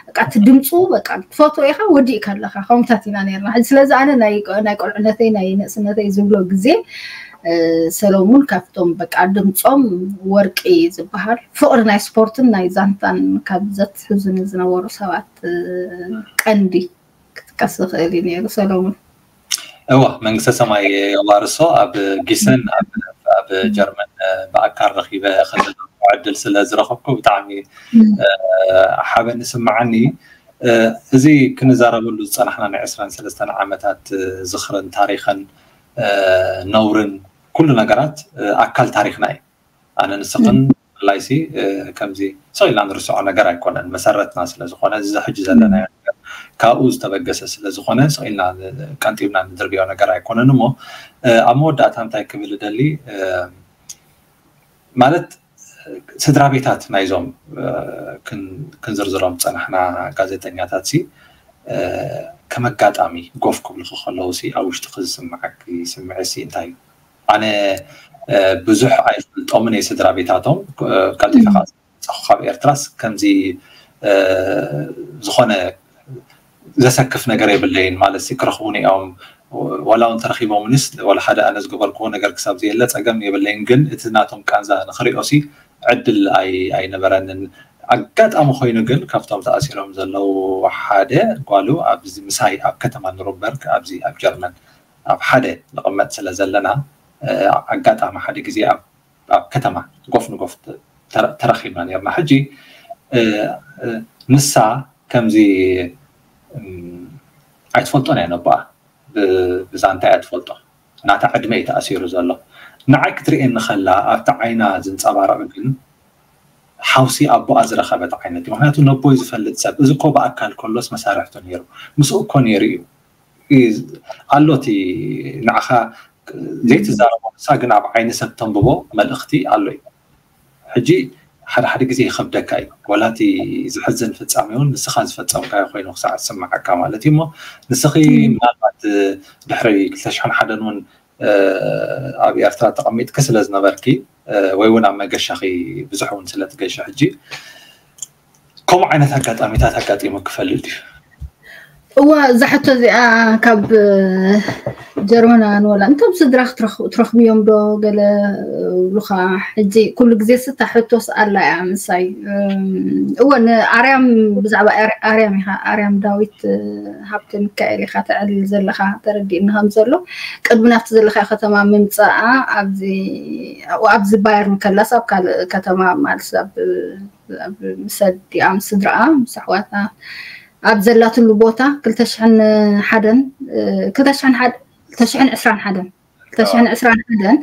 በቃ እቲ ድምፁ በቃ ትፈትዎ ኢኻ ወዲእካ ኣለኻ ከምታት ኢና ነርና ስለዚ ኣነ ናይ ቆልዕነተይ ናይ ንእስነተይ ዝብሎ ግዜ ሰሎሙን ካብቶም በቃ ድምፆም ወርቂ ዝበሃል ፍቕሪ ናይ ስፖርትን ናይ ዛንታን ካብ ዘትሕዙኒ ዝነበሩ ሰባት ቀንዲ ክጥቀስ ዝኽእል እዩ ነይሩ ሰሎሙን። እዋ መንግስተ ሰማይ የዋርሶ ኣብ ጊሰን ኣብ ኣብ ጀርመን ብኣካል ረኺበ ከዘራርቦ ዕድል ስለ ዝረኸብኩ ብጣዕሚ ሓበን ይስምዓኒ። እዚ ክንዛረበሉ ዝጸናሕና ናይ ዕስራን ሰለስተን ዓመታት ዝኽርን ታሪኽን ነውርን ኩሉ ነገራት ኣካል ታሪኽና እዩ። ኣነ ንስኽን ብፍላይሲ ከምዚ ስቕ ኢልና ንርስዖ ነገር ኣይኮነን። መሰረትና ስለ ዝኾነ፣ እዚ ሕጂ ዘለናዮ ነገር ካብኡ ዝተበገሰ ስለ ዝኾነ ስቕ ኢልና ቀንጢብና ንድርብዮ ነገር ኣይኮነን። እሞ ኣብ መወዳእታ እንታይ ክብል እደሊ ማለት፣ ስድራ ቤታት ናይዞም ክንዝርዝሮም ዝጸናሕና ጋዜጠኛታት ሲ ከም ኣጋጣሚ ጎፍ ክብሉኺ ከለዉ ሲ ኣብ ውሽጥኺ ዝስምዓኪ ስምዒት ሲ እንታይ እዩ? ኣነ ብዙሕ ኣይፈልጦምን እየ ስድራ ቤታቶም። ቀልጢፈ ካብ ኤርትራስ ከምዚ ዝኾነ ዘሰክፍ ነገር የብለይን ማለት ሲ ክረኽቡኒ እዮም። ዋላ እውን ተረኺቦምንስ ዋላ ሓደ ኣነ ዝገበርክዎ ነገር ክሳብ ዘየለ ጸገም የብለይን። ግን እቲ ናቶም ቃንዛ ንኽሪኦ ሲ ዕድል ኣይነበረንን። ኣጋጣሚ ኮይኑ ግን ካብቶም ተኣሲሮም ዘለዉ ሓደ ጓሉ ኣብዚ ምሳይ ኣብ ከተማ ኑርንበርግ ኣብዚ ኣብ ጀርመን ኣብ ሓደ ንቕመጥ ስለ ዘለና ኣጋጣሚ ሓደ ግዜ ኣብ ከተማ ጎፍ ንጎፍ ተረኺብና ነርና። ሕጂ ንሳ ከምዚ ኣይትፈልጦን እያ ነቦኣ ብዛንታ እያ ትፈልጦ። ናታ ዕድመ እዩ ተኣሲሩ ዘሎ። ንዓይ ክትርእየኒ ከላ ኣብቲ ዓይና ዝንጸባረቕ ግን ሓውሲ ኣቦኣ ዝረኸበት ዓይነት እዩ። ምክንያቱ ነቦይ ዝፈልጥ ሰብ እዚ እኮ ብኣካል ከሎስ መሳርሕቱ ነይሩ፣ ምስኡ እኮ ነይሩ እዩ። ኣሎ እቲ ንዓኻ ዘይትዛረቦ ንሳ ግን ኣብ ዓይኒ ሰብ ተንብቦ መልእኽቲ ኣሎ እዩ። ሕጂ ሓደ ሓደ ግዜ ይኸብደካ እዩ። ወላ እቲ ዝሕዝን ፍጻሜ እውን ንስኻ ዝፈጸምካዮ ኮይኑ ክሳዕ ዝስምዓካ ማለት እዩ። እሞ ንስኺ ምናልባት ድሕሪ ክልተ ሽሕን ሓደን እውን ኣብ ኤርትራ ተቐሚጥኪ ስለ ዝነበርኪ ወይ እውን ኣብ መገሻኺ ብዙሕ እውን ስለ ትገሺ ሕጂ ከምኡ ዓይነት ኣጋጣሚታት ኣጋጢሙ ክፈልጥ ድዩ? እዋ እዛ ሕቶ እዚኣ ካብ ጀርመናውያን ወላ እንቶም ስድራ ክትረኽብዮም ዶ ገለ ብሉኻ? ሕጂ ኩሉ ግዜ ስታ ሕቶስ ኣላ እያ ምሳይ። እወ ንኣርያም ብዛዕባ ኣርያም ኢኻ ኣርያም ዳዊት ሃብተ ሚካኤል ኢኻ ተዕልል ዘለኻ ተረዲእኒ ከም ዘሎ ቅድሚ ናብቲ ዘለኻዮ ከተማ ምምፃኣ ኣብዚ ኣብዚ ባየርን ከላስ ኣብ ካልእ ከተማ ማለት ኣብ ኣብ ምስ ኣዲኣ ምስ ስድራኣ ምስ ኣሕዋታ ኣብ ዘላትሉ ቦታ ክልተ ሽሕን ሓደን ክልተ ሽሕን ዕስራን ሓደን ክልተ ሽሕን ዕስራን ሓደን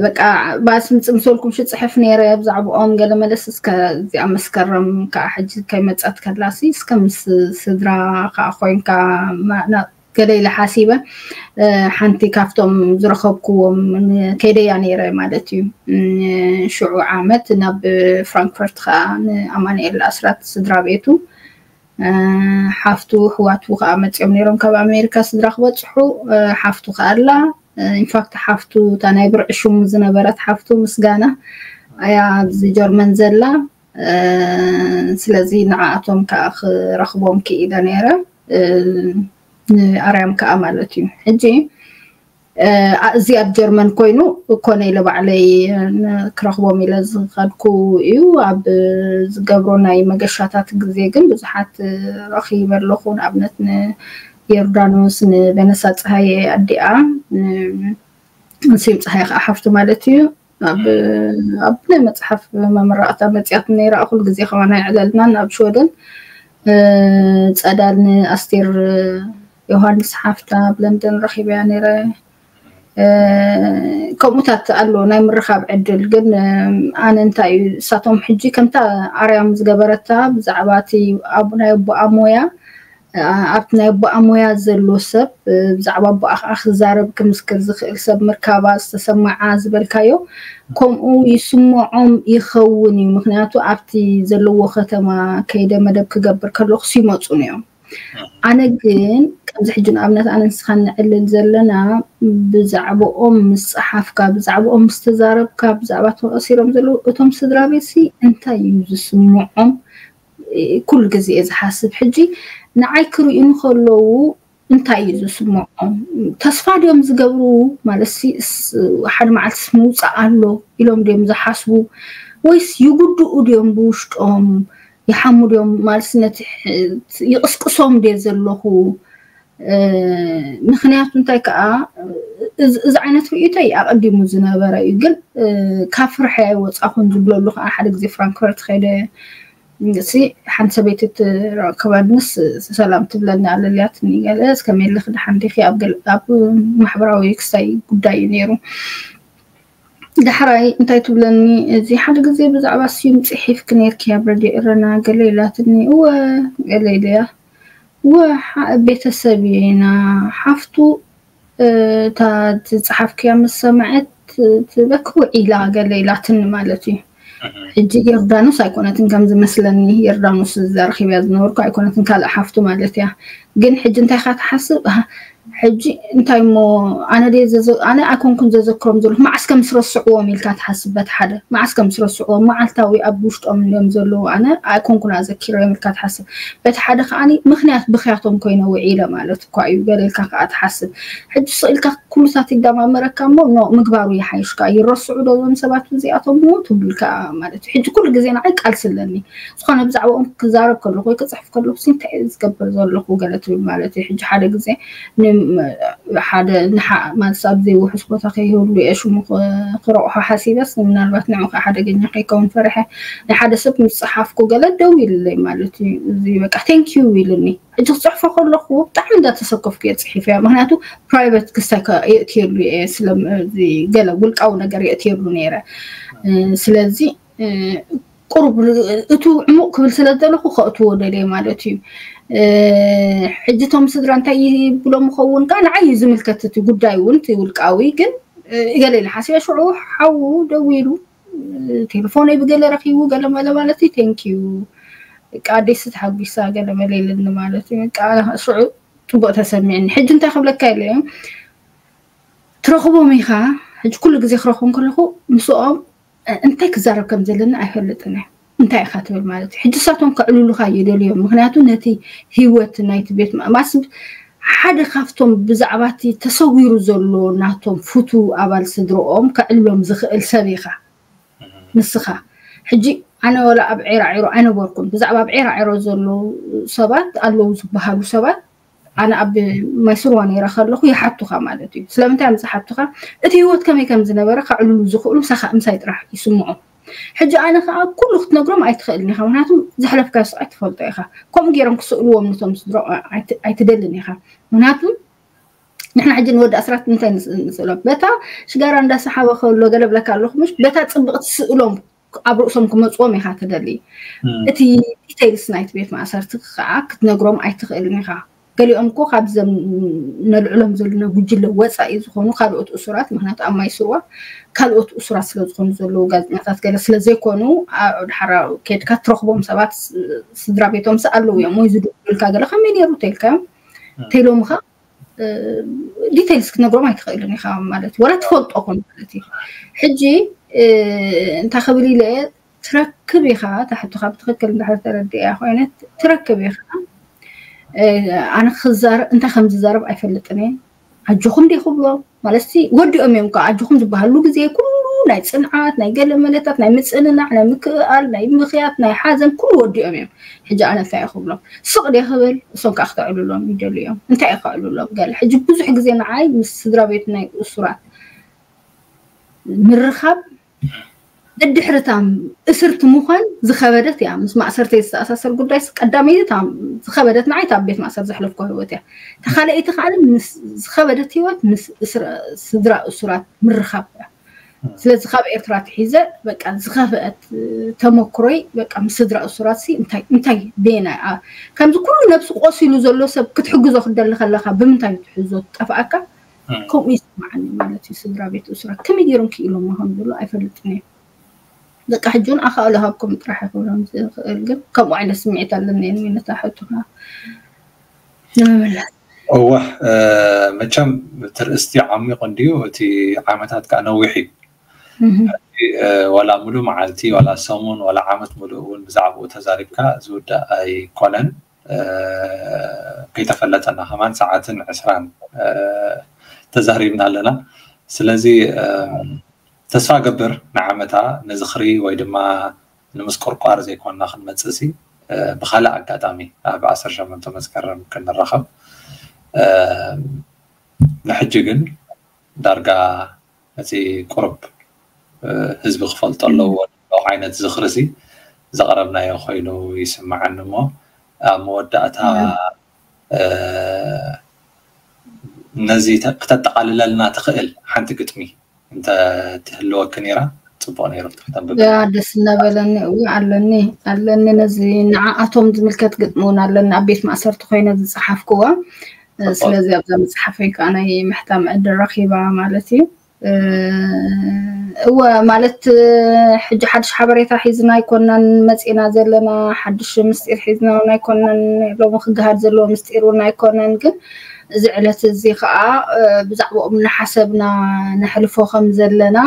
በቃ ባስ ምጽምሰልኩም ሽጽሕፍ ነይረ ብዛዕባኦም ገለ መለስ እስከ እዚኣ መስከረም ከዓ ሕጂ ከይመጸት ከላሲ እስከ ምስ ስድራ ከዓ ኮይንካ ገለ ኢለ ሓሲበ ሓንቲ ካብቶም ዝረኸብክዎም ከይደያ ነይረ ማለት እዩ። ሽዑ ዓመት ናብ ፍራንክፈርት ከዓ ንኣማንኤል ኣስራት ስድራ ቤቱ ሓፍቱ ኣሕዋቱ ከዓ መፅኦም ነይሮም ካብ ኣሜሪካ ስድራ ክበፅሑ ሓፍቱ ከዓ ኣላ ኢንፋክት ሓፍቱ እታ ናይ ብርዒ ሽሙ ዝነበረት ሓፍቱ ምስጋና ኣያ ኣብዚ ጀርመን ዘላ ስለዚ ንዓኣቶም ከዓ ክረኽቦም ክኢለ ነይረ ንኣርያም ከዓ ማለት እዩ ሕጂ እዚ ኣብ ጀርመን ኮይኑ ኮነ ኢለ ባዕለይ ክረኽቦም ኢለ ዝኸድኩ እዩ ኣብ ዝገብሮ ናይ መገሻታት ግዜ ግን ብዙሓት ረኺበ ኣለኹ ንኣብነት ንዮርዳኖስ ንበነሳ ፀሃየ ኣዲኣ ንስም ፀሃየ ከዓ ሓፍቱ ማለት እዩ ኣብ ናይ መፅሓፍ መመረቕታ መፅያት ነይራ ኩሉ ግዜ ከማና የዕለልናን ኣብ ሽወደን ፀዳል ንኣስቴር ዮሃንስ ሓፍታ ኣብ ለንደን ረኺበያ ነይረ ከምኡታት ኣሎ ናይ ምርኻብ ዕድል ግን ኣነ እንታይ እዩ እሳቶም ሕጂ ከምታ ኣርያም ዝገበረታ ብዛዕባ እቲ ናይ ኣቦኣ ሞያ ኣብቲ ናይ ኣቦኣ ሞያ ዘሎ ሰብ ብዛዕባ ኣቦኣ ከዓ ክዛረብ ክምስክር ዝኽእል ሰብ ምርካባ ዝተሰማዓ ዝበልካዮ ከምኡ ይስምዖም ይኸውን እዩ ምክንያቱ ኣብቲ ዘለዎ ከተማ ከይደ መደብ ክገብር ከለኩስ ይመፁን እዮም ኣነ ግን ከምዚ ሕጂ ንኣብነት ኣነ ንስኻ ንዕልል ዘለና ብዛዕባኦም ምስ ፀሓፍካ ብዛዕባኦም ምስ ተዛረብካ ብዛዕባ ተቐሲሮም ዘለዉ እቶም ስድራ ቤት ሲ እንታይ እዩ ዝስምዖም ኩሉ ግዜ እየ ዝሓስብ ሕጂ ንዓይ ክርእዩ ከለዉ እንታይ እዩ ዝስምዖም ተስፋ ድዮም ዝገብሩ ማለት ሓደ መዓልትስ ምውፃእ ኣሎ ኢሎም ድዮም ዝሓስቡ ወይስ ይጉድኡ ድዮም ብውሽጦም ይሓሙ ድዮም ማለት ነቲ ይቕስቅሶም ድየ ዘለኹ ምክንያቱ እንታይ ከዓ እዚ ዓይነት ርእይቶይ ኣቐዲሙ ዝነበረ እዩ። ግን ካብ ፍርሐ ወፃኹን ዝብለሉ ከዓ ሓደ ግዜ ፍራንክፈርት ከይደ ሲ ሓንቲ ሰበይቲ ትረክበንስ ሰላም ትብለኒ ኣለልያትኒ ገለ እስከ ሜለክ ደሓን ዲኺ ኣብ ማሕበራዊ ክስታይ ጉዳይ እዩ ነይሩ። ዳሕራይ እንታይ ትብለኒ፣ እዚ ሓደ ግዜ ብዛዕባ ስዩም ጽሒፍኪ ነይርኪ ኣብ ረድዮ ኤረና ገለ ኢላትኒ። እወ ገለ ኢለያ። እወ ቤተሰብ ኢና። ሓፍቱ እታ ዝጸሓፍክያ ምስ ሰምዐት ትበኪ ውዒላ ገለ ኢላትኒ ማለት እዩ። ሕጂ ዮርዳኖስ ኣይኮነትን ከም ዝመስለኒ፣ ዮርዳኖስ ዝረኺብያ ዝነበርኩ ኣይኮነትን፣ ካልእ ሓፍቱ ማለት እያ። ግን ሕጂ እንታይ ኢኻ ትሓስብ? ሕጂ እንታይ እሞ ኣነ ድየ ኣነ ኣይኮንኩን ዘዘክሮም ዘለኹ፣ መዓስ ከም ስረስዕዎም ኢልካ ትሓስብ። በቲ ሓደ መዓስ ከም ስረስዕዎም፣ መዓልታዊ ኣብ ውሽጦም እዮም ዘለዉ፣ ኣነ ኣይኮንኩን ኣዘኪሮም ኢልካ ትሓስብ። በቲ ሓደ ከዓኒ ምኽንያት ብኽያቶም ኮይነ ውዒለ ማለት እኳ እዩ ገለ ኢልካ ከዓ ትሓስብ። ሕጂ ስቕ ኢልካ ኩሉታት ይደማመረካ እሞ ኖ ምግባሩ ይሓይሽ ከዓ። ይረስዑ ዶ እዞም ሰባት እዚኣቶም እሞ ትብልካ ማለት እዩ። ሕጂ ኩሉ ግዜ ንዓይ ቃልሲ ኣለኒ። ዝኾነ ብዛዕባኦም ክዛረብ ከለኹ ወይ ክፅሕፍ ከለኹ ሲ እንታይ እየ ዝገብር ዘለኹ ገለ ትብል ማለት እዩ። ሕጂ ሓደ ግዜ ሓደ ንሓ ማለት ኣብዘይ ውሑስ ቦታ ከይህሉ እየ ሽሙ ክረቑሖ ሓሲበስ ምናልባት ንዑ ከዓ ሓደገኛ ከይከውን ፈሪሐ ናይ ሓደ ሰብ ምስ ፀሓፍኩ ገለ ደው ኢልለይ ማለት እዩ። እዚ በቃ ቴንኪዩ ኢልኒ። ሕጂ ክፅሕፎ ከለኹ ብጣዕሚ እንዳተሰከፍኩ እየ ፅሒፈያ። ምክንያቱ ፕራይቨት ክስታይ የእትየሉ እየ ስለዚ ገለ ውልቃዊ ነገር የእትየሉ ነይረ። ስለዚ ቁሩብ እቱ ዕሙቕ ክብል ስለ ዘለኹ ከእትዎ ደልየ ማለት እዩ። ሕጂ እቶም ስድራ እንታይ ይብሎም ይኸውን ከዓ ንዓይ እዩ ዝምልከት እቲ ጉዳይ እውን እቲ ውልቃዊ ግን ገለ ኢለ ሓሲበ ሽዑ ሓዉ ደዊሉ ቴሌፎነይ ብገለ ረኺቡ ገለ መለ ማለት እዩ ቴንኪዩ በቃ ኣዴስ ተሓጒሳ ገለ መለ ኢልኒ ማለት እዩ። በቃ ሽዑ ፅቡቕ ተሰሚዕኒ። ሕጂ እንታይ ክብለካ ኢለ እዮም ትረኽቦም ኢኻ። ሕጂ ኩሉ ግዜ ክረኽቦም ከለኹ ምስኦም እንታይ ክዛረብ ከም ዘለና ኣይፈልጥን እየ። እንታይ ኢኻ ትብል ማለት እዩ። ሕጂ እሳቶም ከዕልሉኻ ይደልዮም። ምክንያቱ ነቲ ህይወት ናይቲ ቤት ማእማስ ሓደ ካብቶም ብዛዕባ እቲ ተሰዊሩ ዘሎ ናቶም ፍቱ ኣባል ስድርኦም ከዕልሎም ዝኽእል ሰብ ኢኻ ንስኻ። ሕጂ ኣነ ወላ ኣብ ዒራዒሮ ኣይነበርኩን። ብዛዕባ ኣብ ዒራዒሮ ዘለዉ ሰባት ኣለዉ ዝበሃሉ ሰባት ኣነ ኣብ ማይ ስርዋ ነይረ ከለኹ ይሓቱኻ ማለት እዩ። ስለምንታይ እዮም ዝሓቱኻ? እቲ ህይወት ከመይ ከም ዝነበረ ከዕልሉ ዝኽእሉ ምሳኻ ምሳይ ጥራሕ ይስምዖም። ሕጂ ኣነ ከዓ ኩሉ ክትነግሮም ኣይትኽእልን ኢኻ፣ ምክንያቱ ዘሕለፍካዮ ስቓይ ትፈልጦ ኢኻ። ከምኡ ገይሮም ክስእልዎም ነቶም ስድሮ ኣይትደልን ኢኻ። ምክንያቱ ንሕና ሕጂ ንወዲ ኣስራት እንታይ ንስእሎም? በታ ሽጋራ እንዳሰሓበ ከሎ ገለ ብለካ ኣለኹ ምሽ በታ ፅብቕቲ ስእሎም ኣብ ርእሶም ክመፅዎም ኢኻ ትደሊ። እቲ ዲቴይልስ ናይቲ ቤት ማእሰርቲ ከዓ ክትነግሮም ኣይትኽእልን ኢኻ። ገሊኦም እኮ ካብዘም ነልዕሎም ዘለና ጉጅለ ወፃኢ ዝኾኑ ካልኦት እሱራት፣ ምክንያቱ ኣብ ማይ ስርዋ ካልኦት እሱራት ስለ ዝኾኑ ዘለዉ ጋዜጠኛታት ገለ ስለ ዘይኮኑ ድሓራ ከድካ ትረኽቦም ሰባት ስድራ ቤቶም ስ ኣለዉ እዮም ወይ ዝድውሉልካ ገለ ከመይ ነይሩ ተይልካዮም ተይሎምኻ ዲቴይልስ ክትነግሮም ኣይትኽእልን ኢኻ ማለት እዩ። ወላ ትፈልጦ ኮን ማለት እዩ። ሕጂ እንታይ ክብል ኢለ ትረክብ ኢኻ፣ እታ ሕቶኻ ብትኽክል እንድሕር ተረዲእያ ኮይነ ትረክብ ኢኻ። ኣነ ክዛረብ እንታይ ከም ዝዛረብ ኣይፈልጥን እየ። ኣጆኹም ደ ክብሎ ማለት ሲ ወዲኦም እዮም ከዓ ኣጆኹም ዝበሃሉ ግዜ ኩሉ ናይ ፅንዓት ናይ ገለ መለታት ናይ ምፅንናዕ ናይ ምክእኣል ናይ ምኽያት ናይ ሓዘን ኩሉ ወዲኦም እዮም። ሕጂ ኣነ እንታይ ክብሎም ስቕ ደ ክብል እሶም ከዓ ክተዕልሎም ይደሉ እዮም። እንታይ ከዕልሎም ገለ ሕጂ ብዙሕ ግዜ ንዓይ ምስ ስድራ ቤት ናይ እሱራት ምርኻብ ደድሕርታ እስርቲ ምዃን ዝኸበደት እያ። ምስ ማእሰርተይ ዝተኣሳሰር ጉዳይ ቀዳመይቲ ዝኸበደት ንዓይ ኣብ ቤት ማእሰር ዘሕለፍኮ ህይወት እያ። ተኻለይቲ ከዓ ዝኸበደት ህይወት ምስ ስድራ እሱራት ምርኻብ እያ። ስለዚ ካብ ኤርትራ ትሒዘ በቃ ዝኸፍአት ተመክሮይ በቃ ምስ ስድራ እሱራት ሲ እንታይ እንታይ ቤና ከምዚ ኩሉ ነብሲ ቆሲሉ ዘሎ ሰብ ክትሕግዞ ክደሊ ከለካ ብምንታይ ትሕዞ ትጠፍኣካ ከምኡ ይስማዓኒ ማለት እዩ። ስድራ ቤት እሱራት ከመይ ገይሮም ክኢሎም ምዃኑ ዘሎ ኣይፈልጥን እየ። በቃ ሕጂ እውን ኣኻእሎ ሃብኩም ጥራሕ ይኽብሎም ዝኽእል ግን ከምኡ ዓይነት ስምዒት ኣለኒ ነታ ሕቶኻ ንምምላስ እወ መቸም እቲ ርእስቲ ዓሚቑ እንድዩ እቲ ዓመታት ከዓ ነዊሕ እዩ። ዋላ ሙሉእ መዓልቲ ዋላ ሰሙን ዋላ ዓመት ሙሉእ እውን ብዛዕባኡ ተዛሪብካ ዝውዳእ ኣይኮነን። ከይተፈለጠና ከማን ሰዓትን ዕስራን ተዛሪብና ኣለና። ስለዚ ተስፋ ገብር ንዓመታ ንዝኽሪ ወይ ድማ ንምስቁርቋር ዘይኮንና ክንመፅእ ሲ ብካልእ ኣጋጣሚ ኣብ ዓሰርተ ሸሞንተ መስከረም ክንራኸብ ንሕጂ ግን ዳርጋ እቲ ቁሩብ ህዝቢ ክፈልጦ ኣለዎ ዓይነት ዝኽሪ ሲ ዘቕረብናዮ ኮይኑ ይስምዓኒ። እሞ ኣብ መወዳእታ ነዚ ክተጠቓልለልና ትኽእል ሓንቲ ግጥሚ እንተ ትህልወኪ ነይራ ጽቡቕ ነይሩ። ክተንብብ ያ ደስ እናበለኒ። እው ኣለኒ ኣለኒ ነዚ ንዓኣቶም ዝምልከት ግጥሚ እውን ኣለኒ ኣብ ቤት ማእሰርቲ ኮይነ ዝጸሓፍክዋ። ስለዚ ኣብዛ መጽሓፈይ ከዓ ናይ ምሕታም ዕድል ረኺባ ማለት እዩ። እወ ማለት ሕጂ ሓድሽ ሓበሬታ ሒዝና ኣይኮናን መፂና ዘለና፣ ሓድሽ ምስጢር ሒዝና እውን ኣይኮናን፣ ሎሚ ክገሃድ ዘለዎ ምስጢር እውን ኣይኮነን። ግን እዚ ዕለት እዚ ከዓ ብዛዕባኦም እናሓሰብና ነሕልፎ ከም ዘለና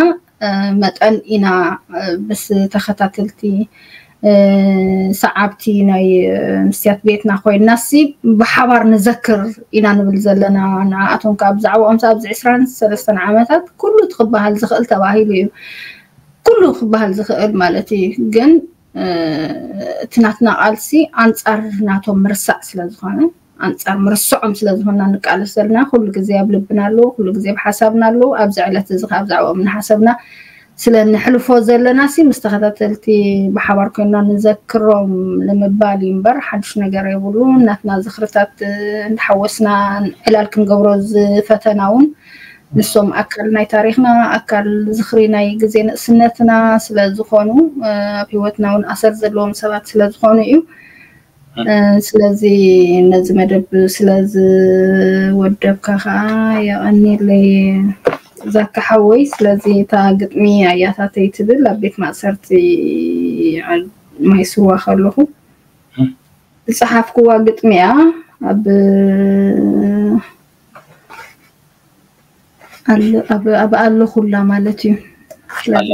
መጠን ኢና ምስ ተኸታተልቲ ሰዓብቲ ናይ ምስያት ቤትና ኮይንና ሲ ብሓባር ንዘክር ኢና ንብል ዘለና። ንዓኣቶም ከዓ ብዛዕባኦም ኣብዚ ዕስራን ሰለስተን ዓመታት ኩሉ እቲ ክበሃል ዝኽእል ተባሂሉ እዩ። ኩሉ ክበሃል ዝኽእል ማለት እዩ። ግን እቲ ናትና ቃልሲ ኣንፃር ናቶም ምርሳዕ ስለ ዝኾነ ኣንፃር ምርስዖም ስለ ዝኾንና ንቃለስ ዘለና ኩሉ ግዜ ኣብ ልብና ኣለዉ፣ ኩሉ ግዜ ኣብ ሓሳብና ኣለዉ። ኣብዚ ዕለት እዚ ከዓ ብዛዕባኦም እናሓሰብና ስለ ንሕልፎ ዘለና ሲ ምስ ተኸታተልቲ ብሓባር ኮይንና ንዘክሮም ንምባል እዩ እምበር ሓድሽ ነገር የብሉ። ናትና ዝኽርታት እንዳሓወስና ዕላል ክንገብሮ ዝፈተና እውን ንሶም ኣካል ናይ ታሪኽና ኣካል ዝኽሪ ናይ ግዜ ንእስነትና ስለ ዝኾኑ ኣብ ህይወትና እውን ኣሰር ዘለዎም ሰባት ስለ ዝኾኑ እዩ። ስለዚ ነዚ መደብ ስለ ዝወደብካ ከዓ የቐኒለይ ዛካ ሓወይ። ስለዚ እታ ግጥሚ ኣያታተይ ትብል ኣብ ቤት ማእሰርቲ ማይ ስዋ ከለኹ ዝፀሓፍክዋ ግጥሚ እያ። ኣብ ኣብ ኣለኹላ ማለት እዩ። ስለዚ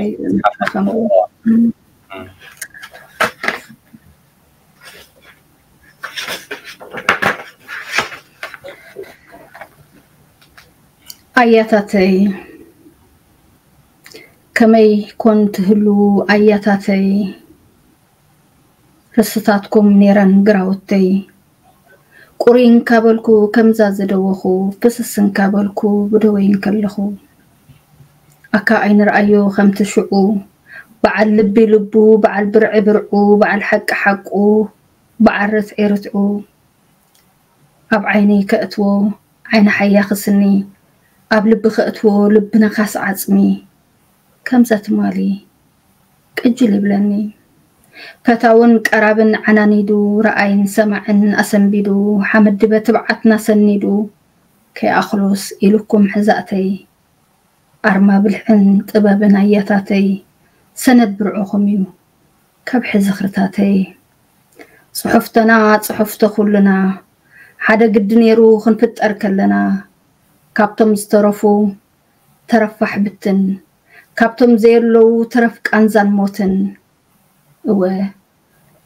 ኣያታተይ ከመይ ኮን ትህሉ ኣያታተይ፣ ርስታትኩም ኔረን ግራውተይ። ቁሪ እንካበልኩ ከምዛ ዝደወኹ ፍስስ እንካበልኩ ብደወይ እንከለኹ ኣካ ኣይንርኣዮ ከምቲ ሽዑ በዓል ልቢ ልቡ በዓል ብርዒ ብርዑ በዓል ሓቂ ሓቁ በዓል ርትዒ ርትዑ ኣብ ዓይነይ ከእትዎ ዓይኒ ሓያኺ ስኒ ኣብ ልቢ ከእትዎ ልቢ ነኻሲ ዓጽሚ ከምዛ ትማሊ ቅጅል ይብለኒ። ፈታውን ቀራብን ዓናኒዱ ረኣይን ሰማዕን ኣሰንቢዱ ሓመድ ድበ ትብዓትና ሰኒዱ ከይኣኽሎስ ኢሉኩም ሕዛእተይ ኣርማ ብልሕን ጥበብን ኣያታተይ ሰነድ ብርዕኹም እዩ ከብሒ ዝኽርታተይ። ጽሑፍተና ጽሑፍተ ኩልና ሓደ ግዲ ነይሩ ክንፍጠር ከለና ካብቶም ዝተረፉ ተረፋሕ ብትን ካብቶም ዘየለዉ ተረፍ ቃንዛን ሞትን እወ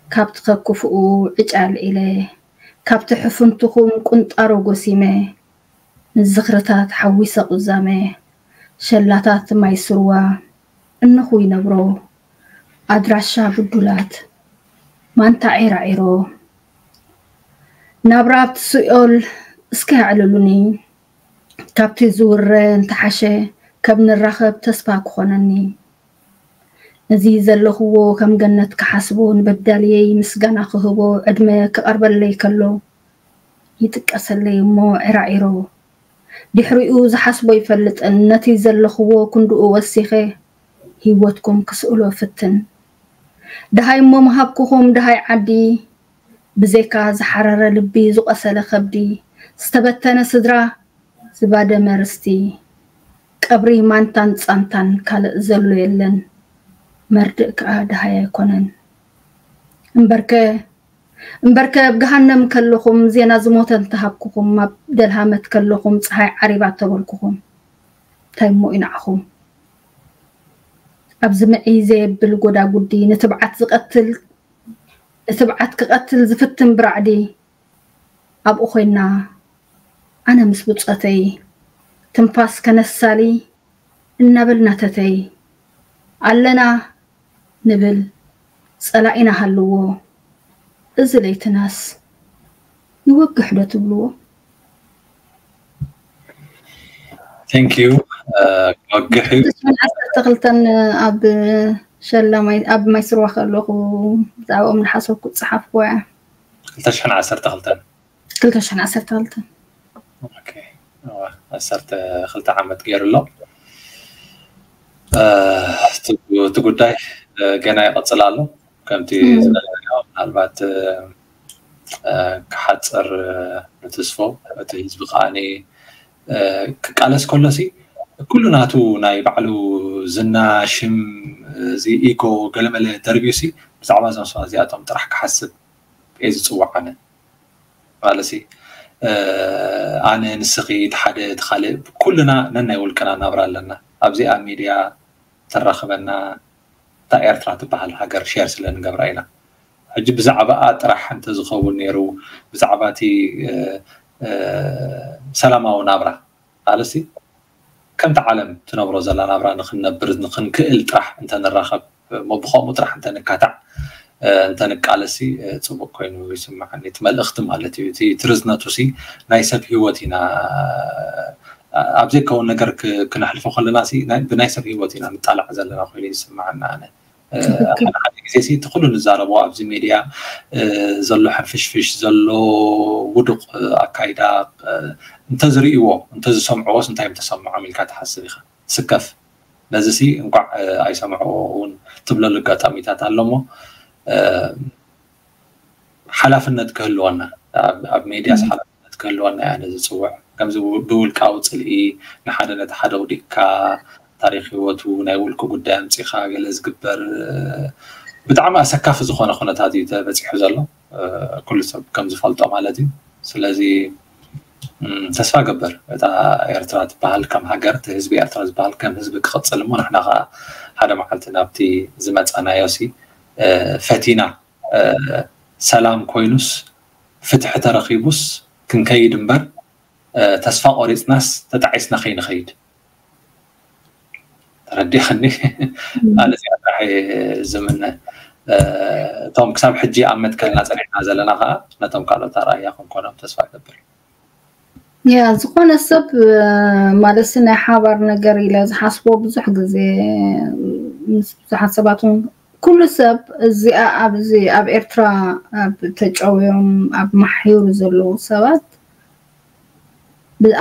ካብቲ ከክፍኡ ዕጫ ኣልዒለ ካብቲ ሕፍንትኹም ቁንጣሮ ጎሲመ ንዝኽርታት ሓዊሰ ቁዛመ ሸላታት ማይ ስርዋ እንኹ ይነብሮ ኣድራሻ ብዱላት ማንታ ዒራዒሮ ናብራ ኣብቲ ስኦል እስከ ኣዕልሉኒ ካብቲ ዝውረ እንተሓሸ ከም ንራኸብ ተስፋ ክኾነኒ ነዚ ዘለኽዎ ከም ገነት ክሓስቦ ንበዳልየይ ምስጋና ክህቦ ዕድመ ክቐርበለይ ከሎ ይጥቀሰለይ እሞ ዒራዒሮ ድሕሪኡ ዝሓስቦ ይፈልጥን ነቲ ዘለኽዎ ክንድኡ ወሲኸ ህይወትኩም ክስእሎ ፍትን ደሃይ እሞ ምሃብኩኹም ደሃይ ዓዲ ብዘይካ ዝሓረረ ልቢ ዝቆሰለ ከብዲ ዝተበተነ ስድራ ዝባደመ ርስቲ ቀብሪ ማንታን ጻንታን ካልእ ዘሎ የለን መርድእ ከኣ ደሃይ ኣይኮነን እምበርከ እምበርከ ኣብ ገሃነም ከለኹም ዜና ዝሞተ እንተሃብኩኹም ኣብ ደልሃመት ከለኹም ፀሃይ ዓሪባ ተበልኩኹም እንታይ እሞ እዩ ንዓኹም ኣብዚ ምዒ ዘየብል ጎዳጉዲ ንትብዓት ዝቐትል ንትብዓት ክቐትል ዝፍትን ብራዕዲ ኣብኡ ኮይና ኣነ ምስ ብጾተይ ትንፋስ ከነሳሊ እናበልና ተተይ ኣለና ንብል ጸላኢና ሃልዎ እዚ ለይትናስ ይወግሕ ዶ ትብልዎ Thank you። ክወግሕ እዩ። ክልተ ሽሕን ዓሰርተ ክልተን ኣብ ሸላማይ ኣብ ማይ ስርዋ ከለኹ ብዛዕባኦም ዝሓሰብኩ ዝጸሓፍኩዎ እያ። ክልተ ሽሕን ዓሰርተ ክልተን ክልተ ሽሕን ዓሰርተ ክልተን ኦኬ። እዋ፣ ዓሰርተ ክልተ ዓመት ገይሩ ኣሎ። እቲ ጉዳይ ገና ይቐፅል ኣሎ። ከምቲ ዝበለናዮ ምናልባት ክሓፅር ንትስፎ እቲ ህዝቢ ከዓኒ ክቃለስ ከሎ ሲ ኩሉ ናቱ ናይ ባዕሉ ዝና ሽም እዚ ኢጎ ገለመለ ደርብዩ ሲ ብዛዕባ እዞም ሰባት እዚኣቶም ጥራሕ ክሓስብ እየ ዝፅዋዕ ኣነ ማለት ሲ ኣነ ንስኺ እቲ ሓደ እቲ ካልእ ኩልና ነናይ ውልቅና ናብራ ኣለና ኣብዚኣ ሚድያ ተራኽበና እታ ኤርትራ ትበሃል ሃገር ሸር ስለ ንገብራ ኢና ሕጂ ብዛዕባኣ ጥራሕ እንተዝኸውን ነይሩ ብዛዕባ እቲ ሰላማዊ ናብራ ኣለሲ ከምቲ ዓለም ትነብሮ ዘላ ናብራ ንክንነብር ንክንክእል ጥራሕ እንተንራኸብ እሞ ብከምኡ ጥራሕ እንተንካታዕ እንተንቃለሲ ፅቡቅ ኮይኑ ይስምዓኒ እቲ መልእክቲ ማለት እዩ እቲ ትርዝነቱ ሲ ናይ ሰብ ህይወት ኢና ኣብ ዘይከውን ነገር ክነሕልፎ ከለና ብናይ ሰብ ህይወት ኢና ንጣላዕ ዘለና ኮይኑ ይስምዓና ኣነ ሓደ ሓደ ግዜ ሲ እቲ ኩሉ ንዛረቦ ኣብዚ ሜድያ ዘሎ ሕንፍሽፍሽ ዘሎ ውዱቅ ኣካይዳ እንተዝርእይዎ እንተዝሰምዕዎስ እንታይ እዮም ተሰምዖም ኢልካ ትሓስብ ኢኻ ስከፍ ነዚ ሲ እንኳዕ ኣይሰምዕዎ እውን ትብለሉ ኣጋጣሚታት ኣሎ እሞ ሓላፍነት ክህልወና ኣብ ሜድያስ ሓላፍነት ክህልወና እያ ነዚ ዝፅውዕ ከምዚ ብውልቃዊ ፅልኢ ንሓደ ነቲ ሓደ ውዲቅካ ታሪክ ህይወቱ ናይ ውልቂ ጉዳይ ኣምፂኻ ገለ ዝግበር ብጣዕሚ ኣሰካፊ ዝኾነ ኩነታት እዩ ተበፂሑ ዘሎ ኩሉ ሰብ ከም ዝፈልጦ ማለት እዩ ስለዚ ተስፋ ገብር እታ ኤርትራ ትበሃል ከም ሃገር እቲ ህዝቢ ኤርትራ ዝበሃል ከም ህዝቢ ክቕፅል እሞ ንሕና ከዓ ሓደ መዓልቲ ናብቲ ዝመፀናዮ ሲ ፈቲና ሰላም ኮይኑስ ፍትሒ ተረኺቡስ ክንከይድ እምበር ተስፋ ቆሪፅናስ ተጣዒስና ከይንኸይድ ተረዲኽኒ ኣነ እዚኣ ጥራሕ ዝምነ እቶም ክሳብ ሕጂ ኣብ መትከልና ፀኒዕና ዘለና ከዓ ነቶም ካልኦት ኣርኣያ ክንኮኖም ተስፋ ገብር ያ ዝኾነ ሰብ ማለት ናይ ሓባር ነገር ኢለ ዝሓስቦ ብዙሕ ግዜ ምስ ብዙሓት ሰባት እውን ኩሉ ሰብ እዚኣ ኣብዚ ኣብ ኤርትራ ኣብ ተጨውዮም ኣብ ማሕዩር ዘለዉ ሰባት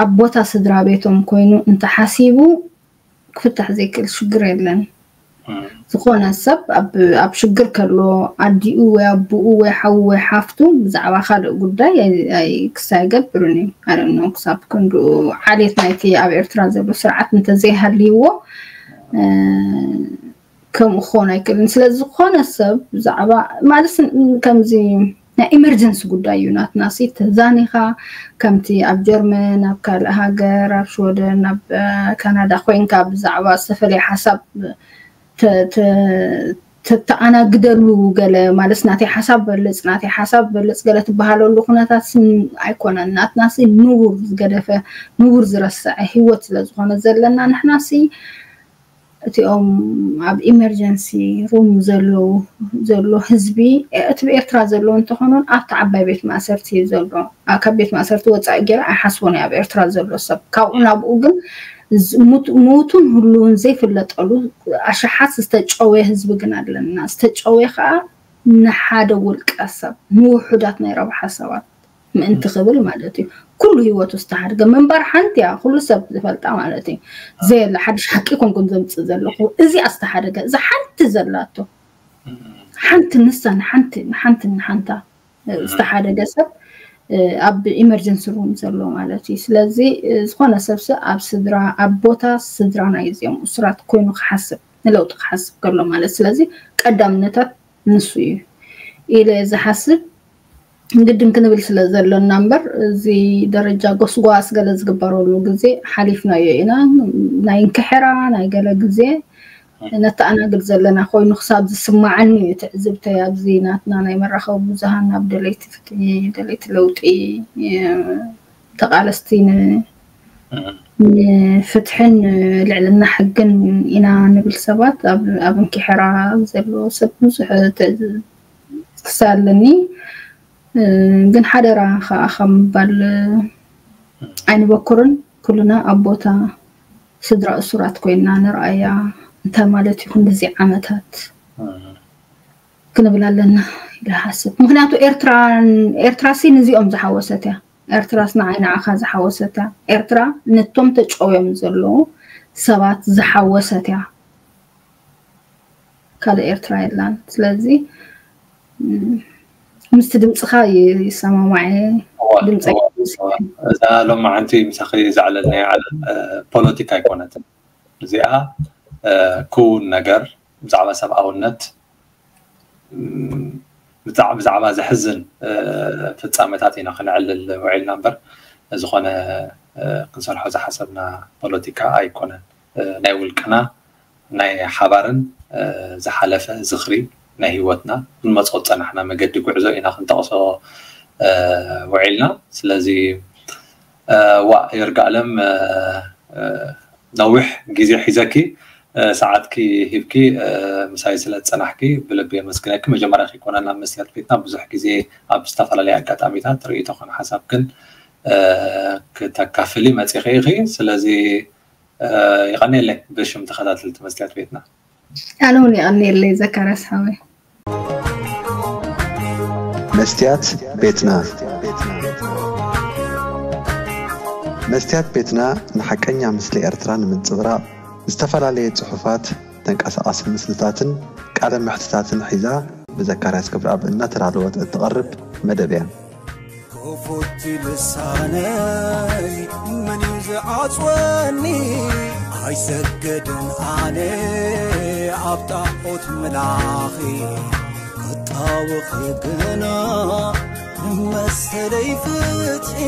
ኣብ ቦታ ስድራ ቤቶም ኮይኑ እንተሓሲቡ ክፍታሕ ዘይክእል ሽግር የለን። ዝኾነ ሰብ ኣብ ሽግር ከሎ ኣዲኡ ወይ ኣቦኡ ወይ ሓዉ ወይ ሓፍቱ ብዛዕባ ካልእ ጉዳይ ክሳይ ገብርን እዩ ኣረኖ ክሳብ ክንድኡ ዓሌት ናይቲ ኣብ ኤርትራ ዘሎ ስርዓት እንተዘይሃልይዎ ከምኡ ክኸውን ኣይክእልን። ስለ ዝኾነ ሰብ ብዛዕባ ማለት ከምዚ ናይ ኢመርጀንሲ ጉዳይ እዩ ናትና ሲ ተዛኒኻ ከምቲ ኣብ ጀርመን ኣብ ካልእ ሃገር ኣብ ሽወደን ኣብ ካናዳ ኮይንካ ብዛዕባ ዝተፈለየ ሓሳብ ተተኣናግደሉ ገለ ማለት ናተይ ሓሳብ በልፅ ናተይ ሓሳብ በልፅ ገለ ትበሃለሉ ኩነታት ስም ኣይኮነን ናትና ሲ ንቡር ዝገደፈ ንቡር ዝረስዐ ህይወት ስለዝኾነ ዘለና ንሕና ሲ እቲኦም ኣብ ኢመርጀንሲ ሩም ዘለዉ ዘሎ ህዝቢ እቲ ብኤርትራ ዘለዉ እንተኾኑን ኣብቲ ዓባይ ቤት ማእሰርቲ እዩ ዘሎ ካብ ቤት ማእሰርቲ ወፃኢ ገይረ ኣይሓስቦን ኣብ ኤርትራ ዘሎ ሰብ ካብኡ ናብኡ ግን ምውቱን ህሉውን ዘይፍለጠሉ ኣሽሓት ዝተጨወየ ህዝቢ ግን ኣለና ዝተጨወየ ከዓ ንሓደ ውልቀ ሰብ ንውሑዳት ናይ ረብሓ ሰባት ምእንቲ ክብል ማለት እዩ ኩሉ ህይወቱ ዝተሓድገ ምንባር ሓንቲ እያ ኩሉ ሰብ ዝፈልጣ ማለት እዩ ዘየለ ሓድሽ ሓቂ ኮንኩም ዘምፅእ ዘለኹ እዚኣ ዝተሓደገ እዛ ሓንቲ ዘላቶ ሓንቲ ንሳ ንሓንቲ ንሓንቲ ንሓንታ ዝተሓደገ ሰብ ኣብ ኢመርጀንሲ ሩም ዘሎ ማለት እዩ ስለዚ ዝኾነ ሰብሲ ኣብ ስድራ ኣብ ቦታ ስድራ ናይ እዚኦም እሱራት ኮይኑ ክሓስብ ንለውጢ ክሓስብ ከሎ ማለት ስለዚ ቀዳምነታት ንሱ እዩ ኢለ ዝሓስብ ግድን ክንብል ስለ ዘሎና እምበር እዚ ደረጃ ጎስጓስ ገለ ዝግበረሉ ግዜ ሓሊፍናዮ ኢና ናይ እንክሕራ ናይ ገለ ግዜ ነተኣናግድ ዘለና ኮይኑ ክሳብ ዝስማዓኒ እዩ ትዕዝብተይ ኣብዚ ናትና ናይ መራኸቢ ብዙሃን ናብ ደለይቲ ፍትሒ ደለይቲ ለውጢ ተቃለስቲ ንፍትሕን ልዕልና ሕግን ኢና ንብል ሰባት ኣብ እንኪሕራ ዘሎ ሰብ ብዙሕ ክሳለኒ ግን ሓደራ ከዓ ካብ ምባል ኣይንበኩርን ኩልና ኣብ ቦታ ስድራ እሱራት ኮይና ንርኣያ። እንታይ ማለት እዩ ክንድዚ ዓመታት ክንብል ኣለና ኢለ ሓስብ። ምክንያቱ ኤርትራን ኤርትራሲ ንዚኦም ዝሓወሰት እያ። ኤርትራስ ንዓይ ንዓኻ ዝሓወሰት እያ። ኤርትራ ነቶም ተጨውዮም ዘለዉ ሰባት ዝሓወሰት እያ። ካልእ ኤርትራ የላን። ስለዚ ምስቲ ድምፅኻ ይሰማማዐ። ድምፀ እዛ ሎማዓንቲ ምሳኺ ዘዕለልናዮ ዓለም ፖለቲካ ኣይኮነትን። እዚኣ ክውን ነገር ብዛዕባ ሰብኣውነት ብዛዕባ ዘሕዝን ፍፃመታት ኢና ክነዕልል ውዒልና እምበር ዝኾነ ክንሰርሖ ዝሓሰብና ፖለቲካ ኣይኮነን። ናይ ውልቅና ናይ ሓባርን ዝሓለፈ ዝኽሪ ናይ ህይወትና ክንመፅኦ ዝፀናሕና መገዲ ጉዕዞ ኢና ክንጠቕሶ ውዒልና። ስለዚ ዋ ይርጋለም ነዊሕ ግዜ ሒዘኪ ሰዓትኪ ሂብኪ ምሳይ ስለ ዝፀናሕኪ ብልቢ የመስግነኪ። መጀመርያ ከይኮነ ናብ መስትያት ቤትና ብዙሕ ግዜ ኣብ ዝተፈላለዩ ኣጋጣሚታት ርእይቶ ኮነ ሓሳብክን ክተካፍሊ መፂኺ ኢኺ። ስለዚ ይቐንየለይ ብሽም ተኸታተልቲ መስትያት ቤትና። ኣነ እውን የቐንየለይ ዘካርያስ ሓወይ። መስትያት ቤትና። መስትያት ቤትና ንሓቀኛ ምስሊ ኤርትራ ንምንጽብራቕ ዝተፈላለየ ጽሑፋት፣ ተንቀሳቓሲ ምስልታትን ቃለ መሕትታትን ሒዛ ብዘካርያስ ክብረኣብ እናተዳለወት እትቐርብ መደብ እያ። ክፉት ልሳነይ መን እዩ ዝዓጽወኒ? ኣይሰግድን ኣነ ኣብ ጣዖት ምላኺ ክጣወኺ ግና መሰለይ ፍትሒ